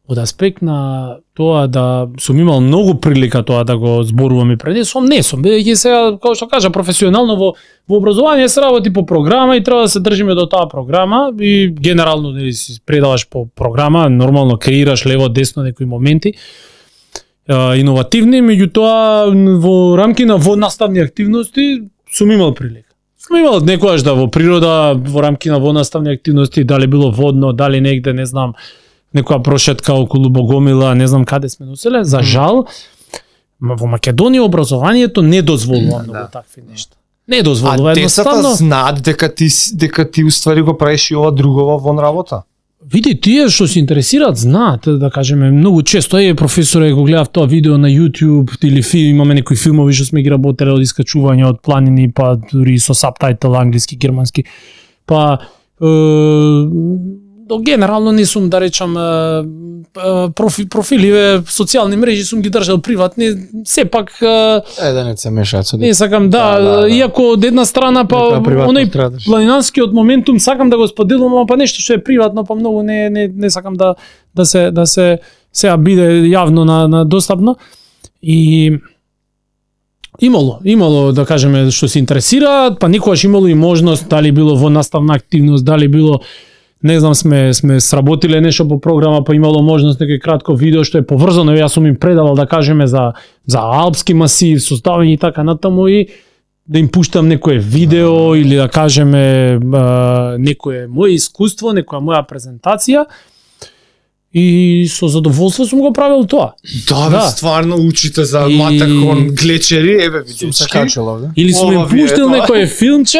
од аспект на тоа да сум имал многу прилика тоа да го зборувам и пред сум, не сум, бидејќи сега, како што кажа, професионално во, во образование се работи по програма и треба да се држиме до таа програма и генерално нели си предаваш по програма, нормално креираш лево десно некои моменти а, иновативни, меѓутоа во рамки на воднаставни активности сум имал прилика. Сум имал некојаш да во природа, во рамки на воднаставни активности, дали било водно, дали негде, не знам, некоја прошетка околу Богомила, не знам каде сме носеле, за жал, во Македонија образованието не дозволува многу да. такви нешта. Не дозволува, а едноставно. А децата знаат дека ти дека ти уствари го правиш и ова другова вон работа. Види, тие што се интересираат знаат, да кажеме, многу често е професоре го гледав тоа видео на YouTube или филм, имаме некои филмови што сме ги работеле од искачување од планини, па дури со сабтајтел англиски, германски. Па е, генерално не сум, да речам, профи, профиливе, социјални мрежи сум ги држал приватни, сепак е да не се мешаат со не сакам да, да, да, да. Иако од една страна па оној планинарскиот моментум сакам да го споделувам, па нешто што е приватно, па многу не не не сакам да да се да се сега биде јавно на на достапно и Имало, имало да кажеме што се интересираат, па никогаш имало и можност, дали било во наставна активност, дали било не знам сме сме сработиле нешто по програма, па имало можност некој кратко видео што е поврзано, јас сум им предавал да кажеме за за алпски масив, составање и така натаму и да им пуштам некое видео или да кажеме некое моје искуство, некоја моја презентација. И со задоволство сум го правил тоа. Да, бе, стварно учите за И- Матахон глечери, еве Сум се видечки. качил овде. Или сум им Ова ви е пуштил тоа. некое филмче,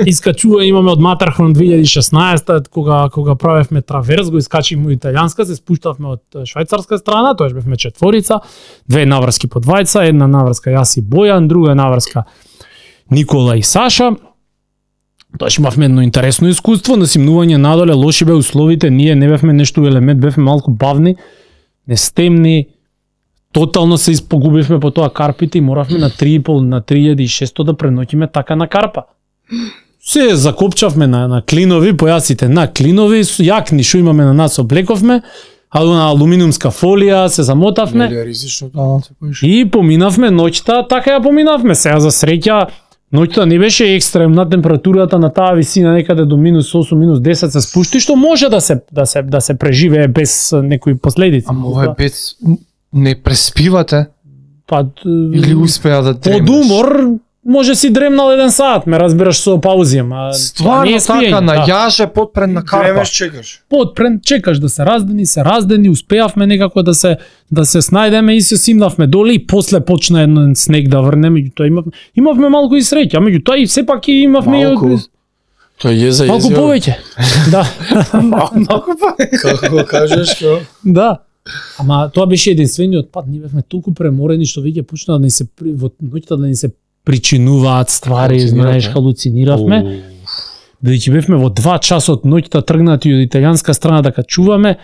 искачува имаме од Матархон две илјади и шеснаесета кога кога правевме траверс, го искачивме во италијанска, се спуштавме од швајцарска страна, тоаш бевме четворица, две наврски по двајца, една наврска јас и Бојан, друга наврска Никола и Саша. Тоаш имавме едно интересно искуство на симнување надоле, лоши бе условите, ние не бевме нешто елемент, бевме малку бавни, нестемни, тотално се испогубивме по тоа карпите и моравме на три и пол на три илјади и шесто да преноќиме така на карпа. Се закопчавме на, на клинови, појасите на клинови, со јакни што имаме на нас облековме, а на алуминиумска фолија се замотавме. Нели е ризично тоа, се поиш. И поминавме ноќта, така ја поминавме. Сега за среќа, ноќта не беше екстремна, температурата на таа висина некаде до минус осум, минус десет се спушти, што може да се да се да се преживее без некои последици. Ама ова е без не преспивате па или успеа да дремеш? под умор може си дремнал еден сат, ме разбираш со паузи, ама Стварно не е спиење, така, на да. јаже подпрен на карпа. Дремеш, чекаш. Подпрен, чекаш да се раздени, се раздени, успеавме некако да се да се снајдеме и се симнавме доле и после почна еден снег да врне, меѓутоа имавме имавме малку и среќа, меѓутоа и сепак и имавме Малку. и Тоа е за малку повеќе. Да. Малку па. Како го кажеш, ко? Да. Ама тоа беше единствениот пат, ние бевме толку преморени што веќе почна да ни се при- во ноќта да ни се причинуваат ствари, Халуцинирате? знаеш, халуциниравме. Бидејќи бевме во два часа од ноќта тргнати од италијанска страна да качуваме,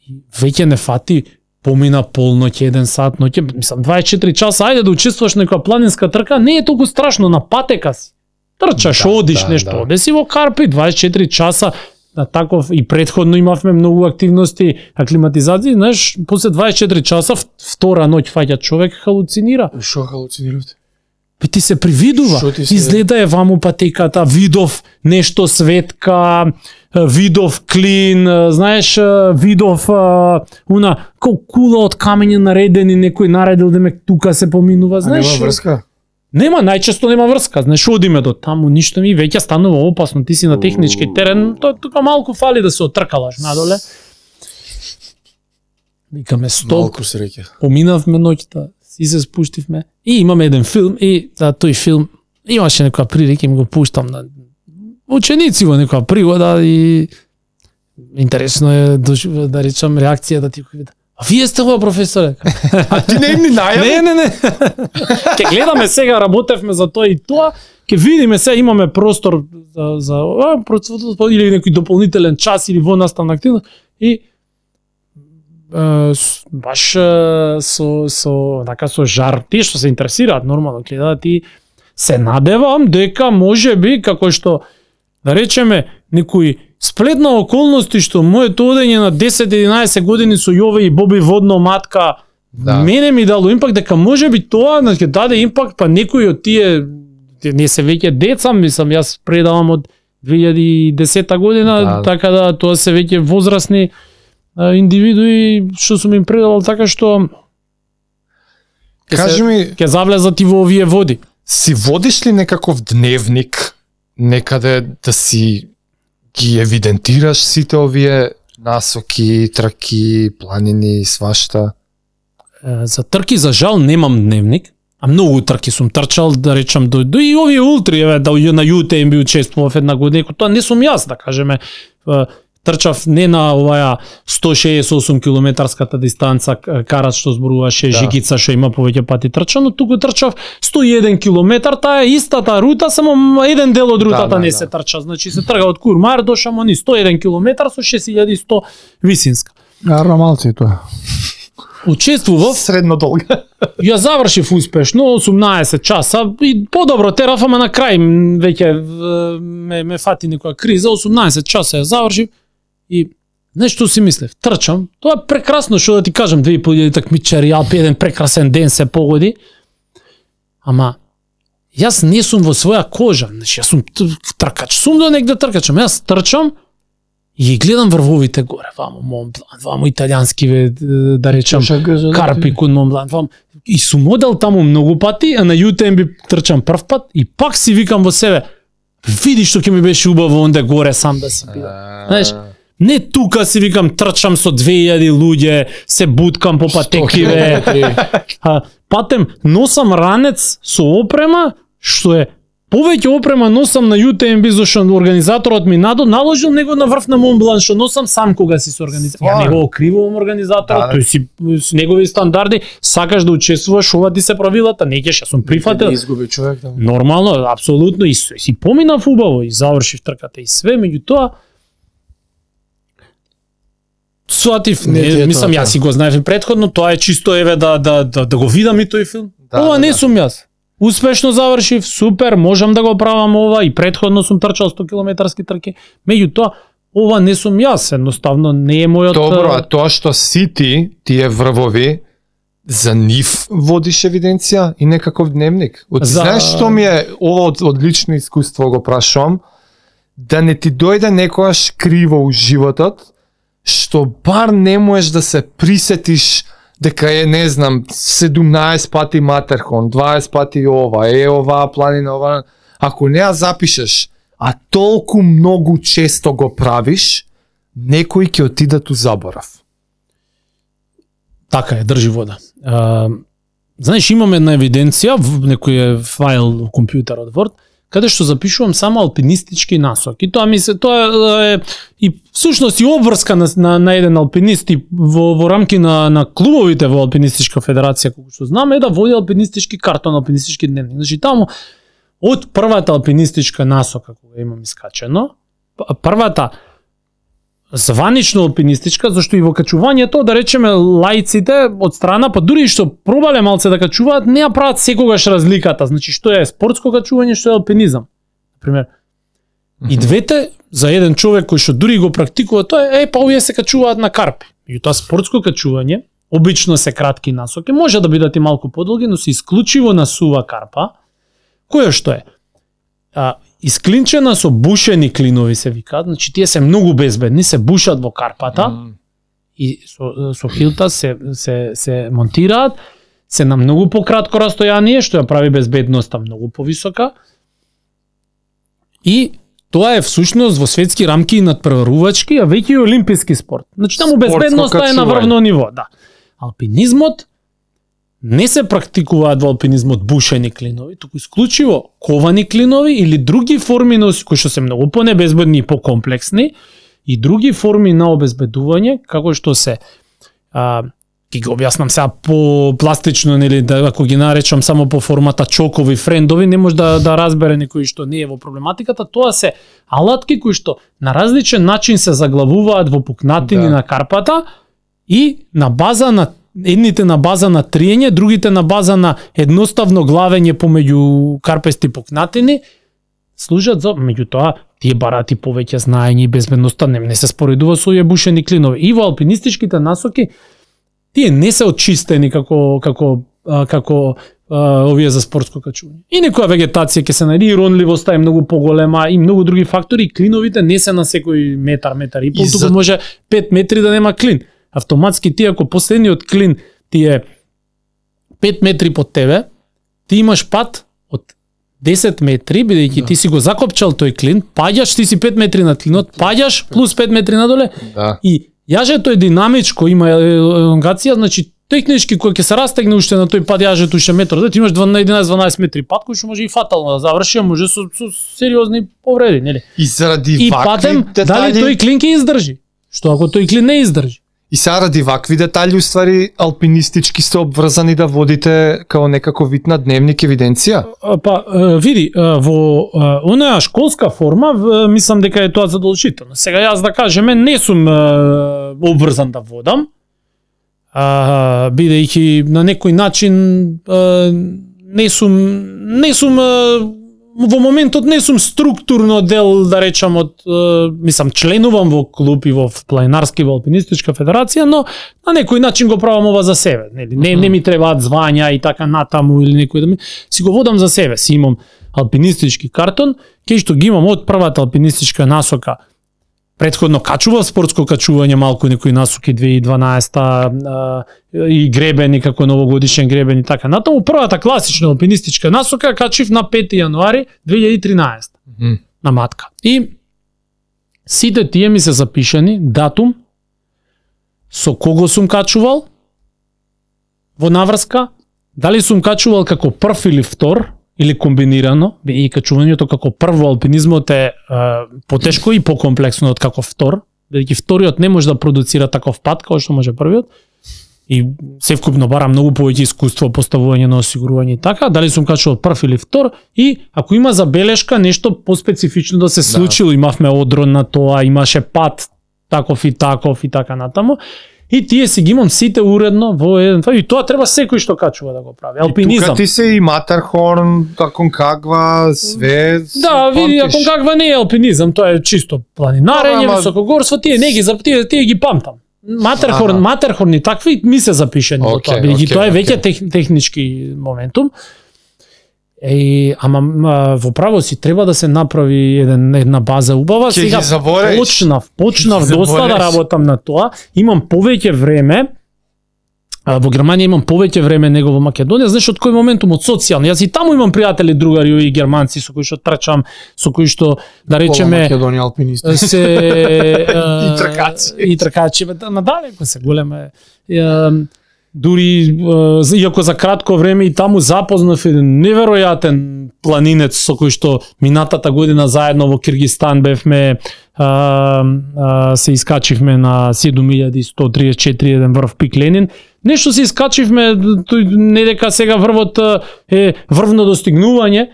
и веќе не фати помина полноќ, еден сат ноќе, мислам дваесет и четири часа, ајде да учествуваш некоја планинска трка, не е толку страшно, на патека си. Трчаш, Да, одиш да, нешто, да. оде си во Карпи, дваесет и четири часа, на таков и претходно имавме многу активности, аклиматизација, знаеш, после дваесет и четири часа, в- втора ноќ фаќа човек халуцинира. Шо халуцинирате? Пе ти се привидува. Шо ти се- Изгледа е ваму патеката, видов нешто светка, видов клин, знаеш, видов а, уна ко кула од камења наредени, некој наредил да ме тука се поминува, А знаеш. нема врска? Нема, најчесто нема врска, знаеш, одиме до таму, ништо ми веќе станува опасно, ти си на технички терен, тоа тука малку фали да се отркалаш надоле. Викаме стоп, Малку среќа. поминавме ноќта, си се спуштивме и имаме еден филм и за тој филм имаше некоја прилика, им го пуштам на ученици во некоја пригода и интересно е да, да речам реакцијата ти кој а вие сте ова професоре? А ти не им ни најави? Не, не, не. Ке гледаме сега, работевме за тоа и тоа, ке видиме се, имаме простор за, за а, процесот, или некој дополнителен час или во наставна активност и е, с- баш е, со со така со жар, тие што се интересираат нормално гледаат и се надевам дека можеби како што да речеме некој сплет на околности што моето одење на десет-единаесет години со Јове и Боби водно матка Да. мене ми дало импакт дека можеби тоа да ќе даде импакт па некој од тие тие не се веќе деца, мислам јас предавам од две илјади и десета година, Да. така да тоа се веќе возрастни а, индивидуи што сум им предавал така што ќе Кажи се- ми, ќе завлезат и во овие води. си водиш ли некаков дневник некаде да си ги евидентираш сите овие насоки, траки, планини, свашта? Е, За трки за жал немам дневник, а многу трки сум трчал, да речам до, до и овие ултри, еве да на ю те ем би учествував една година, тоа не сум јас, да кажеме. Е, Трчав не на оваа сто шеесет и осум километарската дистанца к- карат што зборуваше Да. Жикица што има повеќе пати трчано, туку трчав сто и еден километар, таа е истата рута, само еден дел од рутата да, не да. се трча, значи се трга од Курмар до Шамони сто и еден километар со шест илјади и сто висинска. Гарно малци тоа. Учествував, Средно долга. ја завршив успешно осумнаесет часа и подобро тераф, ама на крај м, веќе в- ме, ме фати некоја криза, осумнаесет часа ја завршив и нешто си мислев, трчам, тоа е прекрасно што да ти кажам, две и пол илјади такмичари, Алпи, еден прекрасен ден се погоди, ама јас не сум во своја кожа, значи јас сум тркач, сум до негде тркач, ама јас трчам и гледам врвовите горе, вамо Монблан, вамо италијански, да речам, Карпи кон Монблан, вамо, и сум одел таму многу пати, а на Ю Те Ем Би трчам прв пат и пак си викам во себе, види што ќе ми беше убаво онде горе сам да си бидам. Знаеш, не тука си викам трчам со две илјади луѓе, се буткам по патекиве. Патем носам ранец со опрема, што е повеќе опрема носам на Ю Те Ем Би, зашто организаторот ми надо наложил него на врв на Монблан, што носам сам кога си со организатор. Ја не го окривувам организаторот, тој си с негови стандарди, сакаш да учествуваш, ова ти се правилата, не ќе, јас сум прифатил. Не изгуби човек таму. Нормално, апсолутно, и си поминав убаво и завршив трката и све, меѓутоа сватив, не, не мислам јас си го знаев претходно, тоа е чисто еве да да да, да го видам и тој филм. Да, ова да, не да. Сум јас. Успешно завршив, супер, можам да го правам ова и претходно сум трчал сто километарски трки. Меѓутоа, ова не сум јас, едноставно не е мојот. Добро, а тоа што си ти, тие врвови, за нив водиш евиденција и некаков дневник. Од, за... Знаеш што ми е, ова од, од лично искуство го прашувам, да не ти дојде некојаш криво у животот, што бар не можеш да се присетиш дека е, не знам, седумнаесет пати Матерхон, дваесет пати ова, е ова, планина ова. Ако не ја запишеш, а толку многу често го правиш, некој ќе отидат у заборав. Така е, држи вода. А, знаеш, имам една евиденција, некој файл во компјутерот Word, каде што запишувам само алпинистички насоки. Тоа ми се, тоа е и всушност и обврска на, на, на еден алпинист и во, во рамки на, на клубовите во Алпинистичка федерација, колку што знам, е да води алпинистички картон, алпинистички дневник. Значи таму од првата алпинистичка насока кога имам искачено, првата званично алпинистичка, зашто и во качувањето, да речеме, лаиците од страна, па дури што пробале малце да качуваат, не ја прават секогаш разликата. Значи, што е спортско качување, што е алпинизам. Например, mm-hmm. и двете, за еден човек кој што дури го практикува, тоа е, е, па овие се качуваат на карпи. И тоа спортско качување, обично се кратки насоки, може да бидат и малку подолги, но се исклучиво на сува карпа, која што е? А, исклинчена со бушени клинови се викаат, значи тие се многу безбедни, се бушат во карпата mm. и со, со хилта се, се, се монтираат, се на многу пократко растојание, што ја прави безбедноста многу повисока. И тоа е всушност во светски рамки и надпреварувачки, а веќе и олимписки спорт. Значи таму безбедноста е на врвно ниво, да. Алпинизмот не се практикуваат во алпинизмот бушени клинови, туку исклучиво ковани клинови или други форми на кои што се многу понебезбедни и покомплексни и други форми на обезбедување, како што се а, ќе ги објаснам сега по пластично, нели, да, ако ги наречам само по формата чокови, френдови, не може да, да разбере некој што не е во проблематиката, тоа се алатки кои што на различен начин се заглавуваат во пукнатини да. На карпата и на база на едните на база на триење, другите на база на едноставно главење помеѓу карпести пукнатини, служат за, меѓутоа, тие барати повеќе знаење и безбедноста не, не се споредува со овие бушени клинови. И во алпинистичките насоки, тие не се очистени како, како, како а, овие за спортско качување. И некоја вегетација ќе се најде, и ронливоста е многу поголема, и многу други фактори, и клиновите не се на секој метар, метар и пол, туку за... може пет метри да нема клин. Автоматски ти ако последниот клин ти е пет метри под тебе, ти имаш пат од десет метри, бидејќи да. Ти си го закопчал тој клин, паѓаш, ти си пет метри над клинот, паѓаш плюс пет метри надоле да. И јажето е динамичко, има елонгација, значи технички кој ќе се растегне уште на тој пат јажето уште метар, да ти имаш еднанаесет-дванаесет метри пат кој што може и фатално да заврши, а може со, со сериозни повреди, нели? И заради и вакви патем, детали... дали тој клин ќе издржи? Што ако тој клин не издржи? И сега ради вакви детали, уствари, алпинистички сте обврзани да водите као некако вид на дневник евиденција? Па, види, во онаа школска форма, мислам дека е тоа задолжително. Сега јас да кажеме, не сум обврзан да водам, бидејќи на некој начин не сум, не сум во моментот не сум структурно дел, да речам, од, е, мислам, членувам во клуб и во планинарски, во алпинистичка федерација, но на некој начин го правам ова за себе. Нели? Не, не ми требаат звања и така натаму или некој да ми... Си го водам за себе. Си имам алпинистички картон, кај што ги имам од првата алпинистичка насока. Предходно качував спортско качување, малку некои насоки две илјади и дванаесета и гребени како новогодишен гребен и така натаму. Првата класична алпинистичка насока качив на пети јануари две илјади и тринаесета Mm. на матка. И сите тие ми се запишани, датум, со кого сум качувал во наврска, дали сум качувал како прв или втор, или комбинирано, и качувањето како прво алпинизмот е, е потешко и покомплексно од како втор, бидејќи вториот не може да продуцира таков пат како што може првиот. И севкупно бара многу повеќе искуство, поставување на осигурување и така, дали сум качувал прв или втор, и ако има забелешка нешто поспецифично да се случило, имавме одрон на тоа, имаше пат таков и таков и така натаму. И тие си ги имам сите уредно во еден, и тоа треба секој што качува да го прави. Алпинизам. И тука ти се и Матерхорн, Аконкагва, све. Да, види, Аконкагва не е алпинизам, тоа е чисто планинарење, ама... високогорство, тие не ги тие, тие ги памтам. Матерхорн, Матерхорн и такви ми се запишени во okay, тоа, бидејќи okay, тоа е веќе okay. тех, технички моментум. Е, ама во право си треба да се направи еден, една база убава. Ке Сега ги забореш. почнав, почнав доста да работам на тоа. Имам повеќе време. А, во Германија имам повеќе време него во Македонија, знаеш од кој моментум, од социјално. Јас и таму имам пријатели, другари и германци со кои што трчам, со кои што да речеме Македонија алпинисти. се И тркачи. и тркачи, надалеко се голема е. Дури, иако за кратко време и таму запознав еден неверојатен планинец со кој што минатата година заедно во Киргистан бевме, а, а, се искачивме на седум илјади сто триесет и четири еден врв Пик Ленин. Нешто се искачивме, тој не дека сега врвот е врвно достигнување,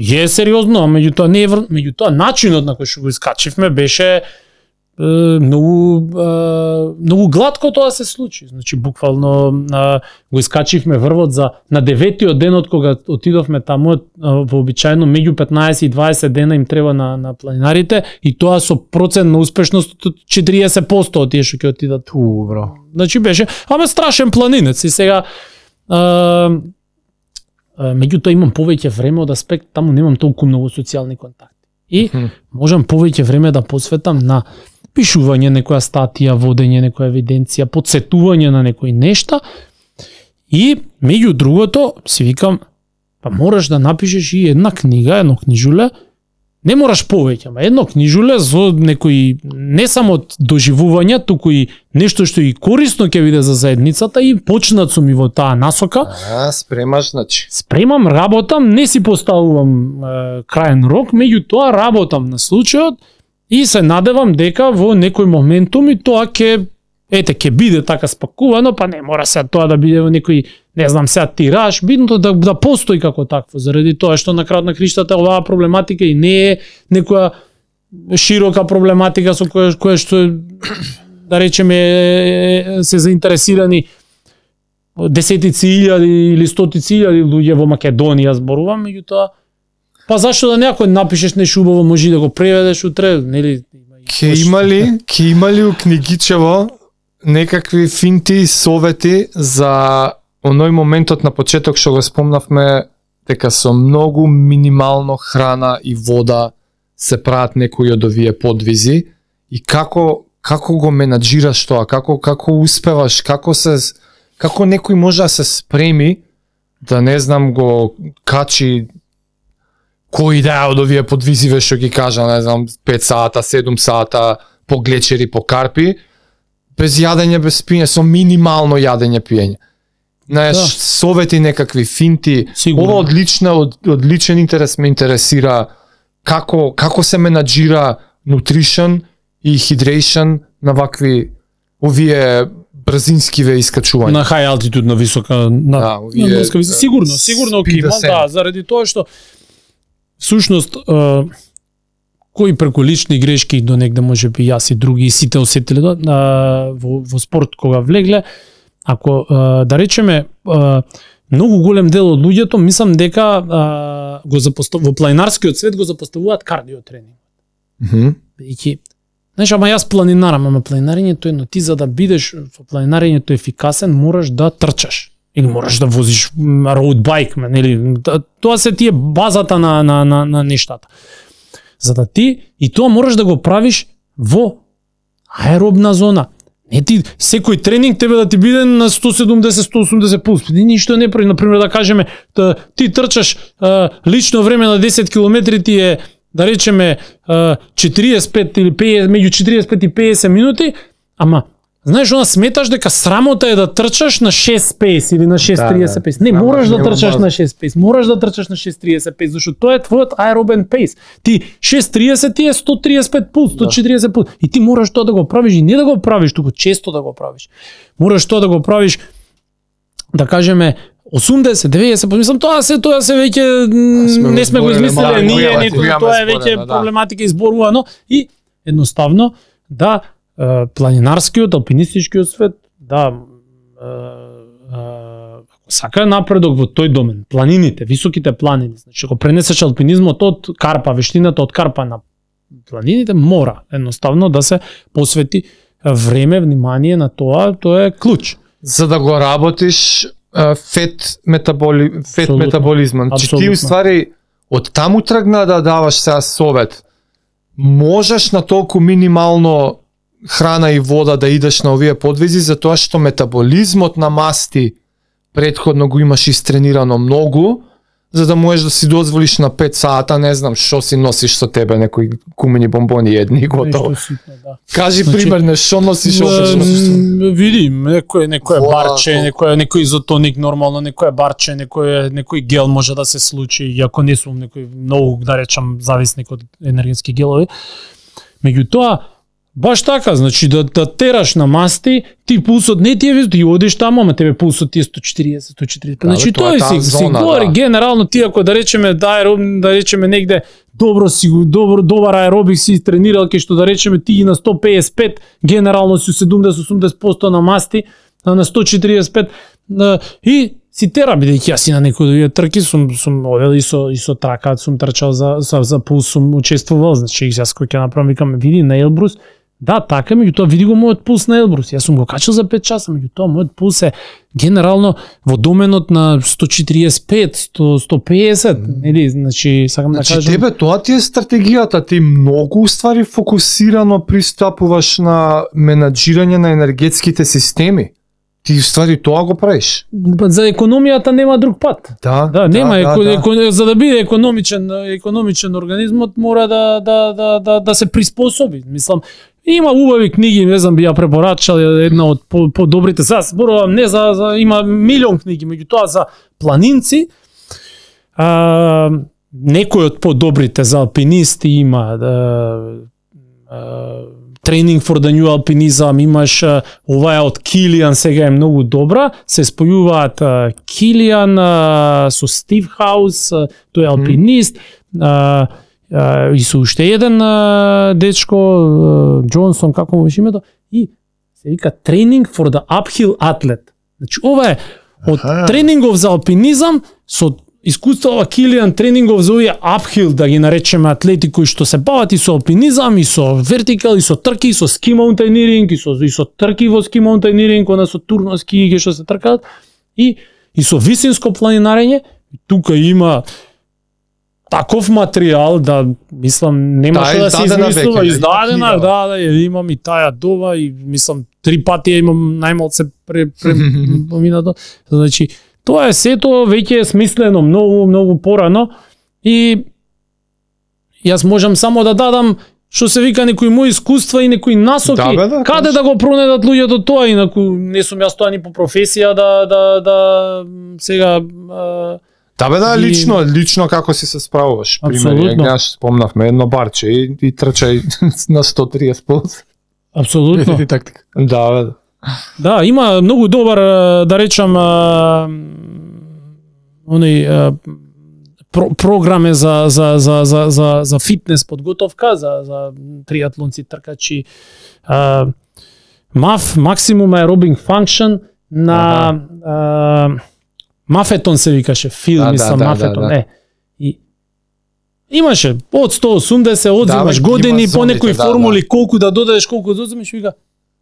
е сериозно, меѓутоа не е врв, меѓутоа начинот на кој што го искачивме беше многу многу глатко тоа се случи. Значи буквално го искачивме врвот за на деветиот денот кога отидовме таму, вообичаено меѓу петнаесет и дваесет дена им треба на на планинарите и тоа со процент на успешност од четириесет проценти од тие што ќе отидат. Ту, бро. Значи беше, ама страшен планинец и сега а, меѓутоа имам повеќе време од аспект, таму немам толку многу социјални контакти. И можам повеќе време да посветам на пишување некоја статија, водење некоја евиденција, подсетување на некои нешта. И меѓу другото си викам, па мораш да напишеш и една книга, едно книжуле. Не мораш повеќе, ама едно книжуле за некои не само доживувања, туку и нешто што и корисно ќе биде за заедницата и почнат сум и во таа насока. А, спремаш, значи. Спремам, работам, не си поставувам е, краен рок, меѓутоа работам на случајот и се надевам дека во некој моментум и тоа ќе ете ќе биде така спакувано, па не мора се тоа да биде во некој, не знам, сега тираж, бидното да да постои како такво, заради тоа што на крајот на криштата оваа проблематика и не е некоја широка проблематика со која која што да речеме се заинтересирани десетици илјади или стотици илјади луѓе во Македонија, зборувам, меѓутоа па зашто да некој напишеш нешто убаво, може да го преведеш утре, нели? Ке имали, ке имали у книгичево некакви финти совети за оној моментот на почеток што го спомнавме дека со многу минимално храна и вода се прават некои од овие подвизи и како како го менаџираш тоа, како како успеваш, како се како некој може да се спреми да не знам го качи кој да од овие подвизиве што ги кажа, не знам, пет сата, седум сата по глечери, по карпи, без јадење, без пиење, со минимално јадење, пиење. Знаеш, да. Совети некакви финти, Сигурно. Ова одлична, од, одличен интерес ме интересира како како се менаџира nutrition и hydration на вакви овие брзинскиве искачувања. На high altitude, на висока, на, Да, овие, на ниска висока. Сигурно, сигурно ќе има, да, заради тоа што всушност е, кои преку лични грешки до негде може би јас и други и сите осетиле да, во, во спорт кога влегле, ако е, да речеме е, многу голем дел од луѓето мислам дека а, го запостав во планинарскиот свет го запоставуваат кардио тренинг. Мхм. Бидејќи знаеш, ама јас планинарам, ама планинарењето е едно, ти за да бидеш во планинарењето ефикасен, мораш да трчаш или мораш да возиш роуд байк, нели? Тоа се тие базата на на на на нештата. За да ти и тоа мораш да го правиш во аеробна зона. Не ти секој тренинг тебе да ти биде на сто седумдесет до сто осумдесет пулс. Ти ништо не прави, на пример да кажеме, да, ти трчаш а, лично време на десет километри ти е да речеме четириесет и пет или петдесет, меѓу четириесет и пет и петдесет минути, ама знаеш, она сметаш дека срамота е да трчаш на шест пейс или на шест триесет пейс. Не, мораш да трчаш на шест пейс, мораш да трчаш на шест тридесет пейс, зашто тоа е твојот аеробен пейс. Ти шест тридесет ти е сто триесет и пет пулс, сто четириесет пулс. И ти мораш тоа да го правиш и не да го правиш, туку често да го правиш. Мораш тоа да го правиш, да кажеме, осумдесет, деветдесет, мислам тоа се тоа се веќе не сме го измислиле ние, ниту тоа е веќе проблематика изборувано и едноставно да планинарскиот, алпинистичкиот свет, да ако сака напредок во тој домен, планините, високите планини, значи ако пренесеш алпинизмот од карпа, вештината од карпа на планините, мора едноставно да се посвети време, внимание на тоа, тоа е клуч. За да го работиш фет метаболи фет Абсолютно. метаболизмот. Значи ти уствари од таму тргна да даваш сега совет. Можеш на толку минимално храна и вода да идеш на овие подвизи, затоа што метаболизмот на масти претходно го имаш истренирано многу, за да можеш да си дозволиш на пет сата, не знам, што си носиш со тебе, некои кумени бомбони едни, готово. Ситно, да. Кажи Значи, пример, не што носиш обично? Види, некој некој барче, некој некој изотоник нормално, некој барче, некој некој гел може да се случи, иако не сум некој многу, да речам, зависник од енергетски гелови. Меѓутоа, баш така, значи да, да тераш на масти, ти пулсот не ти е, ти одиш таму, ама тебе пулсот ти е сто четириесет, сто четириесет. Значи тоа е си, си говори да. Генерално ти ако да речеме да аероб, да речеме негде добро си добро добар аеробик си тренирал ке што да речеме ти ги на сто педесет и пет, генерално си седумдесет до осумдесет проценти на масти, на сто четириесет и пет и си тера, бидејќи јас и на некои трки сум сум одел и со и со трака, сум трчал за за, за пулс, сум учествувал, значи јас кој ќе направам викам види на Елбрус. Да, така, меѓутоа види го мојот пулс на Елбрус. Јас сум го качил за пет часа, меѓутоа мојот пулс е генерално во доменот на сто четириесет и пет, сто, сто педесет, нели, значи сакам значи, да кажам. Тебе тоа ти е стратегијата, ти многу ствари фокусирано пристапуваш на менаџирање на енергетските системи. Ти ствари тоа го правиш. За економијата нема друг пат. Да, Да, нема да, еко, да, еко, за да биде економичен економичен организмот мора да да да да да се приспособи. Мислам, има убави книги, не знам, би ја препорачал една од подобрите. Сега зборувам не за, за има милион книги, меѓутоа за планинци, а, некои од подобрите за алпинисти има да, а, Training for the New Alpinism, имаш а, ова е од Килиан, сега е многу добра, се спојуваат а, Килиан а, со Стив Хаус, а, тој е алпинист, а, а, и со уште еден а, дечко, а, Джонсон, како му беше името, и се вика Training for the Uphill Athlete. Значи, ова е од Аха. Тренингов за алпинизам со искуствува Килиан тренингов за овие uphill, да ги наречеме атлети кои што се бават и со алпинизам, и со вертикал, и со трки, и со ски маунтаиниринг, и со и со трки во ски маунтаиниринг, она со турно ски ги што се тркаат, и и со висинско планинарење. Тука има таков материјал да мислам нема што да се измислува, издадена, да, да, имам и таја дова и мислам три пати имам најмалце пре, пре поминато. Значи тоа е сето веќе е смислено многу многу порано и јас можам само да дадам што се вика некои мои искуства и некои насоки, да, бе, да, каде конечно. Да го пронедат луѓето тоа, инаку не сум јас тоа ни по професија да да да сега а, да бе да, и... лично, лично како си се справуваш. Пример, јас спомнавме едно барче и, и трчај на сто триесет пулс. Апсолутно. Да, бе. Да, има многу добар, да речам, оној про, програме за за за за за за фитнес подготовка за за триатлонци, тркачи. А, МАФ, Maximum Aerobic Function на а, Мафетон се викаше, филми Да, са да, Мафетон, да, да. е. И имаше од сто и осумдесет, одзимаш Да, бе, години има по некои зоните, да, формули, колку да додадеш, колку да одземеш, вика,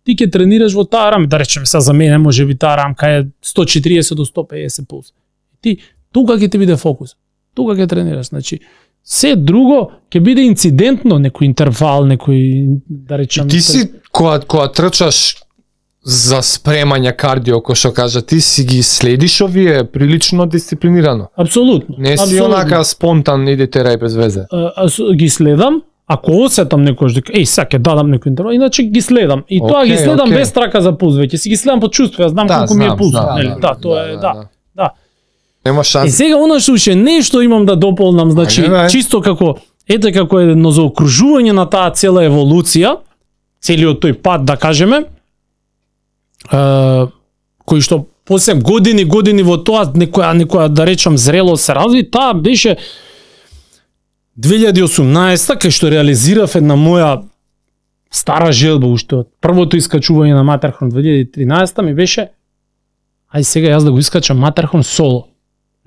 ти ќе тренираш во таа рамка, да речеме сега за мене, може би таа рамка е сто и четириесет до сто и педесет пулс. Ти, тука ќе ти биде фокус, тука ќе тренираш, значи, се друго ќе биде инцидентно, некој интервал, некој, да речем... Ти си, кога, кога трчаш за спремање кардио, кој што кажа, ти си ги следиш овие прилично дисциплинирано. Апсолутно. Не си апсолутно. онака спонтан, иде терај без везе. А, а, с- ги следам, ако осетам некојаш дека еј сега ќе дадам некој интервал, иначе ги следам. И тоа ги Океј, следам океј. без трака за пулс, веќе си ги следам по чувство, јас знам колку ми е пулс, нели? Да, тоа е, да. Да. Нема И шанс. сега она што уште нешто имам да дополнам, значи Ајде, бе. чисто како ете како едно заокружување на таа цела еволуција, целиот тој пат да кажеме, е, кој што после години години во тоа некоја некоја да речам зрело се разви, таа беше две илјади и осумнаесета кај што реализирав една моја стара желба уште од првото искачување на Матерхон две илјади и тринаесета ми беше ај сега јас да го искачам Матерхон соло.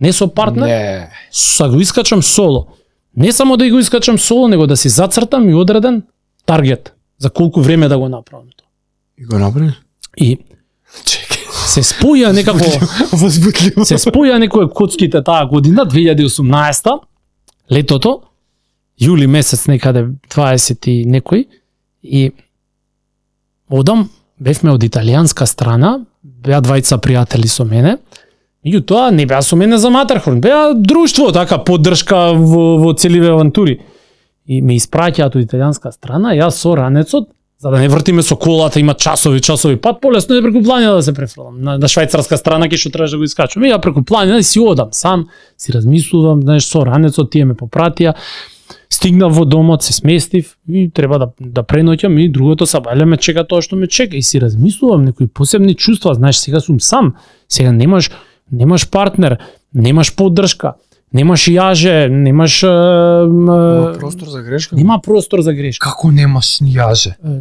Не со партнер, Не. са го искачам соло. Не само да го искачам соло, него да си зацртам и одреден таргет за колку време да го направам тоа. И го направи? И Чекај. се споја некако Возбудливо. се споја некој коцките таа година две илјади и осумнаесета, летото, јули месец некаде дваесет и некој, и одам, бевме од италијанска страна, беа двајца пријатели со мене, меѓутоа не беа со мене за Матерхорн, беа друштво, така поддршка во, во целиве авантури. И ме испраќаат од италијанска страна, јас со ранецот, за да не вртиме со колата, има часови, часови пат, полесно е преку планина да се префрлам. На, на швајцарска страна ке што требаш да го искачувам. И ја преку планина и си одам сам, си размислувам, знаеш, со ранецот тие ме попратија. Стигнав во домот, се сместив и треба да да преноќам и другото сабајле ме чека тоа што ме чека и си размислувам некои посебни чувства, знаеш, сега сум сам. Сега немаш немаш партнер, немаш поддршка, немаш јаже, немаш Има е, простор за грешка? нема простор за грешка. Како немаш ни јаже? Е,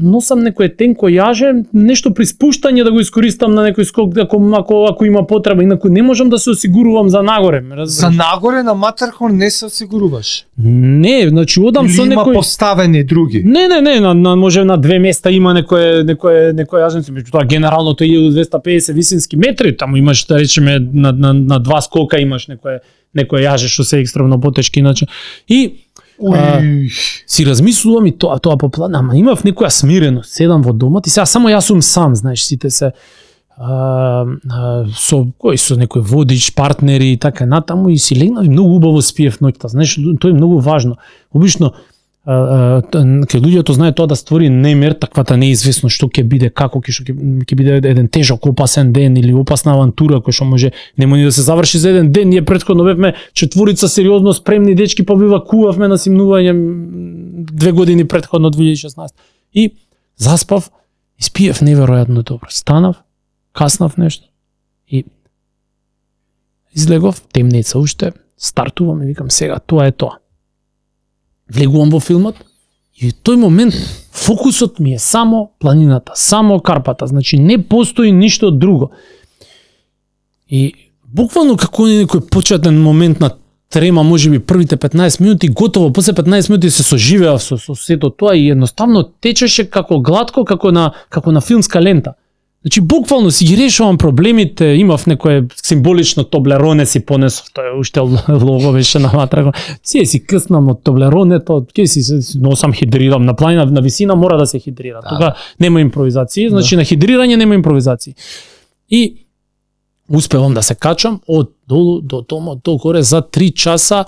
Носам некое тенко јаже, нешто при спуштање да го искористам на некој скок ако ако, ако има потреба, инаку не можам да се осигурувам за нагоре, ме разбираш? За нагоре на Матерхорн не се осигуруваш. Не, значи одам Или со има некој поставени други? Не, не, не, на, на може на две места има некое некое некој јаженци, меѓутоа генерално тоа е илјаду двесте и педесет висински метри, таму имаш да речеме на на на два скока имаш некое некој јаже што се екстремно потешки иначе. И а, Уј. си размислувам и тоа тоа по план, ама имав некоја смиреност, седам во домот и сега само јас сум сам, знаеш, сите се а, а, со кој со некој водич, партнери и така натаму и си легнав и многу убаво спиев ноќта, знаеш, тоа е многу важно. Обично кај луѓето знае тоа да створи немир, таквата неизвестно што ќе биде, како ќе што ќе ќе биде еден тежок, опасен ден или опасна авантура која што може нема ни да се заврши за еден ден. Ние претходно бевме четворица сериозно спремни дечки, па бивакувавме на симнување две години претходно две илјади и шеснаесета. И заспав, и спиев неверојатно добро. Станав, каснав нешто и излегов, темница уште, стартувам и викам сега тоа е тоа. Влегувам во филмот и во тој момент фокусот ми е само планината, само карпата, значи не постои ништо друго. И буквално како некој почетен момент на трема, можеби првите петнаесет минути, готово, после петнаесет минути се соживеав со, со сето тоа и едноставно течеше како глатко, како на, како на филмска лента. Значи, буквално си ги решувам проблемите, имав некое символично Тоблероне си понесов, тоа е уште лого беше на ватра. Си си къснам од Тоблеронето, ќе си се носам хидрирам, на планина, на висина мора да се хидрира. Да. Тога нема импровизации, значи да. На хидрирање нема импровизации. И успевам да се качам од долу до домот, до горе за три часа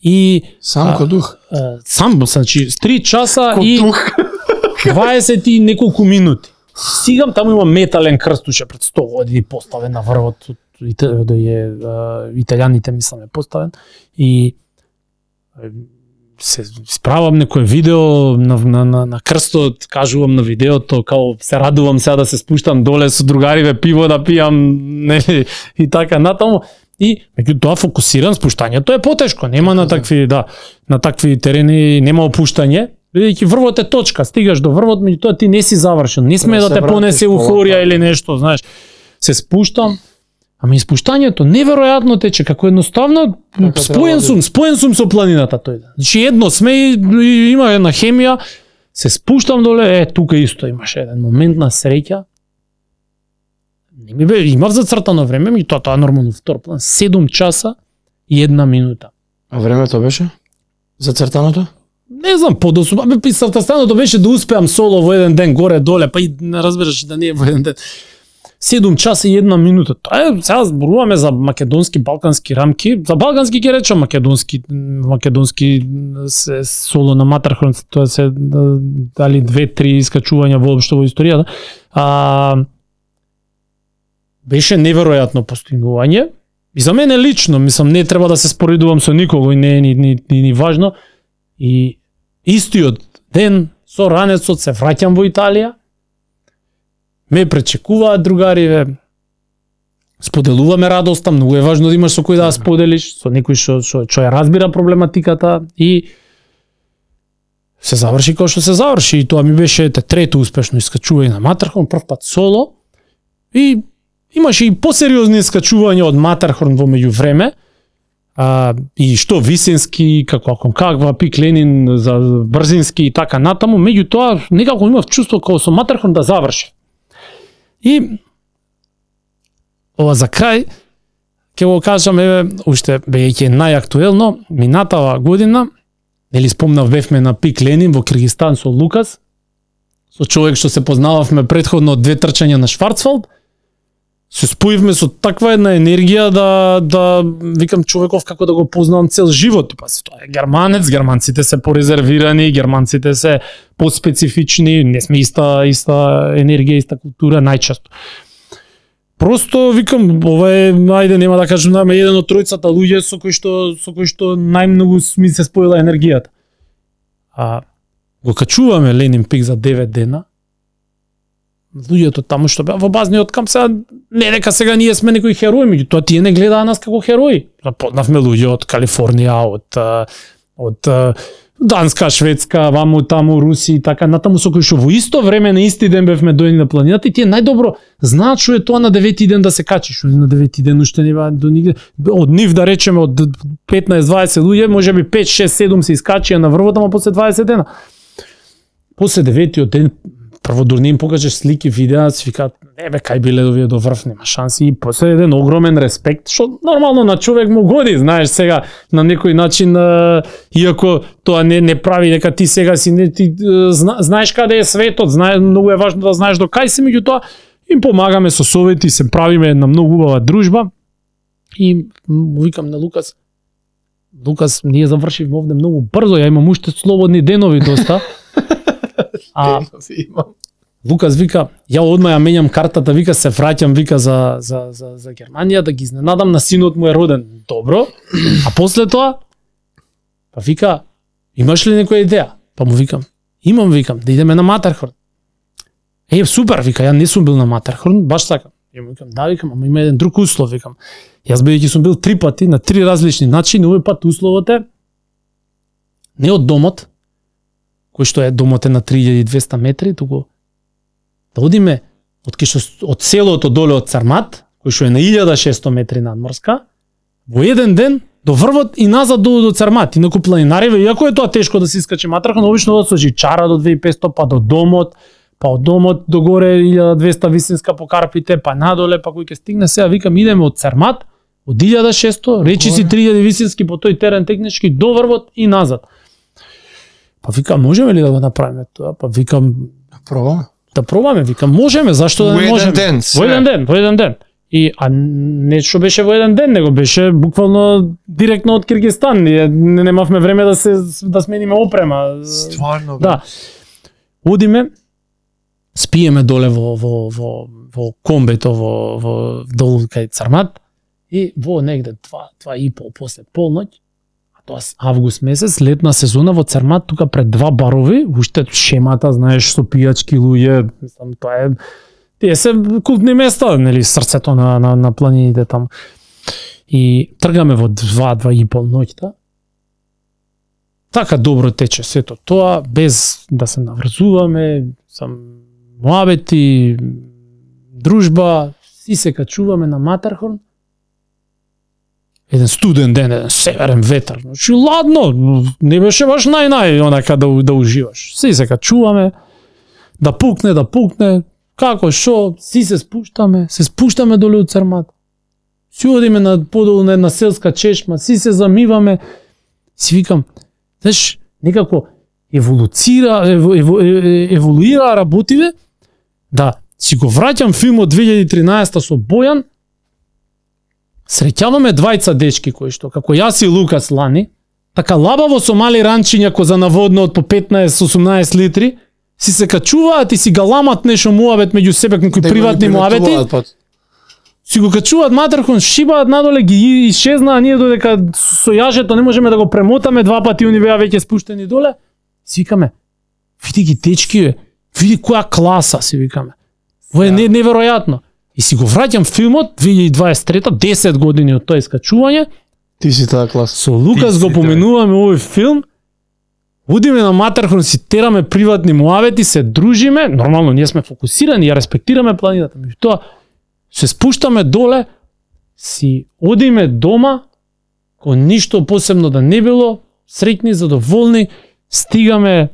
и Сам ко дух. а, сам, значи три часа Ко и дух. дваесет и неколку минути. Стигам, таму има метален крст уште пред сто години поставен на врвот, да е италијаните мислам е поставен и се справам некое видео на, на, на, на крстот, кажувам на видеото, као се радувам сега да се спуштам доле со другариве пиво да пијам, нели, и така натаму. И меѓутоа фокусиран, спуштањето е потешко, нема на такви, да, на такви терени нема опуштање, бидејќи врвот е точка, стигаш до врвот, меѓутоа ти не си завршен, не сме да те понесе еуфорија или нешто, знаеш. Се спуштам, Ама испуштањето неверојатно тече, како едноставно Така споен треба сум, споен сум со планината тој. Значи едно сме и, и има една хемија, се спуштам доле, е тука исто имаше еден момент на среќа. Не ми бе, имав зацртано време, ми тоа тоа е нормално втор план, седум часа и една минута. А времето беше? Зацртаното? Не знам, подосу, абе писартастаното беше да успеам соло во еден ден горе доле, па и не разбираш да не е во еден ден. седум часа и една минута. Тоа е, сега зборуваме за македонски, балкански рамки. За балкански ќе речам македонски, македонски се соло на Матархорн, тоа се дали две-три искачувања воопшто во историјата. А беше неверојатно постигнување. И за мене лично, мислам, не треба да се споредувам со никого и не е ни, ни, ни, ни важно. И истиот ден со ранецот се враќам во Италија. Ме пречекуваат другариве. Споделуваме радоста, многу е важно да имаш со кој да споделиш, со некој што што што ја разбира проблематиката и се заврши како што се заврши и тоа ми беше трето успешно искачување на Матархорн, прв пат соло и имаше и посериозни искачувања од Матархорн во меѓувреме. А, и што висински, како Аконкагва, Пик Ленин, за брзински и така натаму, меѓутоа некако имав чувство како со Матархорн да заврши. И ова за крај ќе го кажам, еве, уште бејќи најактуелно, минатава година, нели спомнав бевме на Пик Ленин во Киргизстан со Лукас, со човек што се познававме претходно од две трчања на Шварцвалд, се споивме со таква една енергија да да викам човеков како да го познавам цел живот. Па тоа е германец, германците се порезервирани, германците се поспецифични, не сме иста иста енергија, иста култура најчесто. Просто викам ова е, ајде нема да кажам, нама еден од тројцата луѓе со кои што со кои што најмногу ми се споила енергијата. А го качуваме Ленин Пик за девет дена. Луѓето таму што беа во базниот камп, сега не дека сега ние сме некои херои, меѓутоа тие не гледаа нас како херои. Запознавме луѓе од Калифорнија, од од Данска, Шведска, ваму таму Руси и така натаму, со кои што во исто време на исти ден бевме дојдени на планината и тие најдобро знаат што е тоа на девети ден да се качиш, на девети ден уште не беа до нигде. Од нив да речеме од петнаесет-дваесет луѓе, можеби пет, шест, седум се искачија на врвот, ама после дваесет дена. После деветиот ден прво дур не им покажеш слики, видеа, си викаат, не бе, кај биле овие до врв, нема шанси. И после еден огромен респект, што нормално на човек му годи, знаеш, сега на некој начин, а, иако тоа не не прави дека ти сега си не ти зна, знаеш каде е светот, знае, многу е важно да знаеш до кај си, меѓутоа им помагаме со совети, се правиме една многу убава дружба. И му викам на Лукас, Лукас, ние завршивме овде многу брзо, ја имам уште слободни денови доста. А Лукас вика, ја одма ја менјам картата, вика се враќам, вика за за за за Германија да ги изненадам, на синот му е роден. Добро. А после тоа па вика, имаш ли некоја идеја? Па му викам, имам, викам, да идеме на Матархорн. Е, супер, вика, ја не сум бил на Матархорн, баш така. Ја му викам, да, викам, ама има еден друг услов, викам. Јас бидејќи сум бил три пати на три различни начини, овој пат условот е не од домот, кој што е домот е на три илјади и двесте метри, туку да одиме од кишо, од селото доле од Цармат, кој што е на илјада и шесто метри надморска, во еден ден до врвот и назад до, до Цармат. Инаку планинариве, иако е тоа тешко да се искачи Матархорн, обично од со жичара до две илјади и петсто, па до домот, па од домот до горе илјада и двесте висинска по Карпите, па надоле, па кој ќе стигне, сега викам идеме од Цармат, од илјада и шесто, речи си три илјади висински по тој терен технички до врвот и назад. Па викам, можеме ли да го направиме тоа? Па викам, пробаме. Да пробаме, викам, можеме, зашто да не можеме? Во еден ден, Во еден ден, во еден ден. И а не што беше во еден ден, него беше буквално директно од Киргизстан. Ние немавме време да се да смениме опрема. Стварно. Да. Одиме, спиеме доле во во во во комбето во во долу кај Цармат и во негде два, два и пол после полноќ, тоа август месец, летна сезона во Цармат, тука пред два барови, уште шемата, знаеш, со пијачки луѓе, мислам, тоа е тие се култни места, нели, срцето на на на планините таму. И тргаме во два, два и пол ноќта. Така добро тече сето тоа, без да се наврзуваме, сам муабети, дружба, и се качуваме на Матархорн. еден студен ден, еден северен ветар. Значи ладно, не беше баш нај-нај онака да да уживаш. Си се качуваме, да пукне, да пукне, како шо, си се спуштаме, се спуштаме доле од Црмат. Си одиме на подолу на една селска чешма, си се замиваме. Си викам, знаеш, некако еволуцира, еву, еву, еволуира работиве, да си го враќам филмот две илјади и тринаесета со Бојан, среќаваме двајца дечки кои што, како јас и Лукас лани, така лабаво со мали ранчиња коза наводно од по петнаесет осумнаесет литри, си се качуваат и си галамат нешто муабет меѓу себе, некои приватни муабети. Си го качуваат матерхон, шибаат надоле, ги исчезнаа, ние додека со јажето не можеме да го премотаме, два пати они беа веќе спуштени доле. Си викаме, види ги дечки, бе, види која класа, си викаме. Ова е не, неверојатно. И си го враќам филмот две илјади дваесет и трета, десет години од тоа искачување. Ти си таа класа. Со Лукас го поменуваме овој филм. Одиме на матерхон, си тераме приватни муавети, се дружиме, нормално ние сме фокусирани, ја респектираме планината, меѓутоа се спуштаме доле, си одиме дома, кон ништо посебно да не било, среќни, задоволни, стигаме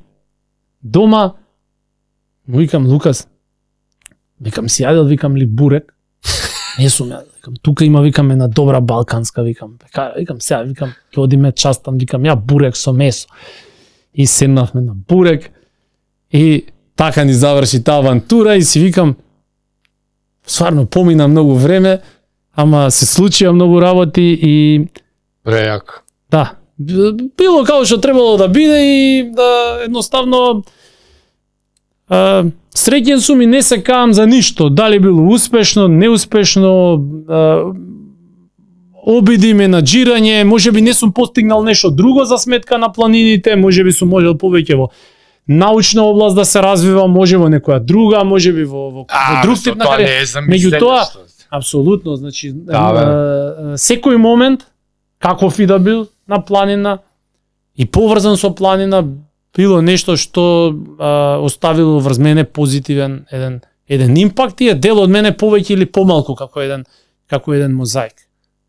дома, му викам Лукас, викам си јадел, викам ли бурек, не сум јадел, викам тука има, викам една добра балканска, викам, викам сега, викам, ќе одиме частам, викам ја бурек со месо. И седнавме на бурек и така ни заврши таа авантура и си викам, стварно помина многу време, ама се случија многу работи и Прејак. да, било како што требало да биде и да едноставно а, среќен сум и не се каам за ништо, дали било успешно, неуспешно, а, обиди, менаџирање, можеби не сум постигнал нешто друго за сметка на планините, можеби сум можел повеќе во научна област да се развива, може во некоја друга, можеби во во, во друг тип на кариера. Меѓутоа, апсолутно, значи да, секој момент каков и да бил на планина и поврзан со планина било нешто што а, оставило врз мене позитивен еден еден импакт и е дел од мене повеќе или помалку како еден како еден мозаик.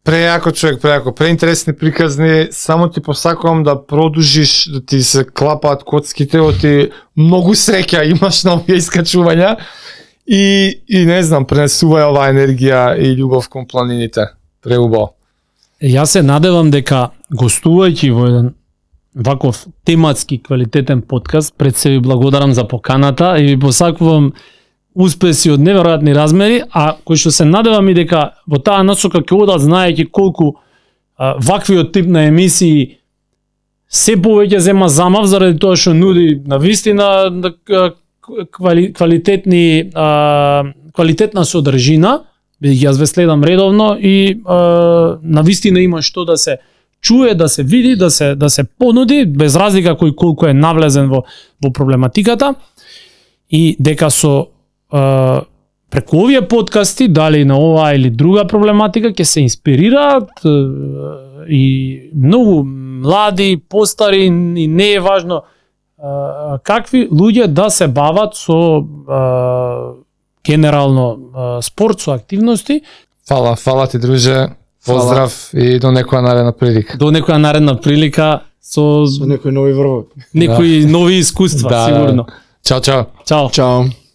Прејако човек, прејако, преинтересни приказни, само ти посакувам да продужиш, да ти се клапаат коцките, оти многу среќа имаш на овие искачувања и, и не знам, пренесувај оваа енергија и љубов кон планините. Преубаво. Јас се надевам дека гостувајќи во еден ваков тематски квалитетен подкаст, пред се ви благодарам за поканата и ви посакувам успеси од неверојатни размери, а кој што се надевам и дека во таа насока ќе одат знаејќи колку а, ваквиот тип на емисии се повеќе зема замав заради тоа што нуди на вистина квали, квалитетни а, квалитетна содржина, бидејќи јас ве следам редовно и а, на вистина има што да се чуе, да се види, да се да се понуди без разлика кој колку е навлезен во во проблематиката и дека со Uh, преку овие подкасти, дали на оваа или друга проблематика, ќе се инспирираат uh, и многу млади, постари и не е важно uh, какви луѓе да се бават со uh, генерално uh, спорт, со активности. Фала, фала ти, друже. Поздрав фала. И до некоја наредна прилика. До некоја наредна прилика со, со некои нови врвови. Некои да. нови искуства, да, сигурно. Чао, чао. Чао. Чао.